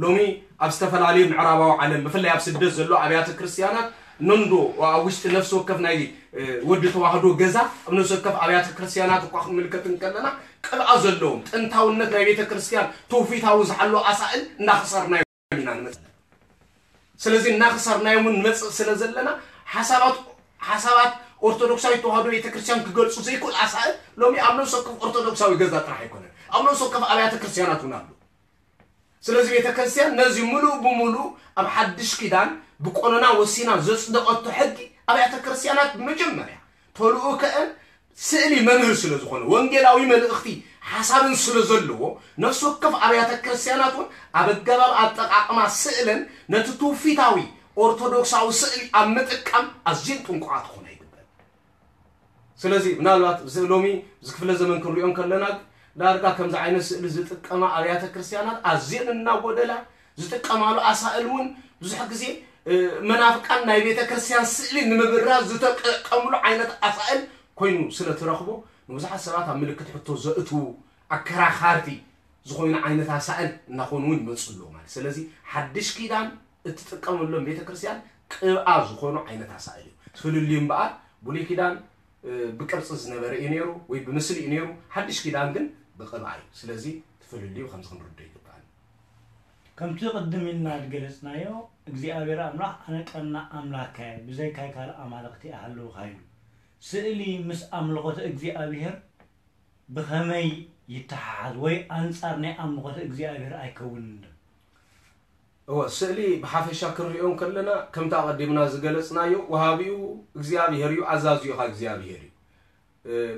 ሎሚ ኣብ ዝተፈላለዩ ምዕራባዊ ዓለም ብፍላይ ኣብ ስደት ዘሎ ኣብያተ ክርስቲያናት ነንዶ ኣብ ውሽጢ ነፍሲ ወከፍ ናይ ወዲ ተዋህዶ ገዛ ኣብ ነፍሲ ወከፍ ኣብያተ ክርስቲያናት እኳ ክንምልከት እንከለና ቅብኣ ዘለዎም ጥንታውነት ናይ ቤተ ክርስቲያን ትውፊታዊ ዝሓሎ ኣሳእል እናኸሰርናዮም ኢና ንመፅእ። ስለዚ እናኸሰርናዮም ንመፅእ ስለ ዘለና ሓሳባት ሓሳባት ኦርቶዶክሳዊት ተዋህዶ ቤተ ክርስቲያን ክገልፁ ዘይክእል ኣሳእል ሎሚ ኣብ ነፍሲ ወከፍ ኦርቶዶክሳዊ ገዛ ጥራሕ ኣይኮነን፣ ኣብ ነፍሲ ወከፍ ኣብያተ ክርስቲያናት እውን ኣሎ። ስለዚ ቤተ ክርስቲያን ነዚ ሙሉእ ብሙሉእ ኣብ ሓድሽ ኪዳን ብቆኖና ወሲና ዘጽደቐቶ ሕጊ ኣብያተ ክርስቲያናት መጀመርያ ተልእኮአን ስእሊ መምህር ስለ ዝኾነ ወንጌላዊ መልእኽቲ ሓሳብን ስለ ዘለዎ ነፍሲ ወከፍ ኣብያተ ክርስቲያናት እውን ኣብ ኣገባብ ኣጠቃቕማ ስእለን ነቲ ትውፊታዊ ኦርቶዶክሳዊ ስእሊ ኣብ ምጥቃም ኣዝየን ጥንቁቓት ክኾና ይግበን። ስለዚ ምናልባት እዚ ሎሚ እዚ ክፍለ ዘመን ክንሪኦ እንከለና ዳርጋ ከምዚ ዓይነት ስእሊ ዝጥቀማ ኣብያተ ክርስቲያናት ኣዝየን እናጎደላ ዝጥቀማሉ ኣሳእል እውን ብዙሕ ግዜ መናፍቃን ናይ ቤተ ክርስቲያን ስእሊ ንምብራዝ ዝጥቀምሉ ዓይነት ኣሳእል ኮይኑ ስለ ትረኽቦ ንብዙሓት ሰባት ኣብ ምልክት ሕቶ ዘእትዉ ኣከራኻርቲ ዝኾይኑ ዓይነት ኣሳእል እናኾኑ እውን ይመፁ ኣለዉ ማለት ስለዚ ሓድሽ ኪዳን እትጥቀመሎም ቤተ ክርስቲያን ቅብኣ ዝኾኑ ዓይነት ኣሳእል እዩ። ፍልልዩ እምበኣር ብሉይ ኪዳን ብቅርጺ ዝነበረ እዩ ነይሩ ወይ ብምስሊ እዩ ነይሩ። ሓድሽ ኪዳን ግን ብቅብኣ እዩ። ስለዚ እቲ ፍልልዩ ከምዚ ክንርዶ ይግባእ። ከምቲ ቅድም ኢልና ዝገለጽናዮ እግዚኣብሔር ኣምላኽ ኣነ ቀና ኣምላካ እየ ብዘይካይ ካልእ ኣማልኽቲ ኣይሃልውካ ኢሉ። ስእሊ ምስ ኣምልኾተ እግዚኣብሔር ብኸመይ ይተሓሓዝ ወይ ኣንጻር ናይ ኣምልኾተ እግዚኣብሔር ኣይከውንን ዶ? እወ ስእሊ ብሓፈሻ ክንሪኦ እንከለና ከምቲ ኣቐዲምና ዝገለጽናዮ ወሃቢኡ እግዚኣብሔር እዩ፣ ኣዛዚኡ ኸኣ እግዚኣብሔር እዩ።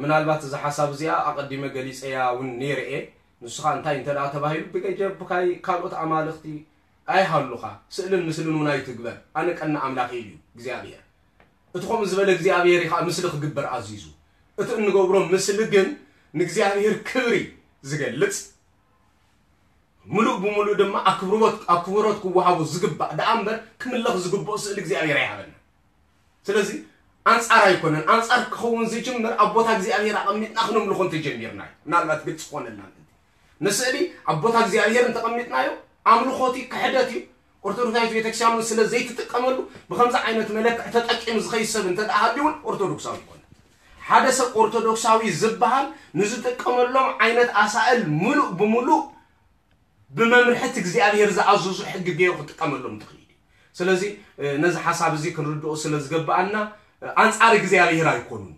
ምናልባት እዛ ሓሳብ እዚኣ ኣቐዲመ ገሊጸያ እውን ነይረ እየ። ንሱ ኸኣ እንታይ እንተ ደኣ ተባሂሉ ብገጀብካይ ካልኦት ኣማልኽቲ ኣይሃሉኻ፣ ስእልን ምስልን እውን ኣይትግበር፣ ኣነ ቀና ኣምላኽ እየ ኢሉ እግዚኣብሔር። እቲ ከምኡ ዝበለ እግዚኣብሔር እዩ ኸዓ ምስሊ ክግበር ኣዚዙ። እቲ እንገብሮ ምስሊ ግን ንእግዚኣብሔር ክብሪ ዝገልጽ ምሉእ ብምሉእ ድማ ኣክብሮት ኣክብሮት ክወሃቦ ዝግባእ ደኣ እምበር ክምለኽ ዝግብኦ ስእሊ እግዚኣብሔር ኣይሃበና። ስለዚ ኣንጻር ኣይኮነን። ኣንጻር ክኸውን ዝጅምር ኣብ ቦታ እግዚኣብሔር ኣቐሚጥና ክነምልኾ እንተጀሚርና እዩ። ምናልባት ግልፂ ክኾነልና ምእንቲ ንስእሊ ኣብ ቦታ እግዚኣብሔር እንተቐሚጥናዮ ኣምልኾት እዩ፣ ክሕደት እዩ። ኦርቶዶክሳዊት ቤተክርስትያን እውን ስለ ዘይትጥቀመሉ ብኸምዚ ዓይነት መለክዕ ተጠቂሙ ዝኸይድ ሰብ እንተ ደኣ ሃልዩ እውን ኦርቶዶክሳዊ ይኮነ። ሓደ ሰብ ኦርቶዶክሳዊ ዝበሃል ንዝጥቀመሎም ዓይነት ኣሳእል ምሉእ ብምሉእ ብመምርሕቲ እግዚኣብሔር ዝኣዘዙ ሕጊ ገይሩ ክጥቀመሎም ትኽእል እዩ። ስለዚ ነዚ ሓሳብ እዚ ክንርድኦ ስለ ዝገበኣና ኣንጻር እግዚኣብሔር ኣይኮኑን።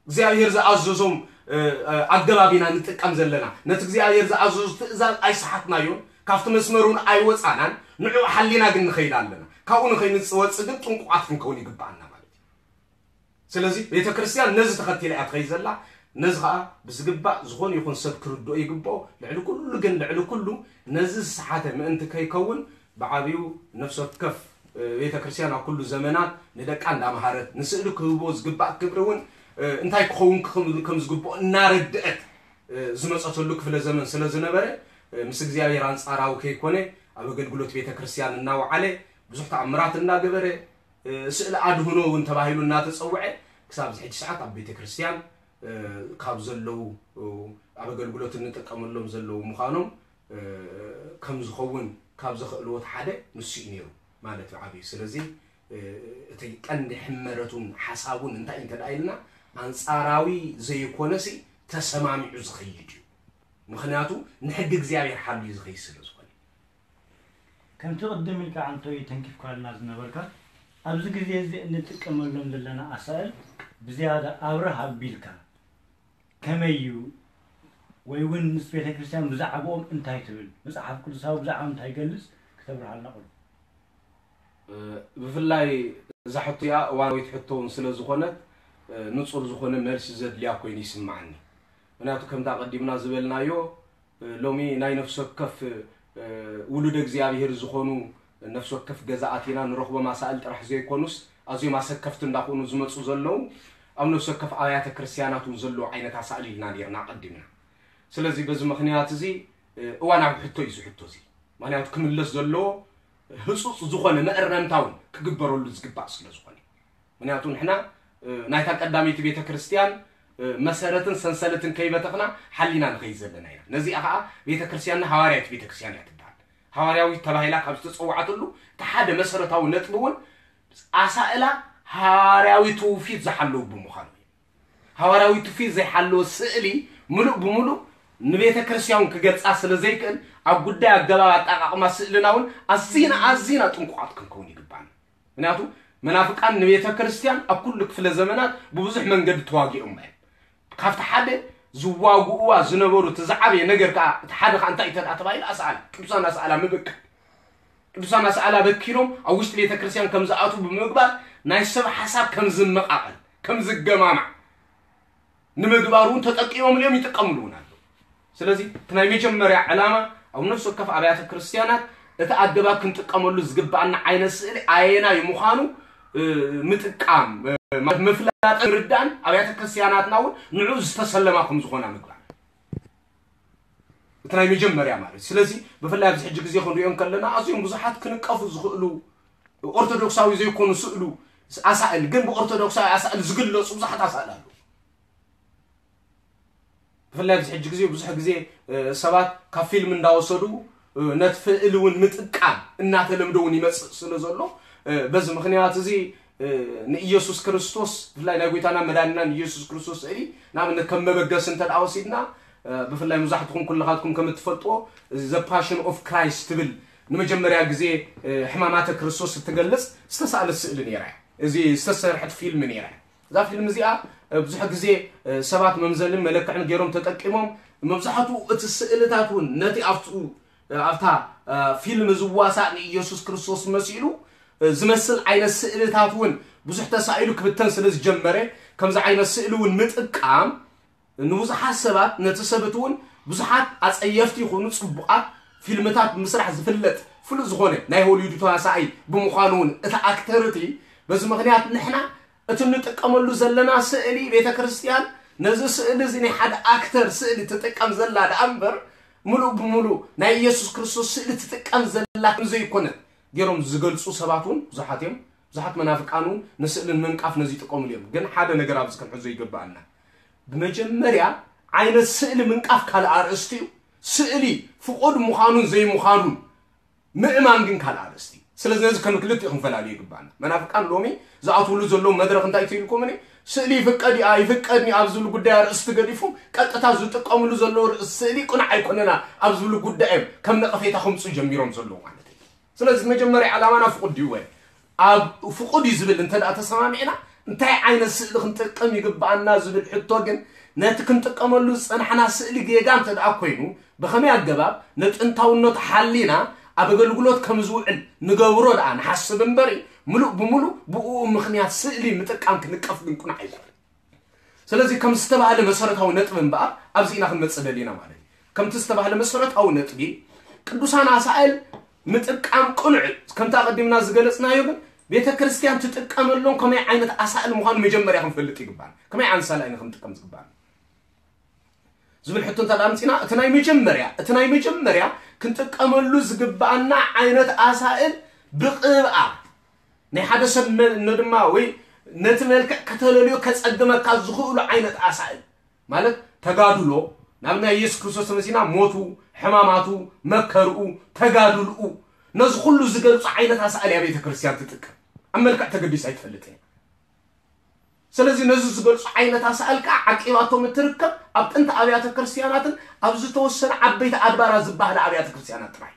እግዚኣብሔር ዝኣዘዞም ኣገባብ ኢና ንጥቀም ዘለና። ነቲ እግዚኣብሔር ዝኣዘዞ ትእዛዝ ኣይሰሓትናዮን፣ ካብቲ መስመር እውን ኣይወፃናን። ንዕኡ ሓሊና ግን ንኸይድ ኣለና። ካብኡ ንኸይንወፅእ ግን ጥንቁቓት ክንከውን ይግበኣና ማለት እዩ። ስለዚ ቤተ ክርስቲያን ነዚ ተኸቲላ እያ ትኸይድ ዘላ። ነዚ ኸዓ ብዝግባእ ዝኾነ ይኹን ሰብ ክርድኦ ይግብኦ። ልዕሊ ኩሉ ግን ልዕሊ ኩሉ ነዚ ዝሰሓተ ምእንቲ ከይከውን ብዓብዩ ነፍሲ ወከፍ ቤተ ክርስቲያን ኣብ ኩሉ ዘመናት ንደቃ እንዳምሃረት ንስእሊ ክህቦ ዝግባእ ክብሪ እውን እንታይ ክኸውን ከም ዝግብኦ እናረድአት ዝመፀተሉ ክፍለ ዘመን ስለ ዝነበረ ምስ እግዚኣብሔር ኣንፃራዊ ከይኮነ ኣብ ኣገልግሎት ቤተ ክርስቲያን እናወዓለ ብዙሕ ተኣምራት እናገበረ ስእሊ ኣድህኖ እውን ተባሂሉ እናተፀውዐ ክሳብ ዝሕጂ ሰዓት ኣብ ቤተ ክርስቲያን ካብ ዘለዉ ኣብ ኣገልግሎት እንጥቀመሎም ዘለዉ ምዃኖም ከም ዝኸውን ካብ ዘኽእልዎ እቲ ሓደ ንሱ እዩ ነይሩ ማለት እዩ ዓብዩ። ስለዚ እቲ ቀንዲ ሕመረቱን ሓሳቡን እንታይ እዩ እንተ ደኣ ኢልና ኣንጻራዊ ዘይኮነ ሲ ተሰማሚዑ ዝኸይድ እዩ። ምኽንያቱ ንሕጊ እግዚኣብሔር ሓልዩ ዝኸይድ ስለ ዝኾነ። ከምቲ ቅድም ኢልካ ዓንቶይ ተንኪፍካልና ዝነበርካ ኣብዚ ግዜ እዚ እንጥቀመሎም ዘለና ኣሳእል ብዝያዳ ኣብርህ ኣቢልካ ከመይ እዩ ወይ እውን ምስ ቤተ ክርስቲያን ብዛዕባኦም እንታይ ትብል መጽሓፍ ቅዱሳዊ ብዛዕባኦም እንታይ ይገልጽ ክተብርሃልና ቅሩብ ብፍላይ እዛ ሕቶ እዚኣ እዋናዊት ሕቶ እውን ስለ ዝኾነት ንጹር ዝኾነ መልሲ ዘድልያ ኮይኑ ይስምዓኒ። ምክንያቱ ከምቲ ኣቐዲምና ዝበልናዮ ሎሚ ናይ ነፍሲ ወከፍ ውሉደ እግዚኣብሔር ዝኾኑ ነፍሲ ወከፍ ገዛኣት ኢና ንረኽቦም ኣሳእል ጥራሕ ዘይኮኑስ ኣዝዮም ኣሰከፍቲ እንዳኾኑ ዝመፁ ዘለዉ ኣብ ነፍሲ ወከፍ ኣብያተ ክርስቲያናት እውን ዘለዉ ዓይነት ኣሳእል ኢልና ነርና ኣቐዲምና። ስለዚ በዚ ምኽንያት እዚ እዋናዊ ሕቶ እዩ እዚ ሕቶ እዚ። ምኽንያቱ ክምለስ ዘለዎ ህፁፅ ዝኾነ መእረምታ እውን ክግበረሉ ዝግባእ ስለ ዝኾነ። ምክንያቱ ንሕና ናይታ ቀዳመይቲ ቤተ ክርስቲያን መሰረትን ሰንሰለትን ከይበተኽና ሓሊና ንኸይድ ዘለና ኢና። ነዚኣ ከዓ ቤተ ክርስቲያንና ሃዋርያዊት ቤተ ክርስቲያን እያ ትበሃል። ሃዋርያዊት ተባሂላ ካብ ዝተፀውዓትሉ እቲ ሓደ መሰረታዊ ነጥቢ እውን ኣሳእላ ሃዋርያዊ ትውፊት ዝሓለዉ ብምዃኑ እዩ። ሃዋርያዊ ትውፊት ዘይሓለወ ስእሊ ምሉእ ብምሉእ ንቤተ ክርስቲያን ክገልጻ ስለ ዘይክእል፣ ኣብ ጉዳይ ኣገባብ ኣጠቓቕማ ስእልና እውን ኣዚና ኣዚና ጥንቁቓት ክንከውን ይግባና። ምክንያቱ መናፍቃን ንቤተ ክርስቲያን ኣብ ኩሉ ክፍለ ዘመናት ብብዙሕ መንገዲ ተዋጊኦም እዮም። ካብቲ ሓደ ዝዋግኡዋ ዝነበሩ እቲ ዝዓበየ ነገር ከዓ እቲ ሓደ ከዓ እንታይ እዩ ተባሂሉ ኣስኣላ ቅዱሳን ኣስኣላ ምብቃ ቅዱሳን ኣስኣላ በኪሎም ኣብ ውሽጢ ቤተ ክርስቲያን ከም ዝኣቱ ብምግባር ናይ ሰብ ሓሳብ ከም ዝመቃቐል ከም ዝገማማዕ ንምግባር እውን ተጠቂሞም እዮም ይጥቀምሉ እውን ኣለዉ። ስለዚ እቲ ናይ መጀመርያ ዕላማ ኣብ ነፍሲ ወከፍ ኣብያተ ክርስቲያናት እቲ ኣገባብ ክንጥቀመሉ ዝግባኣና ዓይነት ስእሊ ኣየናይ ምዃኑ ምጥቃም ምፍላጥ ርዳን ኣብያተ ክርስቲያናትና እውን ንዑ ዝተሰለማ ከም ዝኾና ምግባር እቲ ናይ መጀመርያ ማለት። ስለዚ ብፍላይ ኣብዚ ሕጂ ግዜ ክንሪኦ ከለና ኣዝዮም ብዙሓት ክንቀፉ ዝኽእሉ ኦርቶዶክሳዊ ዘይኮኑ ስእሉ ኣሳእል ግን ብኦርቶዶክሳዊ ኣሳእል ዝግለጹ ብዙሓት ኣሳእል ኣለዉ። ብፍላይ ኣብዚ ሕጂ ግዜ ብዙሕ ግዜ ሰባት ካብ ፊልም እንዳወሰዱ ነቲ ፍእል እውን ምጥቃም እናተለምደ እውን ይመፅእ ስለ ዘሎ በዚ ምክንያት እዚ ንኢየሱስ ክርስቶስ ብፍላይ ናይ ጎይታና መዳንና ንኢየሱስ ክርስቶስ ስእሊ ንኣብነት ከም መበገሲ እንተ ደኣ ወሲድና ብፍላይ መብዛሕትኹም ኩልኻትኩም ከም እትፈልጥዎ ዘ ፓሽን ኦፍ ክራይስት ትብል ንመጀመርያ ግዜ ሕማማተ ክርስቶስ እትገልጽ ዝተሳእለት ስእሊ ነይራ እያ። እዚ ዝተሰርሐት ፊልም ነይራ እያ። እዛ ፊልም እዚኣ ብዙሕ ግዜ ሰባት መምዘልን መለክዕን ገይሮም ተጠቂሞም መብዛሕትኡ እቲ ስእልታት እውን ነቲ ኣብትኡ ኣብታ ፊልም ዝዋሳእ ንኢየሱስ ክርስቶስ መሲሉ ዝመስል ዓይነት ስእልታት እውን ብዙሕ ተሳኢሉ ክብተን ስለ ዝጀመረ ከምዚ ዓይነት ስእሊ እውን ምጥቃም ንብዙሓት ሰባት ነቲ ሰብት እውን ብዙሓት ኣጸየፍቲ ይኹኑ ጽቡቓት ፊልምታት ብምስራሕ ዝፍለጥ ፍሉጥ ዝኾነ ናይ ሆሊውድ ተዋሳኣይ ብምዃኑ እውን እቲ ኣክተር እቲ በዚ ምክንያት ንሕና እቲ እንጥቀመሉ ዘለና ስእሊ ቤተ ክርስቲያን ነዚ ስእሊ እዚ ናይ ሓደ ኣክተር ስእሊ ትጥቀም ዘላ ደኣ እምበር ምሉእ ብምሉእ ናይ ኢየሱስ ክርስቶስ ስእሊ ትጥቀም ዘላ ከም ዘይኮነት ገይሮም ዝገልጹ ሰባት እውን ብዙሓት እዮም። ብዙሓት መናፍቃን እውን ንስእልን ምንቃፍ ነዚ ይጥቀሙሉ እዮም። ግን ሓደ ነገር ኣብዚ ክንሕዞ ይግባኣና። ብመጀመርያ ዓይነት ስእሊ ምንቃፍ ካልእ ኣርእስቲ እዩ። ስእሊ ፍቑድ ምዃኑን ዘይምዃኑን ምእማን ግን ካልእ ኣርእስቲ እዩ። ስለዚ ነዚ ከም ክልቲኡ ክንፈላልዮ ይግባኣና። መናፍቃን ሎሚ ዝኣትውሉ ዘለዉ መድረኽ እንታይ ትብልኩምኒ? ስእሊ ይፍቀድ እዩ ኣይፍቀድን እዩ ኣብ ዝብሉ ጉዳይ ኣርእስቲ ገዲፎም ቀጥታ ዝጥቀምሉ ዘለዉ ርእሲ ስእሊ ቅኑዕ ኣይኮነና ኣብ ዝብሉ ጉዳይ እዮም ከም ነቐፌታ ከምፅኡ ጀሚሮም ዘለዉ ማለት እዩ። ስለዚ መጀመርያ ዕላማና ፍቑድ ድዩ ወይ ኣብ ፍቑድ እዩ ዝብል እንተ ደኣ ተሰማሚዕና እንታይ ዓይነት ስእሊ ክንጥቀም ይግባኣና ዝብል ሕቶ ግን ነቲ ክንጥቀመሉ ዝጸናሕና ስእሊ ጌጋ እንተ ደኣ ኮይኑ ብኸመይ ኣገባብ ነጥንታውነቱ ሓሊና ኣብ ኣገልግሎት ከም ዝውዕል ንገብሮ ደኣ ንሓስብ እምበሪ ምሉእ ብምሉእ ብእኡ ምኽንያት ስእሊ ምጥቃም ክንቀፍ ግን ቁኑዕ ኣይኮነን። ስለዚ ከም ዝተባህለ መሰረታዊ ነጥቢ እምበኣር ኣብዚ ኢና ክንመጽእ ደሊና ማለት እዩ። ከምቲ ዝተባህለ መሰረታዊ ነጥቢ ቅዱሳን ኣሳእል ምጥቃም ቅኑዕ እዩ። ከምቲ ኣቐዲምና ዝገለጽናዮ ግን ቤተ ክርስቲያን ትጥቀመሎም ከመይ ዓይነት ኣሳእል ምዃኑ መጀመርያ ክንፈልጥ ይግባና። ከመይ ዓይነት ኣሳእል ኢና ክንጥቀም ዝግባና ዝብል ሕቶ እንተ ኣምፂና እቲ ናይ መጀመርያ እቲ ናይ መጀመርያ ክንጥቀመሉ ዝግባኣና ዓይነት ኣሳእል ብቕብኣ ናይ ሓደ ሰብ ድማ ወይ ነቲ መልክዕ ከተለልዮ ከጸግመካ ዝኽእሉ ዓይነት ኣሳእል ማለት ተጋድሎ ናብ ናይ ኢየሱስ ክርስቶስ ተመሲና ሞቱ፣ ሕማማቱ፣ መከርኡ፣ ተጋድልኡ ነዚ ኩሉ ዝገልጹ ዓይነት ኣሳእል እያ ቤተ ክርስቲያን ትጥቀም። ኣብ መልክዕ ተገዲስ ኣይትፈልጥን እያ። ስለዚ ነዚ ዝገልጹ ዓይነት ኣሳእል ከዓ ዓቂባቶም እትርከብ ኣብ ጥንቲ ኣብያተ ክርስቲያናትን ኣብ ዝተወሰነ ዓበይቲ ኣድባራት ዝበሃለ ኣብያተ ክርስቲያናት ጥራይ።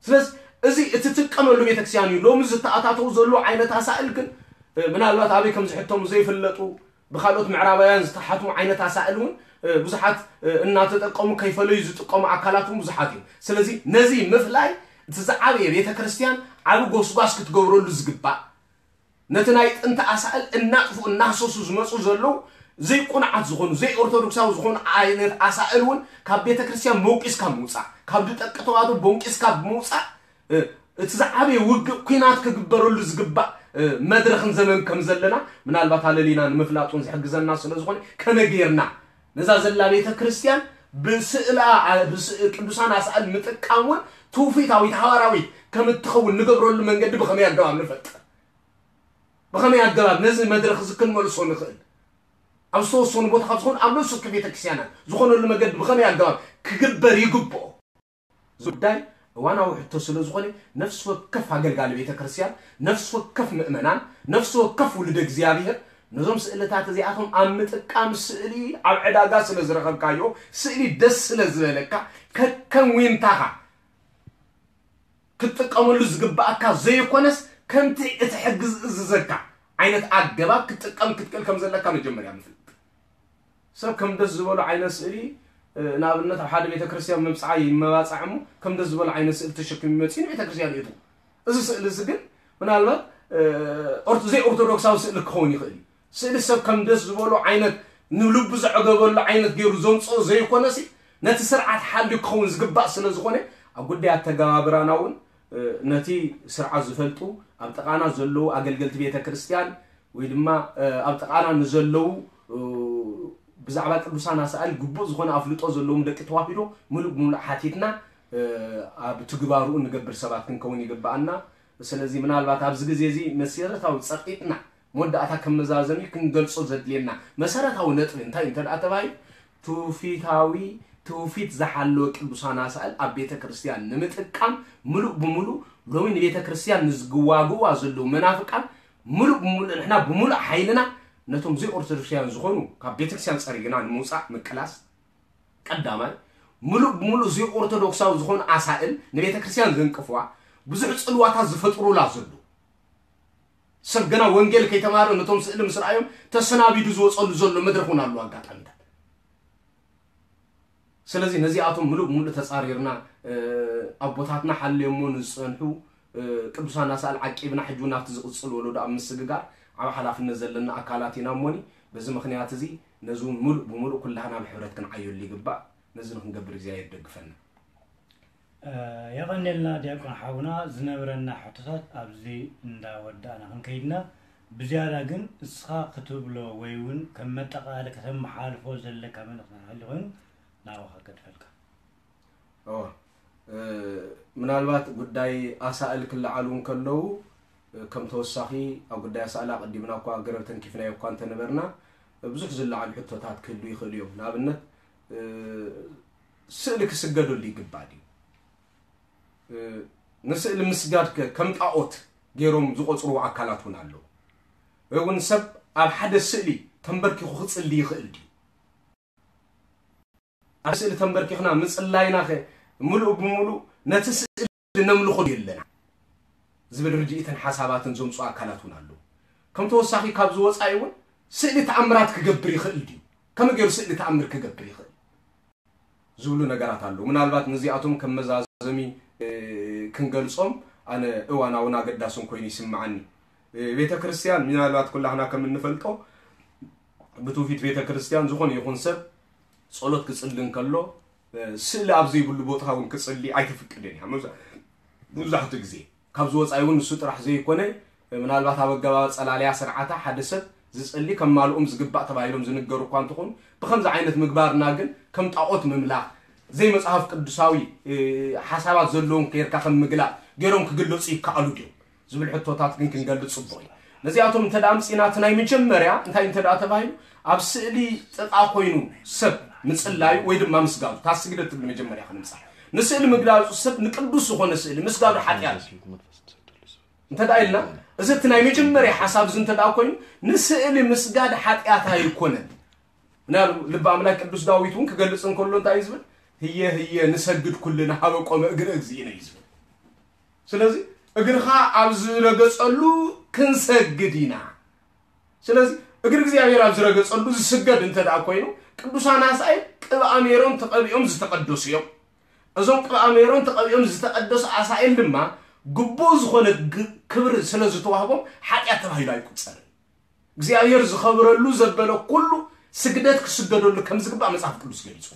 ስለዚ እዚ እትጥቀመሉ ቤተክርስትያን እዩ። ሎሚ ዝተኣታተው ዘሎ ዓይነት ኣሳእል ግን ምናልባት ኣበይ ከም ዝሕተሙ ዘይፍለጡ ብካልኦት ምዕራባውያን ዝተሓትሙ ዓይነት ኣሳእል እውን ብዙሓት እናተጠቀሙ ከይፈለዩ ዝጥቀሙ ኣካላት እውን ብዙሓት እዮም። ስለዚ ነዚ ምፍላይ እቲ ዝዓበየ ቤተክርስትያን ዓቢ ጎስጓስ ክትገብረሉ ዝግባእ ነቲ ናይ ጥንቲ ኣሳእል እናጥፉ እናህሰሱ ዝመፁ ዘለዉ ዘይቁኑዓት ዝኾኑ ዘይኦርቶዶክሳዊ ዝኾኑ ዓይነት ኣሳእል እውን ካብ ቤተ ክርስቲያን ቦንቂስካ ምውፃእ ካብ ድጠቂ ተዋህዶ ቦንቂስካ ብምውፃእ እቲ ዝዓበየ ውግእ ኲናት ክግበረሉ ዝግባእ መድረኽን ዘመን ከም ዘለና ምናልባት ኣለሊና ንምፍላጥ እውን ዝሕግዘና ስለ ዝኾነ ከመይ ጌርና ነዛ ዘላ ቤተ ክርስቲያን ብስእላ ቅዱሳን ኣሳእል ምጥቃም እውን ትውፊታዊት ሃዋራዊት ከም እትኸውን ንገብረሉ መንገዲ ብኸመይ ኣገባብ ንፈጥር ብኸመይ ኣገባብ ነዚ መድረኽ እዚ ክንመልሶ ንኽእል ኣብ ዝተወሰኑ ቦታ ካብ ዝኾኑ ኣብ ነፍሲ ወከፍ ቤተክርስትያናት ዝኾነሉ መገዲ ብኸመይ ኣገባብ ክግበር ይግብኦ እዚ ጉዳይ እዋናዊ ሕቶ ስለ ዝኾነ፣ ነፍሲ ወከፍ ኣገልጋሊ ቤተ ክርስቲያን፣ ነፍሲ ወከፍ ምእመናን፣ ነፍሲ ወከፍ ውሉደ እግዚኣብሔር ነዞም ስእልታት እዚኣቶም ኣብ ምጥቃም፣ ስእሊ ኣብ ዕዳጋ ስለ ዝረኸብካዮ፣ ስእሊ ደስ ስለ ዝበለካ፣ ከከም ዊንታኻ ክትጥቀመሉ ዝግባኣካ ዘይኮነስ፣ ከምቲ እቲ ሕጊ ዝእዝዘካ ዓይነት ኣገባብ ክትጥቀም ክትክእል ከም ዘለካ መጀመርያ ምፍላጥ። ሰብ ከም ደስ ዝበሎ ዓይነት ስእሊ፣ እ፣ ንኣብነት ኣብ ሓደ ቤተ ክርስቲያን መብጽዓ ይመባጻዕ እሞ፣ ከም ደስ ዝበሎ ዓይነት ስእሊ ተሸኪሙ መጺኡ ንቤተ ክርስቲያን የእትዎ። እዚ ስእሊ እዚ ግን ምናልባት፣ እ፣ ኦርቶ-፣ ዘይኦርቶዶክሳዊ ስእሊ ክኸውን ይኽእል እዩ። ስእሊ ሰብ ከም ደስ ዝበሎ ዓይነት፣ ንልቡ ዘዕገበሉ ዓይነት ገይሩ ዘምጽኦ ዘይኮነሲ፣ ነቲ ስርዓት ሓልዩ ክኸውን ዝግባእ ስለ ዝኾነ፣ ኣብ ጉዳይ ኣተገባብራና እውን፣ እ፣ ነቲ ስርዓት ዝፈልጡ፣ ኣብ ጥቓና ዘለዉ ኣገልገልቲ ቤተ ክርስቲያን ወይ ድማ፣ እ፣ ኣብ ጥቓና ንዘለዉ፣ እ፣ ብዛዕባ ቅዱሳን ኣሳእል ግቡእ ዝኾነ ኣፍልጦ ዘለዎም ደቂ ተዋሂዶ ምሉእ ብምሉእ ሓቲትና፣ እ፣ ኣብ ትግባርኡ ንገብር ሰባት ክንከውን ይግባኣና። ስለዚ ምናልባት ኣብዚ ግዜ እዚ መሰረታዊ ጸቒጥና መወዳእታ ከም መዛዘሚ ክንገልጾ ዘድልየና መሰረታዊ ነጥቢ እንታይ እንተ ደኣ ተባሂሉ፣ ትውፊታዊ፣ ትውፊት ዝሓለወ ቅዱሳን ኣሳእል ኣብ ቤተ ክርስቲያን ንምጥቃም ምሉእ ብምሉእ ሎሚ ንቤተ ክርስቲያን ንዝግዋግዋ ዘለዉ መናፍቃን ምሉእ ብምሉእ ንሕና ብምሉእ ሓይልና ነቶም ዘይኦርቶዶክሳውያን ዝኾኑ ካብ ቤተ ክርስቲያን ጸሪግና ንምውጻእ ምቅላስ ቀዳማይ። ምሉእ ብምሉእ ዘይኦርቶዶክሳዊ ዝኾኑ ኣሳእል ንቤተ ክርስቲያን ዘንቅፍዋ ብዙሕ ጽልዋታት ዝፈጥሩላ ዘለዉ ሰብ ገና ወንጌል ከይተማረ ነቶም ስእሊ ምስ ረኣዮም ተሰናቢዱ ዝወጸሉ ዘሎ መድረኽ እውን ኣለዎ ኣጋጣሚታት። ስለዚ ነዚኣቶም ምሉእ ብምሉእ ተጻሪርና፣ እ፣ ኣቦታትና ሓልዮሞ ንዝጸንሑ፣ እ፣ ቅዱሳን ኣሳእል ዓቂብና ሕጂ እውን ኣብቲ ዝቕጽል ወለዶ ኣብ ምስግጋር ዓቢ ሓላፍነት ዘለና ኣካላት ኢና እሞኒ፣ በዚ ምኽንያት እዚ ነዚ እውን ምሉእ ብምሉእ ኩላህና ብሕብረት ክንዓየሉ ይግባእ። ነዚ ንክንገብር እግዚኣብሔር ይደግፈና። እ፣ የቐንየልና ዲያቆን ሓውና፣ ዝነብረና ሕቶታት ኣብዚ እንዳወዳእና ክንከይድና፣ ብዝያዳ ግን እስኻ ክትብሎ ወይ እውን ከም መጠቓለሊ ከተመሓላልፎ ዘለካ መልእኽቲ እንተሃልዩ ኮይኑ ናባኻ ገድፈልካ። እወ፣ እ፣ ምናልባት ጉዳይ ኣሳእል ክለዓሉ እንከለዉ፣ እ፣ ከም ተወሳኺ ኣብ ጉዳይ ኣሳእል ኣቐዲምና እኳ ገረብ ተንኪፍናዮ እኳ እንተነበርና፣ ብዙሕ ዝለዓሉ ሕቶታት ክህልዉ ይኽእሉ እዮም። ንኣብነት፣ እ፣ ስእሊ ክስገደሉ ይግባእ ድዩ? እ፣ ንስእሊ ምስጋድ ከ ከም ጣኦት ገይሮም ዝቖጽርዎ ኣካላት እውን ኣለዉ። ወይ እውን ሰብ ኣብ ሓደ ስእሊ ተንበርኪኹ ክጽሊ ይኽእል ድዩ? ኣብ ስእሊ ተንበርኪኽና ምጽላይና ከ ምሉእ ብምሉእ ነቲ ስእሊ ነምልኾ ድዩ ኣለና ዝብል ርድኢትን ሓሳባትን ዘምጽኡ ኣካላት እውን ኣለዉ። ከም ተወሳኺ ካብዚ ወጻኢ እውን ስእሊ ተኣምራት ክገብር ይኽእል ድዩ? ከመይ ገይሩ ስእሊ ተኣምር ክገብር ይኽእል? ዝብሉ ነገራት ኣለዉ። ምናልባት ነዚኣቶም ከም መዛዘሚ፣ እ፣ ክንገልጾም ኣነ እዋናውን ኣገዳስን ኮይኑ ይስምዓኒ። እ፣ ቤተ ክርስቲያን ምናልባት ኩላህና ከም እንፈልጦ ብትውፊት ቤተ ክርስቲያን ዝኾነ ይኹን ሰብ ጸሎት ክጽሊ እንከሎ፣ እ፣ ስእሊ ኣብ ዘይብሉ ቦታ እውን ክጽሊ ኣይትፍቅድን እያ። መብዛ-፣ መብዛሕትኡ ግዜ ካብዚ ወጻኢ እውን ንሱ ጥራሕ ዘይኮነ፣ ምናልባት ኣብ ኣገባብ ጸላለያ ስርዓታ ሓደ ሰብ ዝጸሊ ከማልኦም ዝግባእ ተባሂሎም ዝንገሩ እኳ እንተኾኑ፣ ብኸምዚ ዓይነት ምግባርና ግን ከም ጣዖት ምምላኽ፣ ዘይመጽሓፍ ቅዱሳዊ፣ እ፣ ሓሳባት ዘለዎም ጌርካ ከም ምግላጽ ገይሮም ክግለጹ ይከኣሉ ድዮም ዝብል ሕቶታት ግን ክንገልጽ ጽቡቕ እዩ። ነዚኣቶም እንተ ደኣ ኣምጺእና፣ እቲ ናይ መጀመርያ እንታይ እንተ ደኣ ተባሂሉ፣ ኣብ ስእሊ ጥቓ ኮይኑ ሰብ ምጽላዩ ወይ ድማ ምስጋዱ፣ እታ ስግደት ትብል መጀመርያ ክንምጻእ። ንስእሊ ምግላጹ ሰብ ንቅዱስ ዝኾነ ስእሊ ምስጋዱ ሓጢኣት እዩ። እንተ ደኣ ኢልና፣ እዚ እቲ ናይ መጀመርያ ሓሳብ እዚ እንተ ደኣ ኮይኑ፣ ንስእሊ ምስጋድ ሓጢኣት ኣይኮነን። ምናል-፣ ልበ ኣምላክ ቅዱስ ዳዊት እውን ክገልጽ እንከሎ እንታይ እዩ ዝብል? "ህየ ህየ ንሰግድ ኩልና ሀበ ቆመ እግረ እግዚእነ" እዩ ዝብል። ስለዚ እግርኻ ኣብ ዝረገጸሉ ክንሰግድ ኢና። ስለዚ እግሪ እግዚኣብሔር ኣብ ዝረገጸሉ ዝስገድ እንተ ደኣ ኮይኑ፣ ቅዱሳን ኣሳኤል ቅብኣ ሜሮን ተቐቢኦም ዝተቐደሱ እዮም። እዞም ቅብኣ ሜሮን ተቐቢኦም ዝተቐደሱ ኣሳኤል ድማ ግቡእ ዝኾነ ግ-፣ ክብሪ ስለ ዝተዋህቦም ሓጢኣት ተባሂሉ ኣይቁጸርን። እግዚኣብሔር ዝኸብረሉ ዘበለ ኩሉ ስግደት ክስገደሉ ከም ዝግባእ መጽሓፍ ቅዱስ ገሊጹ።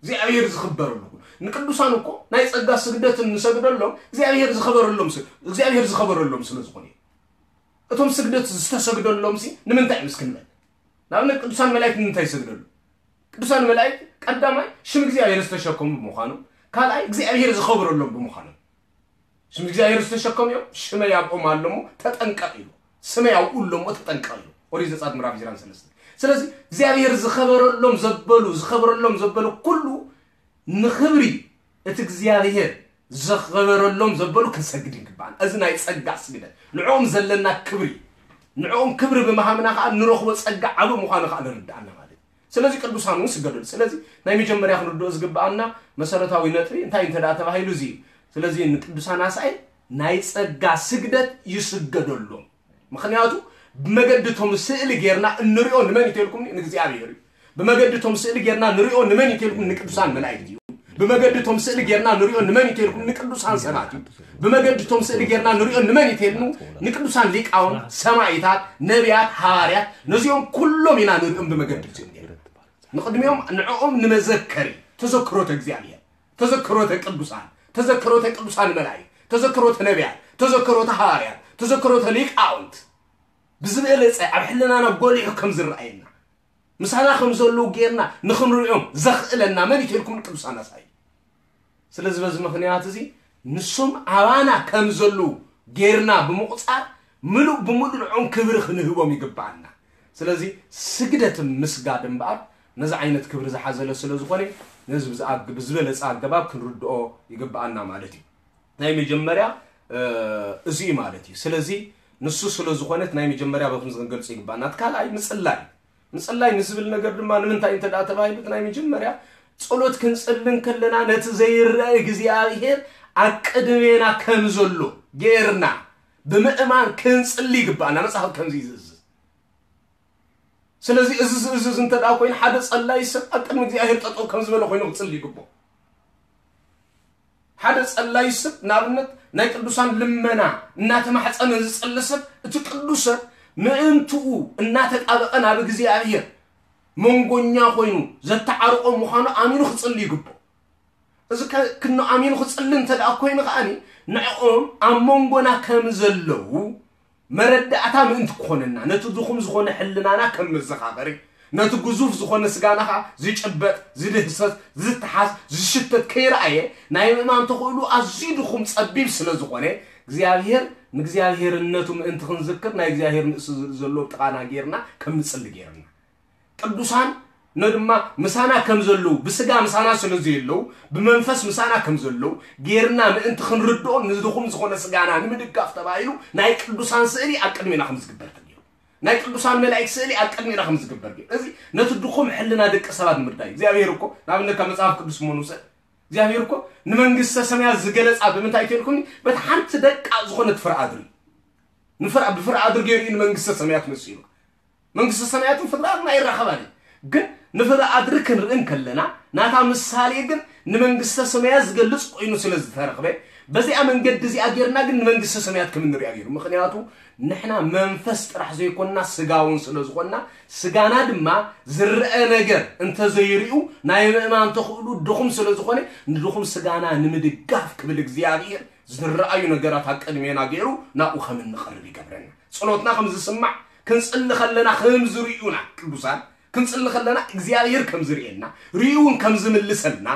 እግዚኣብሔር ዝኽበረሉ ኩሉ። ንቅዱሳን እኮ ናይ ጸጋ ስግደት እንሰግደሎም እግዚኣብሔር ዝኸበረሎም ስ-፣ እግዚኣብሔር ዝኸበረሎም ስለ ዝኾኑ እዮም። እቶም ስግደት ዝተሰግደሎም ሲ ንምንታይ እዮም እስኪ ንበል? ንኣብነት ቅዱሳን መላእክት ንምንታይ ይሰግደሉ? ቅዱሳን መላእክት ቀዳማይ ሽም እግዚኣብሔር ዝተሸከሙ ብምዃኑ፣ ካልኣይ እግዚኣብሔር ዝኸበረሎም ብምዃኑ። ሽም እግዚኣብሔር ዝተሸከሙ እዮም፣ ሽመይ ኣብኦም ኣሎ እሞ ተጠንቀቕ ኢሉ። ስመይ ኣብኡ ኣሎ እሞ ተጠንቀቕ ኢሉ። ኦሪት ዘጸአት ምዕራፍ ዕስራን ሰለስተን። ስለዚ እግዚኣብሔር ዝኸበረሎም ዘበሉ፣ ዝኸበረሎም ዘበሉ ኩሉ ንኽብሪ እቲ እግዚኣብሔር ዘኸበረሎም ዘበሉ ክንሰግድ ይግባን። እዚ ናይ ጸጋ ስግደት ንዕኦም ዘለና ክብሪ፣ ንዕኦም ክብሪ ብምሃምና ከዓ ንረኽቦ ጸጋ ዓብ ምዃኑ ከዓ ንርዳእና ማለት እዩ። ስለዚ ቅዱሳን እውን ስገደሉ። ስለዚ ናይ መጀመርያ ክንርድኦ ዝግባኣና መሰረታዊ ነጥቢ እንታይ እንተ ደኣ ተባሂሉ እዚ እዩ። ስለዚ ንቅዱሳን ኣስኣይ ናይ ጸጋ ስግደት ይስገደሎም። ምኽንያቱ ብመገዲ እቶም ስእሊ ጌርና እንሪኦ ንመን እዩ ተልኩም? ንእግዚኣብሔር እዩ። ብመገዲ እቶም ስእሊ ጌርና ንሪኦ ንመን እዩ ተልኩም? ንቅዱሳን መላእክት እዩ። ብመገዲ እቶም ስእሊ ጌርና ንሪኦ ንመን እዩ ተልኩም? ንቅዱሳን ሰባት እዩ። ብመገዲ እቶም ስእሊ ጌርና ንሪኦ ንመን እዩ ተልኩም? ንቅዱሳን ሊቃውንት፣ ሰማይታት፣ ነቢያት፣ ሃዋርያት፣ ነዚኦም ኩሎም ኢና ንሪኦም ብመገዲ እዚኦም ጌርና። ንቅድሚኦም ንዕኦም ንመዘከሪ ተዘክሮተ እግዚኣብሔር፣ ተዘክሮተ ቅዱሳን፣ ተዘክሮተ ቅዱሳን መላእክት፣ ተዘክሮተ ነቢያት፣ ተዘክሮተ ሃዋርያት፣ ተዘክሮተ ሊቃውንት ብዝበለጸ ኣብ ሕልናና ጎሊሑ ከም ዝረኣየና ምሳና ከም ዘለዉ ጌርና ንኽንሪኦም ዘኽእለና መን እዩ ተልኩም? ቅዱሳን ኣስኣይ። ስለዚ በዚ ምኽንያት እዚ ንሶም ኣባና ከም ዘለዉ ጌርና ብምቑጻር ምሉእ ብምሉእ ንዕኦም ክብሪ ክንህቦም ይግባኣና። ስለዚ ስግደት ምስጋድ እምበኣር ነዚ ዓይነት ክብሪ ዝሓዘለ ስለ ዝኾነ ነዚ ብዝኣግ-፣ ብዝበለጸ ኣገባብ ክንርድኦ ይግባኣና ማለት እዩ። ናይ መጀመርያ፣ እ፣ እዚ እዩ ማለት እዩ። ስለዚ ንሱ ስለ ዝኾነ እቲ ናይ መጀመርያ በዚ ክንገልጾ ይግባኣና። እቲ ካልኣይ ምጽላይ። ምጽላይ ንዝብል ነገር ድማ ንምንታይ እንተ ደኣ ተባሂሉ እቲ ናይ መጀመርያ ጸሎት ክንጽሊ እንከለና ነቲ ዘይረአ እግዚኣብሔር ኣብ ቅድሜና ከም ዘሎ ጌርና ብምእማን ክንጽሊ ይግባኣና። መጽሓፍ ከምዚ እዩ ዝእዝዝ። ስለዚ እዚ ዝእዝዝ እንተ ደኣ ኮይኑ ሓደ ጸላይ ሰብ ኣብ ቅድሚ እግዚኣብሔር ጠጠው ከም ዝበለ ኮይኑ ክጽሊ ይግብኦ። ሓደ ጸላይ ሰብ ንኣብነት ናይ ቅዱሳን ልመና እናተማሕጸነ ዝጸሊ ሰብ እቲ ቅዱስ ሰብ ምእንትኡ እናተጣበቐ ናብ እግዚኣብሔር መንጎኛ ኮይኑ ዘተዓርቆ ምዃኑ ኣሚኑ ክጽሊ ይግብኦ። እዚ ከ-፣ ክኖ ኣሚኑ ክጽሊ እንተ ደኣ ኮይኑ ከኣኒ ንዕኦም ኣብ መንጎና ከም ዘለዉ መረዳእታ ምእንቲ ክኾነና፣ ነቲ ድኹም ዝኾነ ሕልናና ከም መዘኻኸሪ፣ ነቲ ግዙፍ ዝኾነ ስጋና ኸኣ ዝጭበጥ፣ ዝድህሰስ፣ ዝተሓዝ፣ ዝሽተት ከይረኣየ ናይ ምእማን ተኽእሉ ኣዝዩ ድኹም ጸቢብ ስለ ዝኾነ እግዚኣብሔር ንእግዚኣብሔርነቱ ምእንቲ ክንዝክር ናይ እግዚኣብሔር ንእሱ ዘሎ ጥቓና ጌርና ከም ንጽሊ ጌርና። ቅዱሳን ነ ድማ ምሳና ከም ዘለዉ፣ ብስጋ ምሳና ስለ ዘየለዉ፣ ብመንፈስ ምሳና ከም ዘለዉ ጌርና ምእንቲ ክንርድኦ ንድኹም ዝኾነ ስጋና ንምድጋፍ ተባሂሉ ናይ ቅዱሳን ስእሊ ኣብ ቅድሜና ከም ዝግበር ተገይሩ። ናይ ቅዱሳን መላእክት ስእሊ ኣብ ቅድሜና ከም ዝግበር ገይሩ። እዚ ነቲ ድኹም ሕልና ደቂ ሰባት ንምርዳእ እዩ። እግዚኣብሔር እኮ ንኣብነት ካብ መጽሓፍ ቅዱስ እሞ ንውሰድ። እግዚኣብሔር እኮ ንመንግስተ ሰማያት ዝገለጻ ብምንታይ ተልኩኒ? በቲ ሓንቲ ደቃ ዝኾነት ፍረ ኣድሪ። ንፍረ-፣ ብፍረ ኣድሪ ገይሩ እዩ ንመንግስተ ሰማያት መሲሉ። መንግስተ ሰማያትን ፍጥረታትን ኣይራኸባን እዩ። ግን ንፍረ ኣድሪ ክንርኢ እንከለና ናታ ምሳሌ ግን ንመንግስተ ሰማያት ዝገልጽ ኮይኑ ስለ ዝተረኽበ በዚኣ መንገዲ እዚኣ ጌርና ግን ንመንግስተ ሰማያት ከም እንሪኣ ገይሩ። ምኽንያቱ ንሕና መንፈስ ጥራሕ ዘይኮንና ስጋ እውን ስለ ዝኾንና ስጋና ድማ ዝረአ ነገር እንተዘይሪኡ ናይ ምእማን ተኽእሉ ድኹም ስለ ዝኾነ ንድኹም ስጋና ንምድጋፍ ክብል እግዚኣብሔር ዝረኣዩ ነገራት ኣብ ቅድሜና ገይሩ ናብኡ ከም እንቐርብ ይገብረና። ጸሎትና ከም ዝስማዕ ክንጽሊ ከለና ከም ዝርእዩና ቅዱሳን ክንጽሊ ከለና እግዚኣብሔር ከም ዝርእየና ርእዩ እውን ከም ዝምልሰልና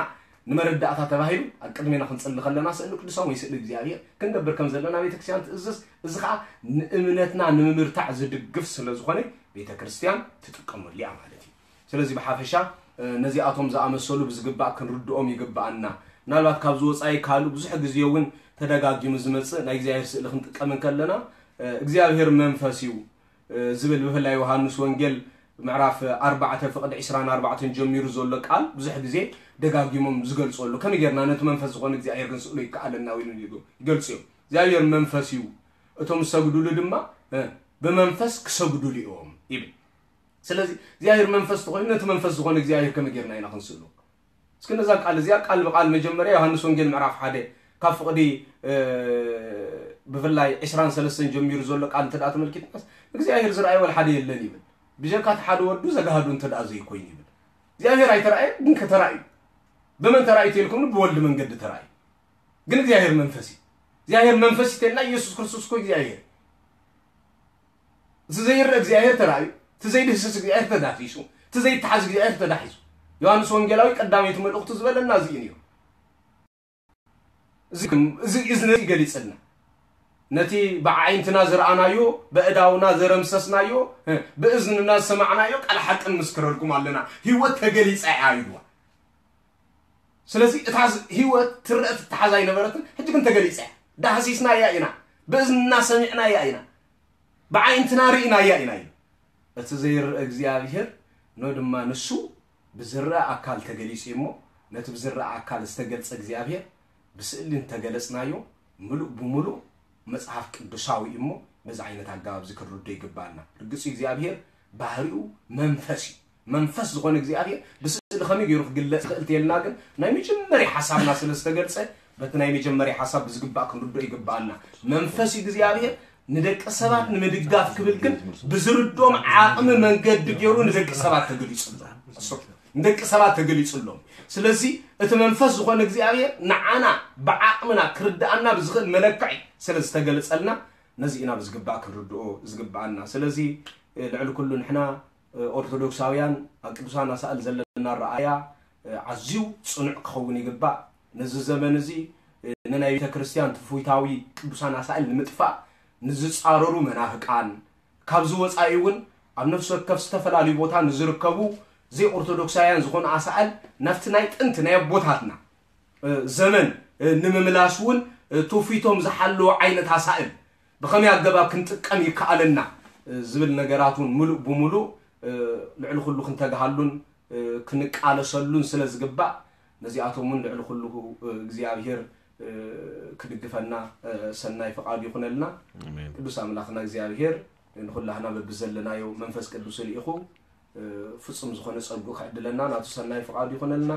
ንመረዳእታ ተባሂሉ ኣብ ቅድሜና ክንጽሊ ከለና ስእሊ ቅዱሳን ወይ ስእሊ እግዚኣብሔር ክንገብር ከም ዘለና ቤተክርስትያን ትእዝዝ። እዚ ኸዓ ንእምነትና ንምምርታዕ ዝድግፍ ስለ ዝኾነ ቤተክርስትያን ትጥቀመሉ እያ ማለት እዩ። ስለዚ ብሓፈሻ፣ እ፣ ነዚኣቶም ዝኣመሰሉ ብዝግባእ ክንርድኦም ይግባኣና። ምናልባት ካብዚ ወጻኢ ካልእ ብዙሕ ግዜ እውን ተደጋጊሙ ዝመጽእ ናይ እግዚኣብሔር ስእሊ ክንጥቀም እንከለና፣ እ፣ እግዚኣብሔር መንፈስ እዩ፣ እ፣ ዝብል ብፍላይ ዮሃንስ ወንጌል ምዕራፍ ኣርባዕተ ፍቕዲ ዕስራን ኣርባዕተን ጀሚሩ ዘሎ ቃል ብዙሕ ግዜ ደጋጊሞም ዝገልጹ ኣለዉ። ከመይ ጌርና ነቲ መንፈስ ዝኾነ እግዚኣብሔር ክንስእሎ ይከኣለና? ኢሉ ይገልጹ እዮም። እግዚኣብሔር መንፈስ እዩ፣ እቶም ዝሰግዱሉ ድማ፣ እ፣ ብመንፈስ ክሰግዱሉ እዮም ይብል። ስለዚ እግዚኣብሔር መንፈስ ተኾይኑ ነቲ መንፈስ ዝኾነ እግዚኣብሔር ከመይ ጌርና ኢና ክንስእሎ? እስኪ ነዛ ቃል እዚኣ ቃል ብቃል መጀመርያ ዮሃንስ ወንጌል ምዕራፍ ሓደ ካብ ፍቕዲ፣ እ፣ ብፍላይ ዕስራን ሰለስተን ጀሚሩ ዘሎ ቃል እንተ ደኣ ተመልኪትናስ እግዚኣብሔር ዝረኣየ ወላ ሓደ የለን ይብል። ብጀካ እቲ ሓደ ወዱ ዘጋህዱ እንተ ደኣ ዘይኮይኑ ይብል። እግዚኣብሔር ኣይተራእየ ግን ከተራእዩ። ብመን ተራእዩ ተልኩምኒ? ብወልድ መንገዲ ተራእዩ። ግን እግዚኣብሔር መንፈስ እዩ። እግዚኣብሔር መንፈስ እዩ ተልና ኢየሱስ ክርስቶስ እኮ እግዚኣብሔር። እቲ ዘይረአ እግዚኣብሔር ተራእዩ፣ እቲ ዘይድህስስ እግዚኣብሔር ተዳሲሱ፣ እቲ ዘይተሓዝ እግዚኣብሔር ተዳሒሱ። ዮሃንስ ወንጌላዊ ቀዳመይቲ መልእኽቱ ዝበለና እዚ እዩ ነይሩ። እዚ፣ እዚ፣ እዚ ነቲ ገሊጽልና። ነቲ ብዓይንትና ዝረኣናዮ፣ በእዳውና ዘረምሰስናዮ፣ ብእዝንና ዝሰማዕናዮ ቃል ሓቂ ንምስክረልኩም ኣለና። ህይወት ተገሊጻ እያ ኢልዋ። ስለዚ እታ ህይወት ትረአ ትተሓዝ ኣይነበረትን፣ ሕጂ ግን ተገሊጸ። ዳህሲስናያ ኢና፣ ብእዝንና ሰሚዕናያ ኢና፣ ብዓይንትና ርኢናያ ኢና እዩ። እቲ ዘይርአ እግዚኣብሔር ኖ ድማ ንሱ ብዝረአ ኣካል ተገሊጹ እዩ እሞ፣ ነቲ ብዝረአ ኣካል ዝተገልጸ እግዚኣብሔር ብስእሊ እንተገለጽናዮ፣ ምሉእ ብምሉእ መጽሓፍ ቅዱሳዊ እዩ እሞ፣ በዚ ዓይነት ኣገባብ እዚ ክንርዶ ይግባኣና። ርግጽ እግዚኣብሔር ባህሪኡ መንፈስ እዩ። መንፈስ ዝኾነ እግዚኣብሔር ብስእሊ ከመይ ገይሩ ክግለጽ ይኽእል ተየልና ግን፣ ናይ መጀመርያ ሓሳብና ስለ ዝተገልጸ፣ በቲ ናይ መጀመርያ ሓሳብ ብዝግባእ ክንርዶ ይግባኣና። መንፈስ እግዚኣብሔር ንደቂ ሰባት ንምድጋፍ ክብል ግን ብዝርዶም ዓቕሚ መንገዲ ገይሩ ንደቂ ሰባት ተገሊጹ ኣሎ። ንደቂ ሰባት ተገሊጹ ኣሎ። ስለዚ እቲ መንፈስ ዝኾነ እግዚኣብሔር ንዓና ብዓቕምና ክርዳኣና ብዝኽእል መለክዒ ስለ ዝተገለጸልና፣ ነዚ ኢና ብዝግባእ ክንርድኦ ዝግባኣና። ስለዚ ልዕሊ ኩሉ ንሕና ኦርቶዶክሳውያን ኣብ ቅዱሳን ኣሳእል ዘለና ረኣያ ኣዝዩ ጽኑዕ ክኸውን ይግባእ። ነዚ ዘመን እዚ ንናይ ቤተ ክርስቲያን ትውፊታዊ ቅዱሳን ኣሳእል ንምጥፋእ ንዝጻረሩ መናፍቃን፣ ካብዚ ወጻኢ እውን ኣብ ነፍሲ ወከፍ ዝተፈላለዩ ቦታ ንዝርከቡ ዘይኦርቶዶክሳውያን ዝኾኑ ኣሳእል ናብቲ ናይ ጥንቲ ናይ ኣቦታትና ዘመን ንምምላስ እውን ትውፊቶም ዝሓለወ ዓይነት ኣሳእል ብኸመይ ኣገባብ ክንጥቀም ይከኣለና ዝብል ነገራት እውን ምሉእ ብምሉእ ልዕሊ ኩሉ ክንተግሃሉን ክንቃለሰሉን ስለ ዝግባእ፣ ነዚኣቶም እውን ልዕሊ ኩሉ እግዚኣብሔር ክድግፈና ሰናይ ፍቓዱ ይኹነልና። ኣሜን። ቅዱስ ኣምላኽና እግዚኣብሔር ንኹላህና በብዘለናዮ መንፈስ ቅዱስ ልኢኹ ፍጹም ዝኾነ ጸጉ ክዕድለና ናቱ ሰናይ ፍቓዱ ይኹነልና።